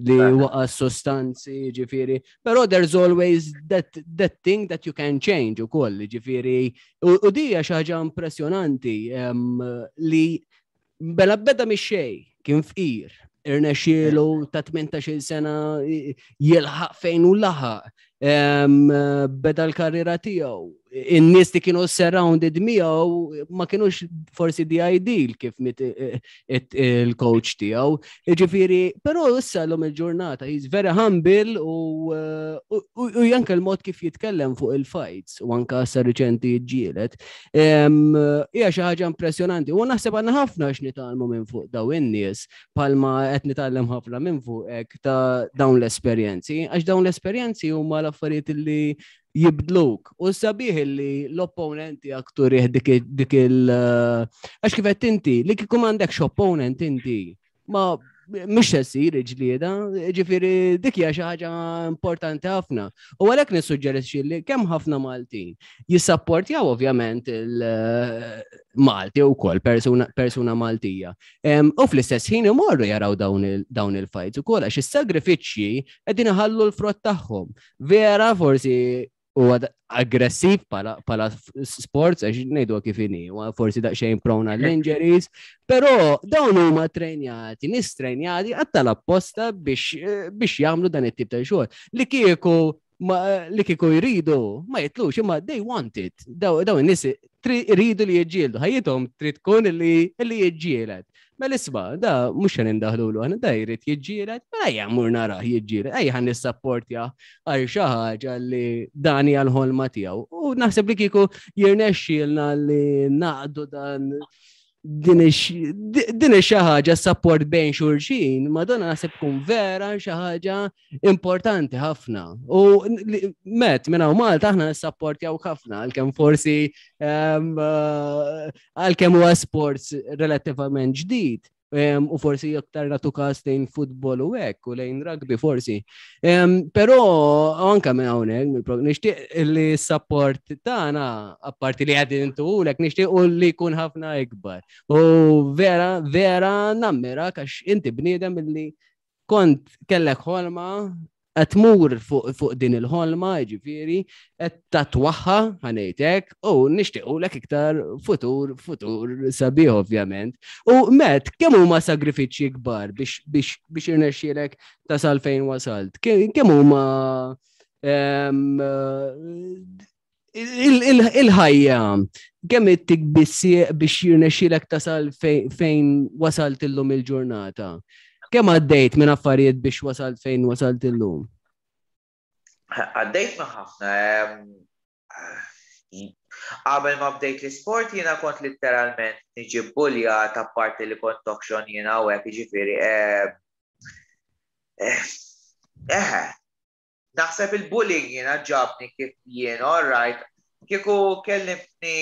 li waqa sostanzi, ġifieri. Però there's always that, that thing that you can change ukoll, ġifieri. U, u dija xi ħaġa impressjonanti em, li bela beda mix-xejn, kien fqir, irnexxielu ta' tmintax-il sena jilħaq fejn u laħaq. Em, beda l-karriera tiegħu. In-nies li kienu surrounded miegħu ma kienux forsi the ideal kif mit il-coach tiegħu. Ġifieri, però issa l il-ġurnata he's very humble u u u anke l-mod kif jitkellem fuq il-fights u anke issa riċenti ġġieled. Hija xi ħaġa impressjonanti. U naħseb għandna ħafna x'nitgħallmu minn fuq daw in-nies palma qed nitgħallem ħafna minn fuqek ta' dawn l-esperjenzi, għax dawn l-esperjenzi huma l-affarijiet li jibdluk. U sabiħ li l-opponent tiegħek turih dik dik il- għax kif qed inti, li kieku m'għandekx opponent inti, ma mhux se ssir ġlieda, ġifieri dik hija xi ħaġa importanti ħafna. U għalhekk nissuġġerixxi li kemm ħafna Maltin jissapportjaw ovvjament il-Malti wkoll persuna, persuna Maltija. Em, U fl-istess ħin imorru jaraw dawn il- dawn il-fights ukoll għax is-sagrifiċċji qegħdin iħallu l-frott tagħhom. Vera forsi huwa aggressiv pala, pala sports, għax ngħidu kif inhi, huwa forsi daqsxejn prone għall-injuries, però dawn huma trejnjati, nies trejnjati għatta l-apposta biex biex jagħmlu dan it-tip ta' xogħol. Li kieku ma, li kieku jridu ma jitlux, imma they want it. Daw daw in-nies jridu li jiġġieldu, ħajjithom trid tkun li li jiġġieled. Mela isma', da mhux se nindaħlulu aħna, da jrid jiġġieled, mela ejja mmur narah jiġġieled, ejja ħa nissapportja għal xi ħaġa li dan hija l-ħolma tiegħu. U naħseb li kieku jirnexxielna li naqdu dan din ix xi ħaġa support bejn xulxin, madonna naħseb tkun vera xi ħaġa importanti ħafna. U met minn hawn Malta aħna nissapportjaw ħafna għalkemm forsi għalkemm huwa sports relattivament ġdid. U forsi aktar nagħtu każ lejn futbol u hekk u lejn rugby forsi. Però anka minn hawnhekk nixtieq li s-support tagħna, apparti li qegħdin intulek, nixtieq li jkun ħafna ikbar. U vera, vera nammira għax inti bniedem li kont kellek ħolma, qed tmur fuq fu din il-ħolma, ġifieri, qed tatwaħħa ħa ngħidlek, u nixtiequlek iktar futur, futur sabiħ ovvjament. U Matt, kemm huma sagrifiċċji kbar biex biex biex irnexxielek tasal fejn wasalt? Kemm huma il-ħajja, kemm ittik biex jirnexxielek tasal fejn wasalt illum il-ġurnata? Kemm għaddejt minn affarijiet biex wasalt fejn wasalt illum?
Għaddejt minn ħafna. Qabel ma bdejt l-isport jiena kont literalment niġi buljat, apparti li kont toxon jiena u hekk, jiġifieri. Eħe, naħseb il-bullying jiena ġabni kif jien, all right. Kieku kellimtni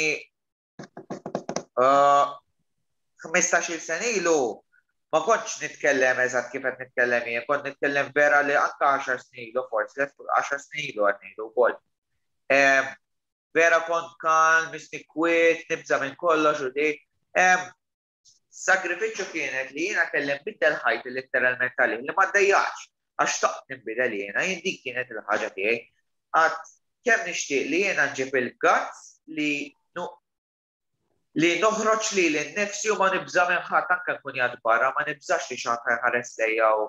ħmistax-il sena ilu, ma kontx nitkellem eżatt kif qed nitkellem jien, kont nitkellem vera li anke għaxar snin ilu forsi, għaxar snin ilu qed ngħidu wkoll. Vera kont kalm, misni kwiet, nibża' minn kollox u di. Sagrifiċċju kienet li jiena kelli nbiddel ħajti letteralment għalih, li ma ddejjax, għax xtaqt nbidel jiena, jien dik kienet il-ħaġa tiegħi. Għad kemm nixtieq li jiena nġib il-guts li li noħroġ li l-nifsi u ma nibża' minn ħadd, anke nkun jgħad barra, ma nibżax li xi ħadd ħares lejja u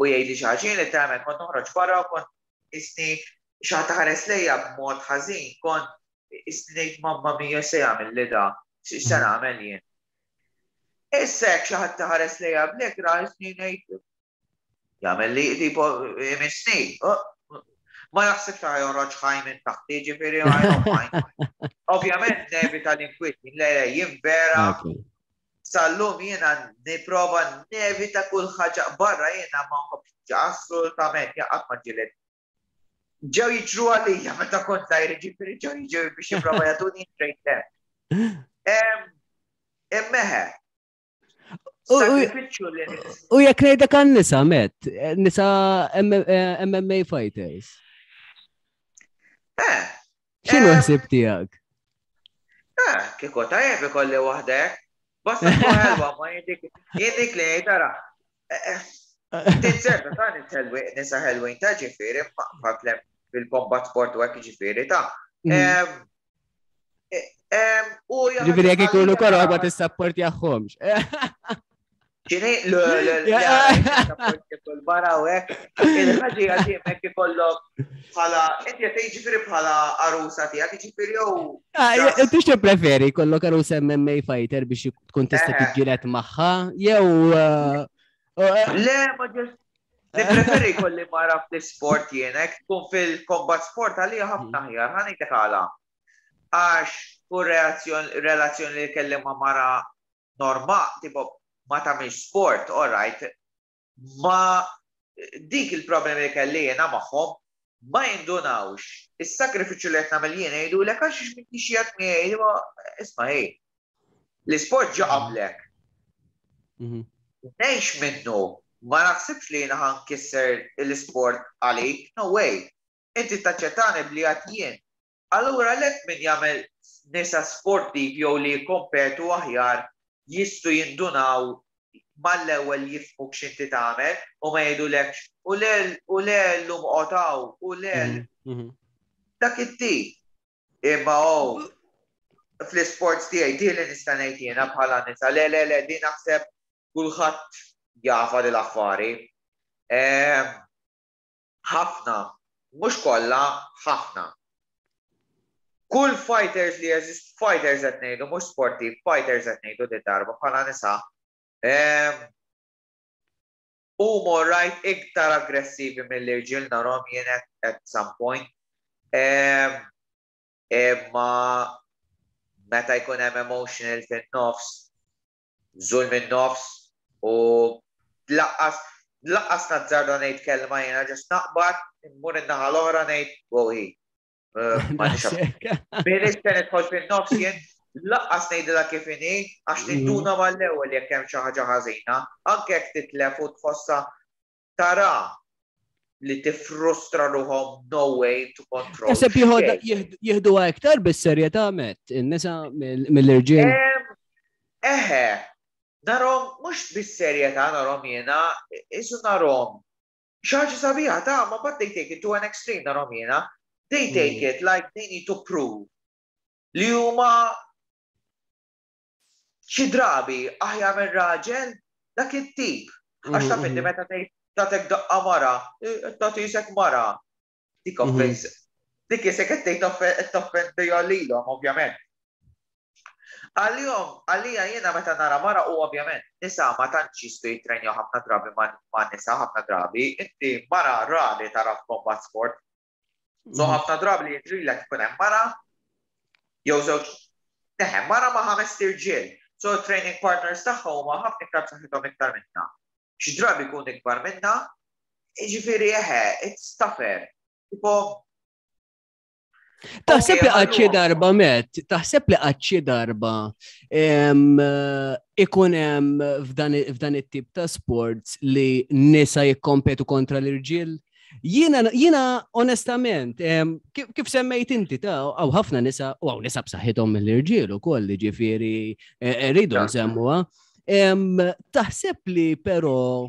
jgħidli xi ħaġa. Jien letteralment kont noħroġ barra u kont isni xi ħadd ħares lejja b'mod ħażin, kont isni ngħid mamma mia se jagħmel li da, x'se nagħmel jien. Issa jekk xi ħadd ħares lejja b'lekra isni ngħid jagħmel li tipo imissni. Ma naħsibx li joħroġ ħaj minn taħti, ġifieri I don't mind. Ovvjament nevita l-inkwiet, le, le, jien vera sal-lum jiena nipprova nevita kull ħaġa barra, jiena ma nħobbx assolutament, jaqgħad ma ġilet. Ġew jiġru għalija meta kont żgħir, ġifieri ġew jiġru biex jipprova jagħtuni straight there. Immeħe.
U jekk ngħidlek għan nisa, Matt, nisa M M A fighters.
Eh.
X'inhu ħsieb tiegħek?
Eh, kieku tajjeb ikolli waħdek. Basta tkun ħelwa, ma jindik, jindik li ngħid ara. Tinserta ta' nisa ħelwin ta' ġifieri, ma' fil-combat sport u hekk ġifieri ta'.
Mm.
U
Ġifieri jekk ikunu koroħ ma tissapportjahomx.
Ġini, le, le, le, le, barra u hekk. Il-ħaġa hija dejjem hekk ikollok bħala, inti qed tgħid ġifieri bħala arusa tiegħek, ġifieri jew
Ah, inti x'tippreferi jkollok arusa M M A fighter biex tkun tista'
Eh.
tiġġieled magħha jew, eh, eh,
Le, ma ġust nippreferi jkolli mara fl-isport jien, hekk tkun fil-combat sport għalija ħafna aħjar, ħa ngħidlek għala. Għax kull relazzjoni li kelli ma' mara norma, tipo ma tagħmilx sport, all right, ma dik il-problemi li kelli jiena magħhom ma jindunawx. Is-sakrifiċċju li qed nagħmel jien jgħidulek għax m'intix qiegħed miegħi, ma isma' ej. L-isport ġa qablek.
Mhm.
Ngħix minnu, ma naħsibx li jiena ħankisser l-isport għalik, no way. Inti taċċettani bli għad jien. Allura lek min jagħmel nisa sportiv jew li jikkompetu aħjar jistgħu jindunaw mal-ewwel jifhmuk x'inti tagħmel u ma jgħidulekx u le u le llum qotaw u le
Mhm, mhm.
dak it-tip. Imma oh, fl-isports tiegħi di li nista' ngħid jiena bħala nisa, le le le di naħseb kulħadd jafa li l-affari. Ehm, ħafna, mhux kollha, ħafna. Kull fighters li jeżist, fighters qed ngħidu, mhux sportiv, fighters qed ngħidu di darba bħala nisa. Ehm, huma right iktar aggressivi mill-irġiel narhom jien at, at some point. Ehm, imma meta jkun hemm emotional fin-nofs, żul min-nofs u laqqas, laqqas nazzarda ngħid kelma jiena ġust naqbad, immur in-naħa l-oħra ngħid wow hi. Eh, ma nix
Daqshekk.
Min se nidħol fin-nofs jien, Lanqas ngħidilha kif inhi, għax ninduna mal-ewwel jekk hemm xi ħaġa ħażina, anke jekk titlef u tħossha tara li tifrustra ruħhom, no way to control.
Naħseb jieħdu iktar bis-serjetà met in-nisa mill-irġiel.
Eħe, narahom mhux bis-serjetà, narahom jiena, isu narahom. Xi ħaġa sabiħa ta' ma, but they take it to an extreme, narahom jiena. They take it like they need to prove li huma xi drabi aħjar minn raġel, dak it-tip. Għax taf inti meta tgħid tatek daqqa mara, tagħti isek mara. Dik offense. Dik isek qed tgħid toffendi lilhom, ovvjament. Għalihom, għalija jiena meta nara mara, u ovvjament nisa ma tantx jistgħu jitrenjaw ħafna drabi ma' nisa ħafna drabi, inti mara rari tara f'combat sport. So ħafna drabi li jiġrilek ikun hemm mara jew żewġ, neħe, mara ma' ħames irġiel. So training partners tagħha huma ħafna iktar b'saħħithom iktar minna. Xi drabi jkun ikbar minna, jiġifieri eħe, it's tougher. Tipo
Taħseb li qatt xi darba met, taħseb li qatt xi darba ikun hemm f'dan it-tip ta' sports li nisa jikkompetu kontra l-irġiel? Jiena, jiena onestament, kif, kif semmejt inti ta' hawn ħafna nisa, u hawn nisa b'saħħithom mill-irġiel ukoll, ġifieri eh, rridu nsemmuha. Taħseb li però,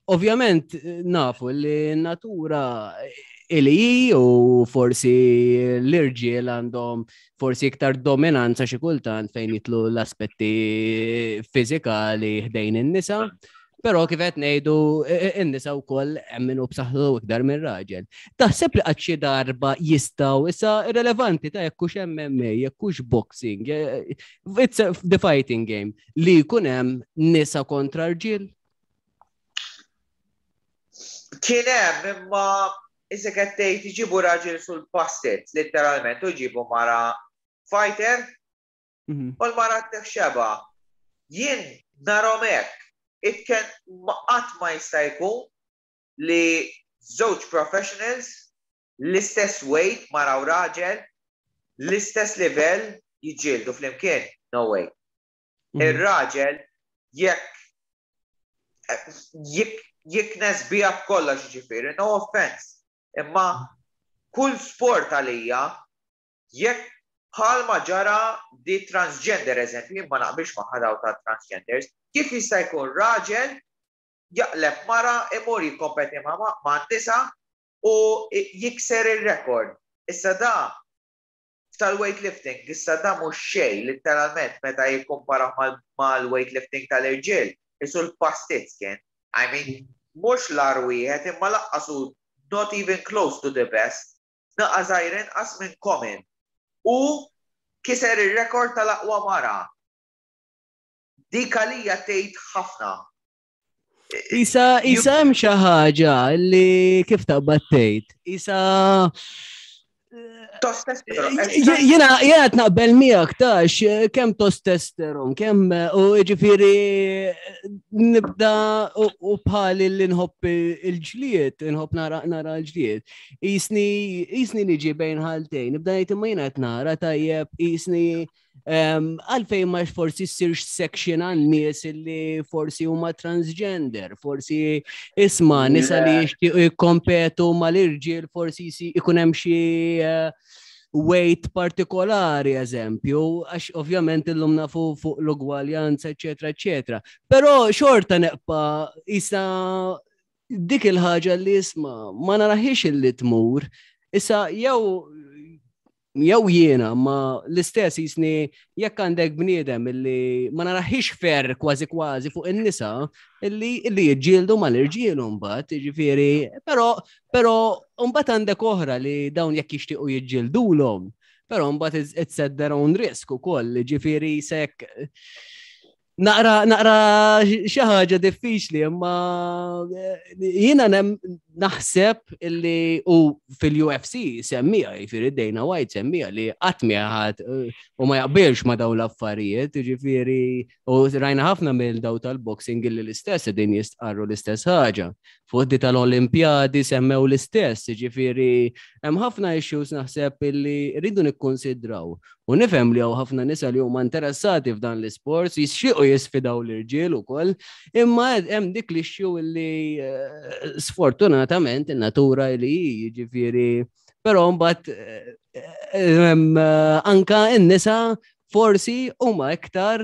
ovvjament nafu li natura ili u forsi l-irġiel għandhom forsi iktar dominanza xi kultant fejn jidħlu l-aspetti fiżikali ħdejn in-nisa. Però kif qed ngħidu, in-nisa wkoll hemm min hu b'saħħtu iktar minn raġel. Taħseb li qatt xi darba jistgħu, issa irrelevanti ta' jekk hux M M A, jekk hux boxing, it's the fighting game, li jkun hemm nisa kontra rġiel?
Kien hemm, imma issa qed tgħid iġibu raġel sul-pastet, letteralment, u jġibu mara fighter, mhm. u l-mara teħxeba. Jien narahom hekk, it can, qatt ma jista' jkun li żewġ professionals, l-istess weight, mara u raġel, l-istess level, jiġġieldu flimkien. No way. Mhm. Ir-raġel jekk jiknes bija b'kollox, ġifieri, no offense. Imma kull sport għalija, jekk bħalma ġara di transgender eżempju, ma naqbilx ma' daw ta' transgenders, kif jista' jkun raġel jaqleb mara, imur jikkompeti ma' ma' nisa u jikser il-rekord? Issa da tal-weightlifting, issa da mhux xejn literalment meta jikkompara mal-weightlifting tal-irġiel, isu l-pastizz kien. I mean, mhux l-agħar wieħed, imma lanqas hu not even close to the best, naqa żgħir inqas minn common. U kiser il-rekord tal-aqwa mara. Dik għalija tgħid ħafna.
Isa, isa hemm xi ħaġa li kif taqbad tgħid. Isa Jiena jiena qed naqbel miegħek tax kemm testosteron, kemm u ġifieri nibda u bħali li nħobb il-ġlied, nħobb nara nara l-ġlied. Jisni jisni niġi bejn ħaltejn, nibda ngħid imma jiena qed nara tajjeb, jisni għalfejn ma forsi ssirx section għan nies li forsi huma transgender, forsi isma' nisa li jixtiequ jikkompetu mal-irġiel, forsi ikun hemm xi eh, weight partikolari, eżempju, għax ovvjament illum nafu fuq l-ugwaljanza, eccetera, eccetera. Però xorta neqpa isa dik il-ħaġa li isma' ma naraħiex illi tmur. Issa jew jew jiena ma l-istess jisni jekk għandek bniedem illi ma naraħiex fair kważi kważi fuq in-nisa illi illi jiġġieldu mal-irġiel mbagħad, jiġifieri, però però mbagħad għandek oħra li dawn jekk jixtiequ jiġġieldulhom, però mbagħad it's at their own risk ukoll, jiġifieri sek naqra naqra xi ħaġa diffiċli, imma jiena Naħseb illi u fil-U F C semmija, jiġifieri Dana White semmija li qatt ħadd u ma jaqbilx ma daw l-affarijiet, jiġifieri u rajna ħafna mill daw tal-boxing illi l-istess din jistqarru l-istess ħaġa. Fuq di tal-Olimpjadi semmew l-istess, jiġifieri hemm ħafna issues naħseb illi rridu nikkonsidraw. U nifhem li hawn ħafna nisa li huma interessati f'dan l-isports, jixtiequ jisfidaw l-irġiel ukoll, imma hemm dik l-issue illi eh, sfortunatament in-natura li jiġifieri, però mbagħad eh, eh, anka n-nisa forsi huma iktar,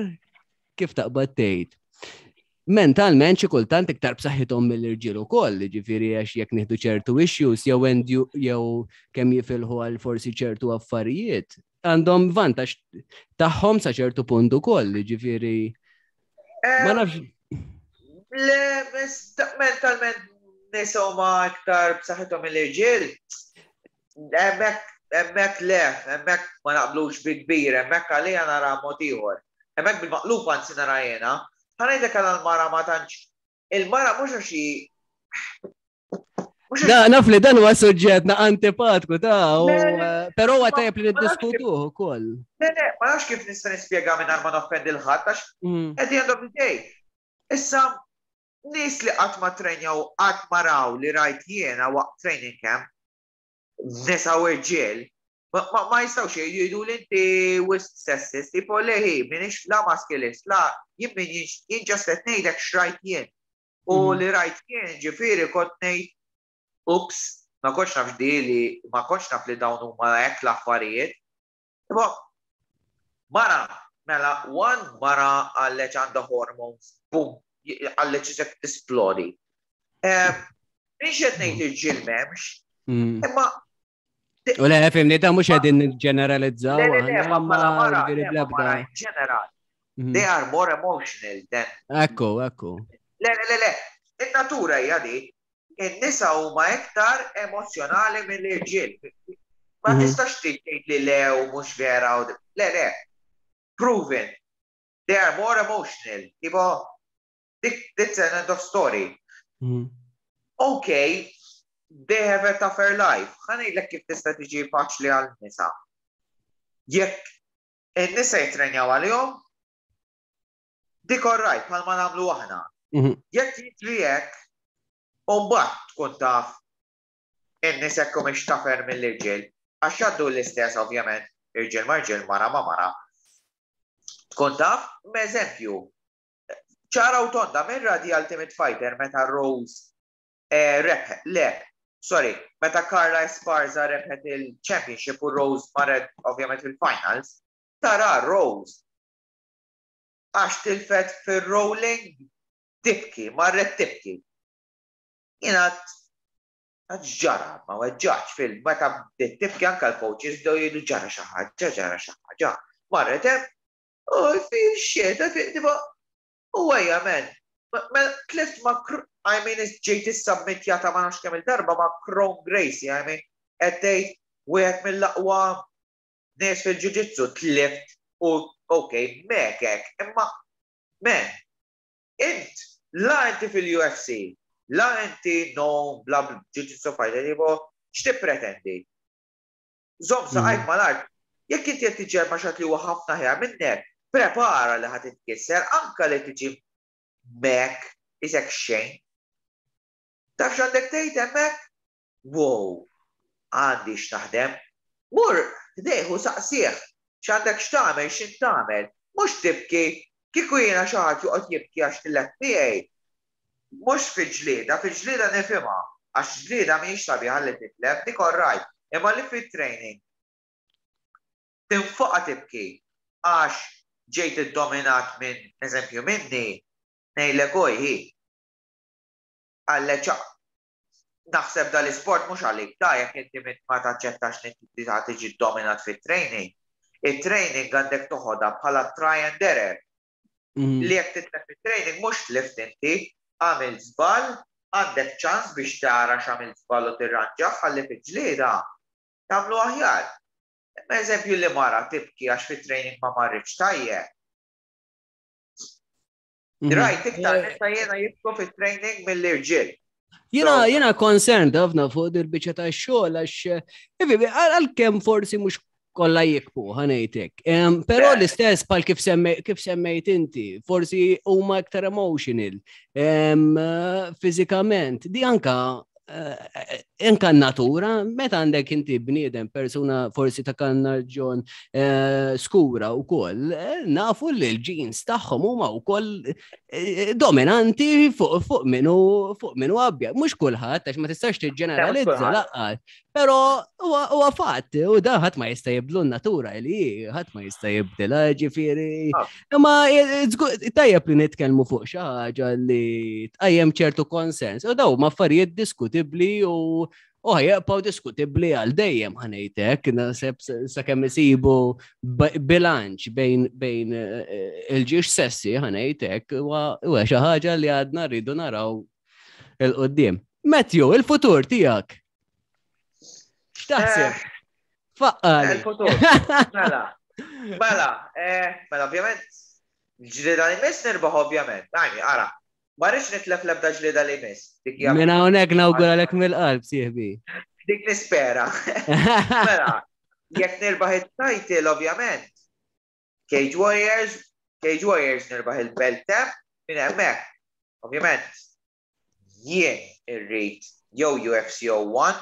kif taqbad tgħid, mentalment xi kultant iktar b'saħħithom mill-irġiel ukoll, jiġifieri għax jekk nieħdu ċertu issues jew jew kemm jifilħu għal forsi ċertu affarijiet, għandhom vantaġġ tagħhom sa ċertu punt ukoll, jiġifieri ma nafx.
Le, mentalment nisa huma iktar b'saħħithom mill-irġiel. Hemmhekk hemmhekk le, hemmhekk ma naqblux bi kbir, hemmhekk għalija nara mod ieħor. Hemmhekk bil-maqlub anzi nara jiena. Ħa ngħidlek għal il-mara ma tantx. Il-mara mhux għax
Da, naf li dan huwa suġġett na antipatku ta' però huwa tajjeb li niddiskutuh ukoll.
Le, le, ma nafx kif nista' nispjega mingħajr ma noffendi 'l ħadd għax mm. at the end of the day. Issa nies li qatt ma trenjaw, qatt ma raw li rajt jiena waqt training camp, nisa u irġiel, ma jistgħux jgħidu li inti wisq sexist, tipo leħi, minix la maskilist, la jien min jien, just qed ngħidlek x'rajt jien. U mhm. li rajt jien ġifieri kont ngħid, "Ups, ma kontx naf di li ma kontx naf li dawn huma hekk l-affarijiet." Tipo, mara, mela, one mara għalleċ għandha hormones, boom, għalleċ isek tisplodi. Mhix qed ngħid irġiel m'hemmx, mm. imma
U le, fimni, ta' mhux qegħdin ġeneralizzaw.
Le, le, le, ma mara, ġeneral. Mhm. They are more emotional than.
Ekku, ekku.
Le, le, le, le, in-natura hija di, in-nisa huma iktar emozjonali mill-irġiel. Ma mhm. tistax tgħid li le u mhux vera u le le. Proven. They are more emotional. Tipo, that's an end of story. Mhm. Okay, they have a tougher life. Ħa ngħidlek kif tista' tiġi faċli għal nisa. Jekk in-nisa jitrenjaw għalihom, dik alright, bħalma nagħmlu aħna. Mhm. Jekk jiġri hekk, mbagħad tkun taf in-nisa jekk mhix tougher mill-irġiel, għax jgħaddu l-istess ovvjament, irġiel ma' irġiel, mara ma' mara. Tkun taf, eżempju, ċara u tonda minn radi Ultimate Fighter meta Rose eh, rebħet, le, sorry, meta Carla Esparza rebħet il-championship u Rose marret ovvjament il-finals, tara Rose għax tilfet fil-rolling tibki, marret tibki. Jiena ġara, ma weġġax fil meta bdiet tibki, anka l-coaches bdew jgħidu ġara xi ħaġa, ġara xi ħaġa. Marret hemm, "Oh, I feel shit, I feel," tipo, u għajja men, tlift ma, I mean, ġejt issubmitjata ma nafx kemm il-darba ma' Kron Gracie, I mean, qed tgħid wieħed mill-aqwa nies fil-jiu-jitsu tlift u ok, mekek, imma men, int la inti fil-U F C, la inti no bla jiu-jitsu fighter, tipo, x'tippretendi? Żomm saqajk mm. mal-art, jekk inti qed tiġi ma' xi ħadd li huwa ħafna ħjar minnek, prepara li ħa titkisser, anka li tiġi mek, isek xejn. Taf x'għandek tgħid hemmhekk? "Wow, għandi x'naħdem." Mur, ħdejh u saqsih, x'għandek x'tagħmel, x'int tagħmel. Mhux tibki, kieku jiena xi ħadd joqgħod jibki għax tilef miegħi. Mhux fi ġlieda, fi ġlieda nifhimha, għax ġlieda mhijiex sabiħa li titlef, dik alright. Imma li fit-training tinfaqa tibki għax ġejt iddominat minn eżempju minni, ngħidlek oj hi. Għalle naħseb dal-isport mhux għalik ta' jekk inti ma taċċettax li inti tiġi dominat fit-training. Il-training għandek toħodha bħala try and error. Mm. Li jekk titlef fit-training mhux tlift inti, għamil żball, għandek ċans biex tara x'għamil żball u tirranġa ħalli fil-ġlieda tagħmlu aħjar. Imma eżempju li mara tibki għax fit-training ma marritx tajjeb. Mhm. Rajt iktar nisa jiena jibku fit-training mill-irġiel.
Jiena jiena concerned ħafna fuq dil-biċċa ta' xogħol għax għalkemm forsi mhux kollha jikbu, ħa ngħidlek. Però l-istess pal kif kif semmejt inti, forsi huma iktar emotional, fiżikament. Di anka eh, anka natura, meta għandek inti bniedem, persuna forsi ta' karnaġġjon eh, skura u koll, eh, nafu li l-genes tagħhom huma wkoll dominanti fuq fuq minu fuq minu abjad. Mhux kulħadd, għax ma tistax tiġġeneralizza lanqas. Però huwa fatt, u da ħadd ma jista' jibdlu n-natura li ħadd ma jista' jibdilha, ġifieri. Ah. Imma tajjeb li nitkellmu fuq xi ħaġa li tqajjem ċertu konsens. U daw ma affarijiet diskutibbli u u ħa jibqgħu diskutibbli għal dejjem, ħa ngħidlek, naħseb sakemm isibu bilanċ bejn bejn eh, il-żewġ sessi, ħa ngħidlek, huwa xi ħaġa li għadna rridu naraw 'il quddiem. Matthew, il-futur tiegħek. X'taħseb? Eh, Faqqali.
Il-futur. Mela, mela, eh, mela, ovvjament, ġlieda li miss nirbaħ ovvjament. Għajmi, ara, ma rridx nitlef l-ebda ġlieda li miss.
Minn hawnhekk nawguralek mill-qalb, sieħbi.
Dik nispera. Mela, jekk nirbaħ it-title, ovvjament, Cage Warriors, Cage Warriors nirbaħ il-belt tem, minn hemmhekk. Ovvjament, jien irrid jew U F C zero one,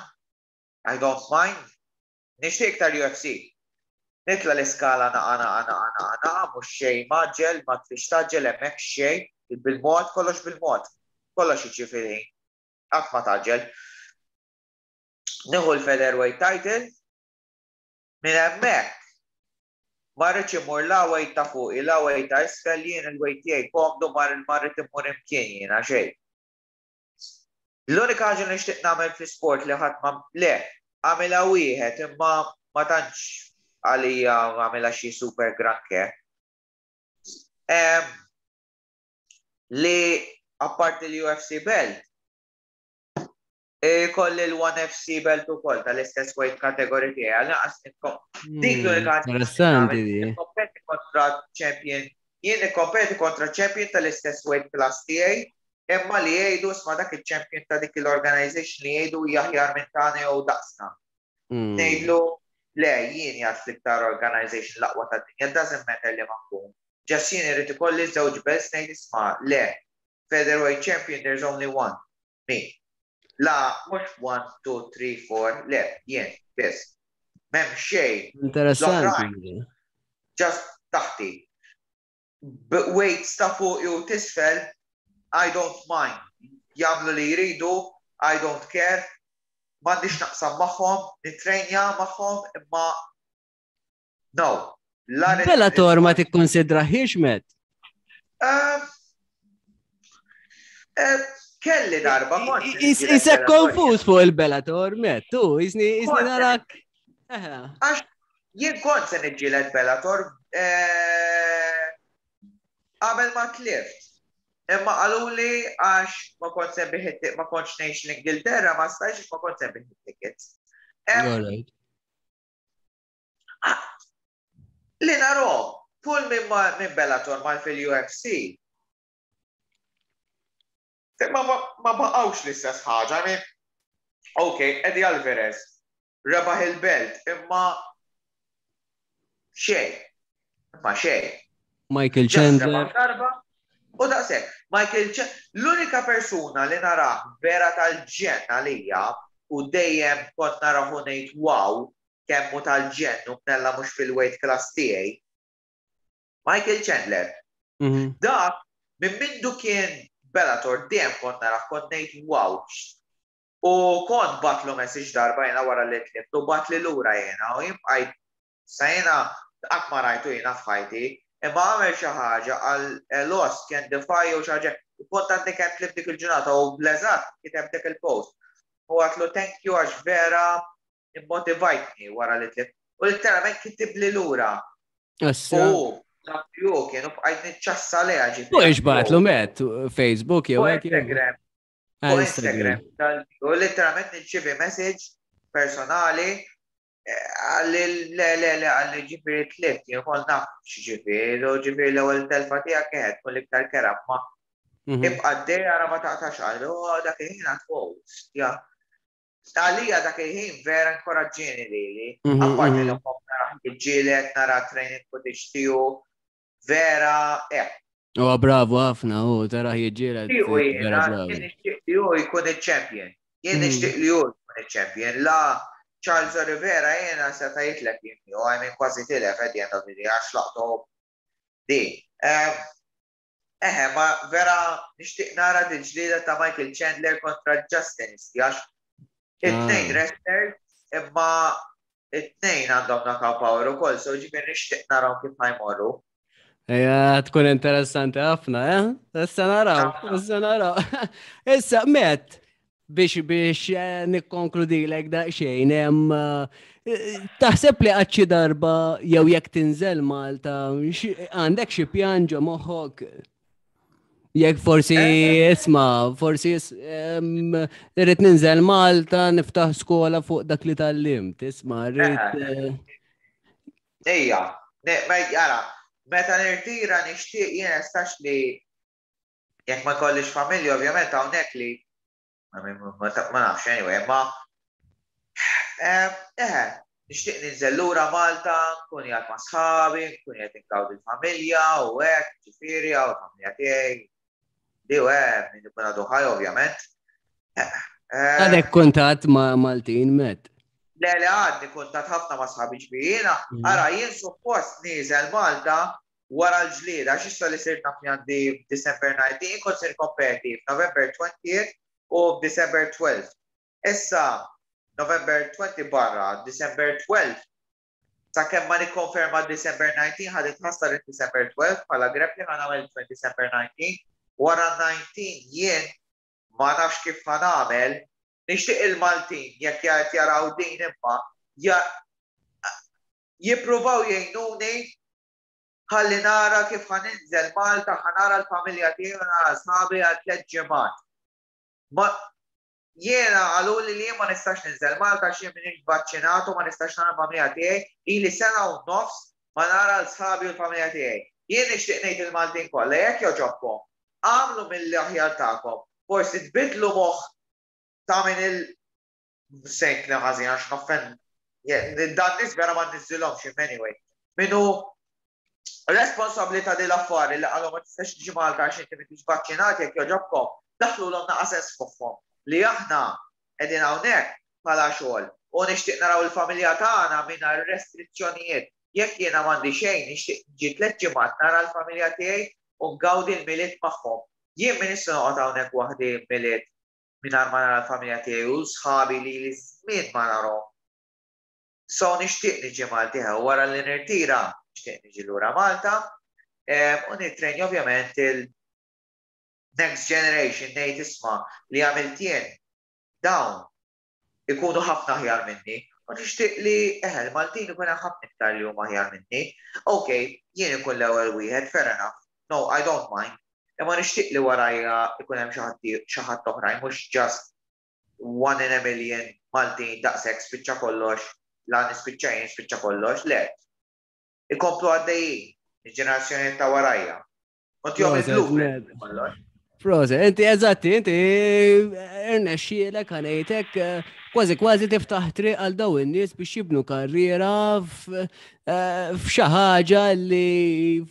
I don't mind. Nixtieq iktar U F C. Nitla l-iskala naqa naqa naqa naqa naqa, mhux xejn mgħaġġel, ma trix tgħaġġel hemmhekk xejn, bil-mod, kollox bil-mod. Kollox jiġifieri, qatt ma tgħaġġel. Nieħu l-featherweight title, minn hemmhekk ma rridx imur la weight ta' fuq, la weight ta' isfel, jien il-weight tiegħi komdu, ma rrid imur imkien jiena xejn. L-unika ħaġa li nixtieq nagħmel fl-sport li ħadd ma le, għamilha wieħed imma ma tantx għalija għamilha xi super granché. Li apparti l-U F C belt, kolli l-ONE F C belt ukoll tal-istess weight category tiegħi, għal naqas dik l-unika
hmm, Interessanti di.
Kompeti kontra champion, jien nikkompeti kontra champion tal-istess weight class tiegħi, imma li jgħidu sma dak il-champion ta' dik l-organization li jgħidu aħjar minn tagħna jew daqsna. Hmm. Ngħidlu le, jien jgħid l-iktar organization l-aqwa tad-dinja, doesn't matter li ma nkun. Just jien irid ikolli żewġ belts, ngħid isma' le, featherweight champion there's only one, me. La, mhux one, two, three, four, le, jien, biss. M'hemm xejn.
Interessanti.
Just taħti. Weights ta' fuq jew t'isfel, I don't mind. Jagħmlu li jridu, I don't care. M'għandix naqsam magħhom, nitrejnja magħhom, imma no.
Bellator ma tikkonsidrahiex, Matt?
Uh, uh, kelli darba.
Isek konfus fuq il-Bellator, Matt, tu, jisni narak.
Għax jien kont se niġġieled Bellator eh, qabel ma tlift. Imma qaluli għax ma kont se ma kontx ngħix l-Ingilterra, ma stajx, ma kont se tickets. Ah, li naro, kull minn Bellator mal fil-U F C, ma ma baqawx l-istess ħaġa, I mean, ok, Eddie Alvarez, rebaħ il-belt, imma xejn, imma xejn.
Michael Chandler.
U daqshekk, Michael Chandler, l-unika persuna li nara vera tal-ġenn għalija u dejjem kont narahu ngħid wow, kemm hu tal-ġenn u mnella mhux fil-weight class tiegħi. Michael Chandler. Mhm. Dak minn mindu kien Bellator dejjem kont narah kont ngħid wow. U kont bgħattlu message darba jena wara li tlift u bagħatli lura jena u jibqajt sa jena qatt ma rajtu jena f'ħajti, imma għamel xi ħaġa għal lost can defy u xi ħaġa u kont għandi kemm tlift dik il-ġurnata u bleżat kiteb dik il-post. U għedtlu thank you għax vera immotivajtni wara li tlift. U literalment kitib li lura. U ju kienu bqajt niċċassa leha
ġifieri. U ix bagħatlu, Matt, Facebook jew
hekk? Instagram. U Instagram. U literalment nirċievi message personali għalli le le le, għalli ġifieri tlift, jien kont naf x'ġifieri, u ġifieri l-ewwel telfa tiegħek kienet tkun l-iktar kerha, ma
Mhm.
Ibqa' għaddej, ara ma taqtax qalbi, u dak il-ħin għedt, "Wow, ja." Għalija dak il-ħin vera inkoraġġieni lili.
Mhm,
Apparti
mhm.
li nħobb nara jiġġieled, nara training footage tiegħu, vera, eh.
U bravo ħafna, u tara jiġġieled.
U
Vera
jiena
bravo.
Jien nixtieq li hu jkun il-champion. Jien
Mm.
nixtieq li hu jkun il-champion. La Charles Oliveira jiena seta' jitlef jien, u I mean, kważi tilef at the end of the day għax laqtu di. Ehm, Eħe, ma vera nixtieq nara dil-ġlieda ta' Michael Chandler kontra Justin għax it-tnejn
Ah.
wrestlers, imma it-tnejn għandhom knockout power ukoll, so ġifieri nixtieq naraw kif ħa jmorru.
Ejja, tkun interessanti ħafna, eh? Issa naraw, issa naraw. Issa, Matt, biex biex eh, nikkonkludilek daqsxejn, hemm eh, taħseb li għad xi darba jew jekk tinżel Malta, xi- għandek xi pjan ġo moħħok? Jekk forsi isma', forsi is- em, irrid ninżel Malta, niftaħ skola fuq dak li tgħallimt, isma', rrid. eh,
Ejja, ne- ma jara, meta nirtira nixtieq jien estax li jekk ma kollix familja, ovvjament hawnhekk li I mean, ma ma nafx anyway, ma eh, eh, nixtieq ninżel lura Malta, nkun qiegħed ma' sħabi, nkun qiegħed ingawdi l-familja u hekk, ġifieri hawn il-familja tiegħi. Di u hekk, min ikun għadu ħaj, ovvjament. Eh, eh,
Għadek kuntatt ma' Maltin, Matt?
Le, le, għadni kuntatt ħafna ma' sħabi, ġifieri.
Mhm.
Ara, jien suppost nieżel Malta wara l-ġlieda, għax issa li sirt naf li għandi December nineteenth, kont se nikkompeti f'November twentieth u December twelfth. Issa, November twenty barra, December twelfth, sakemm ma nikkonferma December nineteen, ħadet ħassar December twelfth bħala grappling, ħa nagħmel December nineteen. Wara nineteen jien ma nafx kif ħa nagħmel. Nixtieq il-Maltin, jekk jgħid jaraw din, imma ja- jippruvaw jgħinuni ħalli nara kif ħa ninżel Malta, ħa nara l-familja tiegħi u nara sħabi għal tliet ġimgħat. Ma jiena qaluli li jien ma nistax ninżel Malta għax jien m'iniex vaċċinat u ma nistax nara l-familja tiegħi, ili sena u nofs ma nara l-sħabi u l-familja tiegħi. Jien nixtieq ngħid il-Maltin kollha, jekk jogħġobkom, għamlu mill-aħjar tagħkom, forsi tbidlu moħħ ta' min il sejt li ħażin għax noffen dan nies vera ma niżilhomx anyway. Minu responsabbli ta' din l-affari li qalu ma tistax tiġi Malta għax inti m'intix vaċċinat, jekk jogħġobkom, daħħlulhom naqra sens f'moħħhom li aħna qegħdin hawnhekk bħala xogħol u nixtieq naraw il-familja tagħna mingħajr restrizzjonijiet. Jekk jiena m'għandi xejn, nixtieq niġi tliet ġimgħat nara l-familja tiegħi u ngawdi l-Milied magħhom. Jien minn issa noqgħod hawnhekk waħdi Milied mingħajr ma nara l-familja tiegħi u sħabi li li żmien ma narhom. So nixtieq niġi Malta wara li nirtira, nixtieq niġi lura Malta em, u nitrenja ovvjament il next generation, ngħid, "Isma', li għamilt jien, dawn ikunu ħafna aħjar minni." U nixtieq li eħe l-Maltin ikun hemm ħafna iktar li huma aħjar minni. Ok, jien ikun l-ewwel wieħed, fair enough. No, I don't mind. Imma nixtieq li warajja ikun hemm xi ħadd xi ħadd oħrajn, mhux just one in a million Maltin, daqshekk, spiċċa kollox, la nispiċċa jien spiċċa kollox, le. Ikomplu għaddejjin, il-ġenerazzjoni ta' warajja. U tihom
Proset,
il-blueprint
Matt.
kollox.
Proset, inti eżatti, inti irnexxielek, ħa ngħidlek, kważi kważi tiftaħ triq għal daw in-nies biex jibnu karriera f- eh, f'xi ħaġa li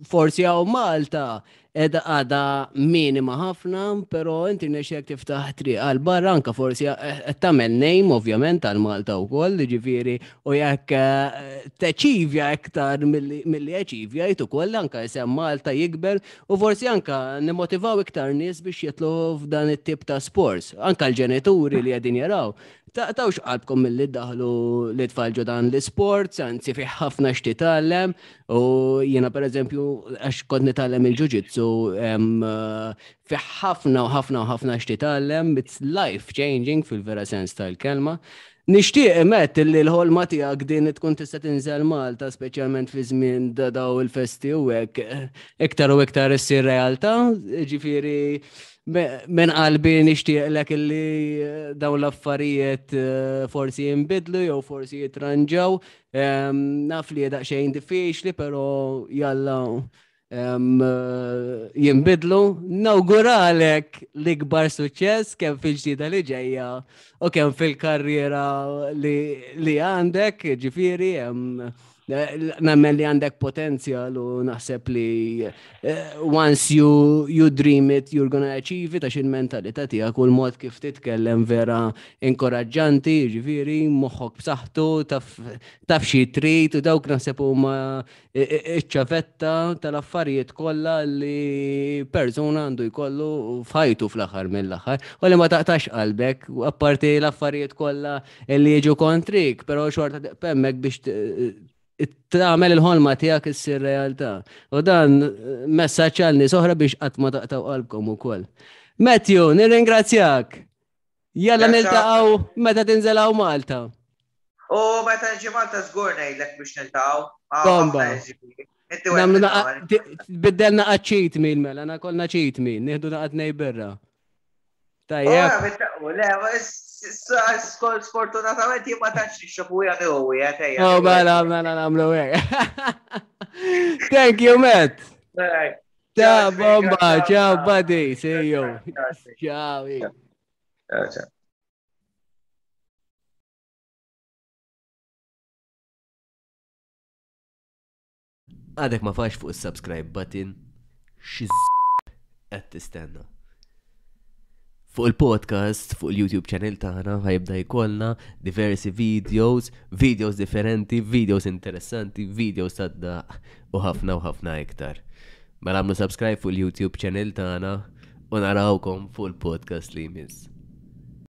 forsi hawn Malta edha għada minima ħafna, pero inti rnexxielek tiftaħ triq għal barra, anka forsi qed tagħmel name ovvjament għal Malta wkoll, ġifieri, u jekk eh, tachievja iktar milli milli achievjajt ukoll, anka isem Malta jikber u forsi anka nimmotivaw iktar nies biex jidħlu f'dan it-tip ta' sports, anka l-ġenituri li qegħdin jaraw. Taqtgħux qalbkom milli ddaħħlu lit-tfal ġo dan l-sports, anzi fih ħafna x'titgħallem, u jiena per eżempju għax kont nitgħallem il-jiu-jitsu, em, eh, fih ħafna u ħafna u ħafna x'titgħallem, it's life changing fil-vera sens tal-kelma. Nixtieq, Matt, li l-ħolma tiegħek din tkun tista' tinżel Malta, speċjalment fi żmien da daw il-festi u hekk, iktar u iktar issir realtà, ġifieri minn qalbi nixtieqlek illi eh, dawn l-affarijiet eh, forsi jinbidlu jew forsi jitranġaw. Em, Naf li daqsxejn diffiċli, però jalla Jinbidlu. Nawguralek l-ikbar suċċess kemm fil-ġdida li ġejja u kemm fil-karriera li għandek, ġifieri, nemmen li għandek potenzjal u naħseb li eh, once you, you dream it, you're gonna achieve it, għax il-mentalità tiegħek u l-mod kif titkellem vera inkoraġġanti, ġifieri, moħħok b'saħħtu, taf, taf xi trid u dawk naħseb huma iċ-ċavetta tal-affarijiet kollha li persuna għandu jkollu f'ħajtu fl-aħħar mill-aħħar. U li ma taqtax qalbek, u apparti l-affarijiet kollha li jiġu kontrik, però xorta hemmhekk biex tagħmel il-ħolma tiegħek issir realtà. U dan messaġġ għal nies oħra biex qatt ma taqtaw qalbkom ukoll. Matthew, nirringrazzjak. Jalla niltaqgħu meta tinżel hawn Malta.
U meta nġi Malta żgur ngħidlek biex niltaqgħu.
Bomba. Biddelna cheat meal mela, na kolna cheat meal, nieħdu naqat birra.
Tajjeb. Le, sfortunatament jien ma tantx nixrob u jien u
Oh, mela, mela nagħmlu hekk. Thank you, Matt. Ciao, bomba. Ciao, buddy. See you. Ciao.
Ciao.
Għadek ma fax fuq il-subscribe button, xi qed tistenna? Fuq il-podcast, fuq il-YouTube channel tagħna ħa jibda jkollna diversi videos, videos differenti, videos interessanti, videos tad-daħk u ħafna u ħafna iktar. Mela għamlu subscribe fuq il-YouTube channel tagħna u narawkom fuq il-podcast li jmiss.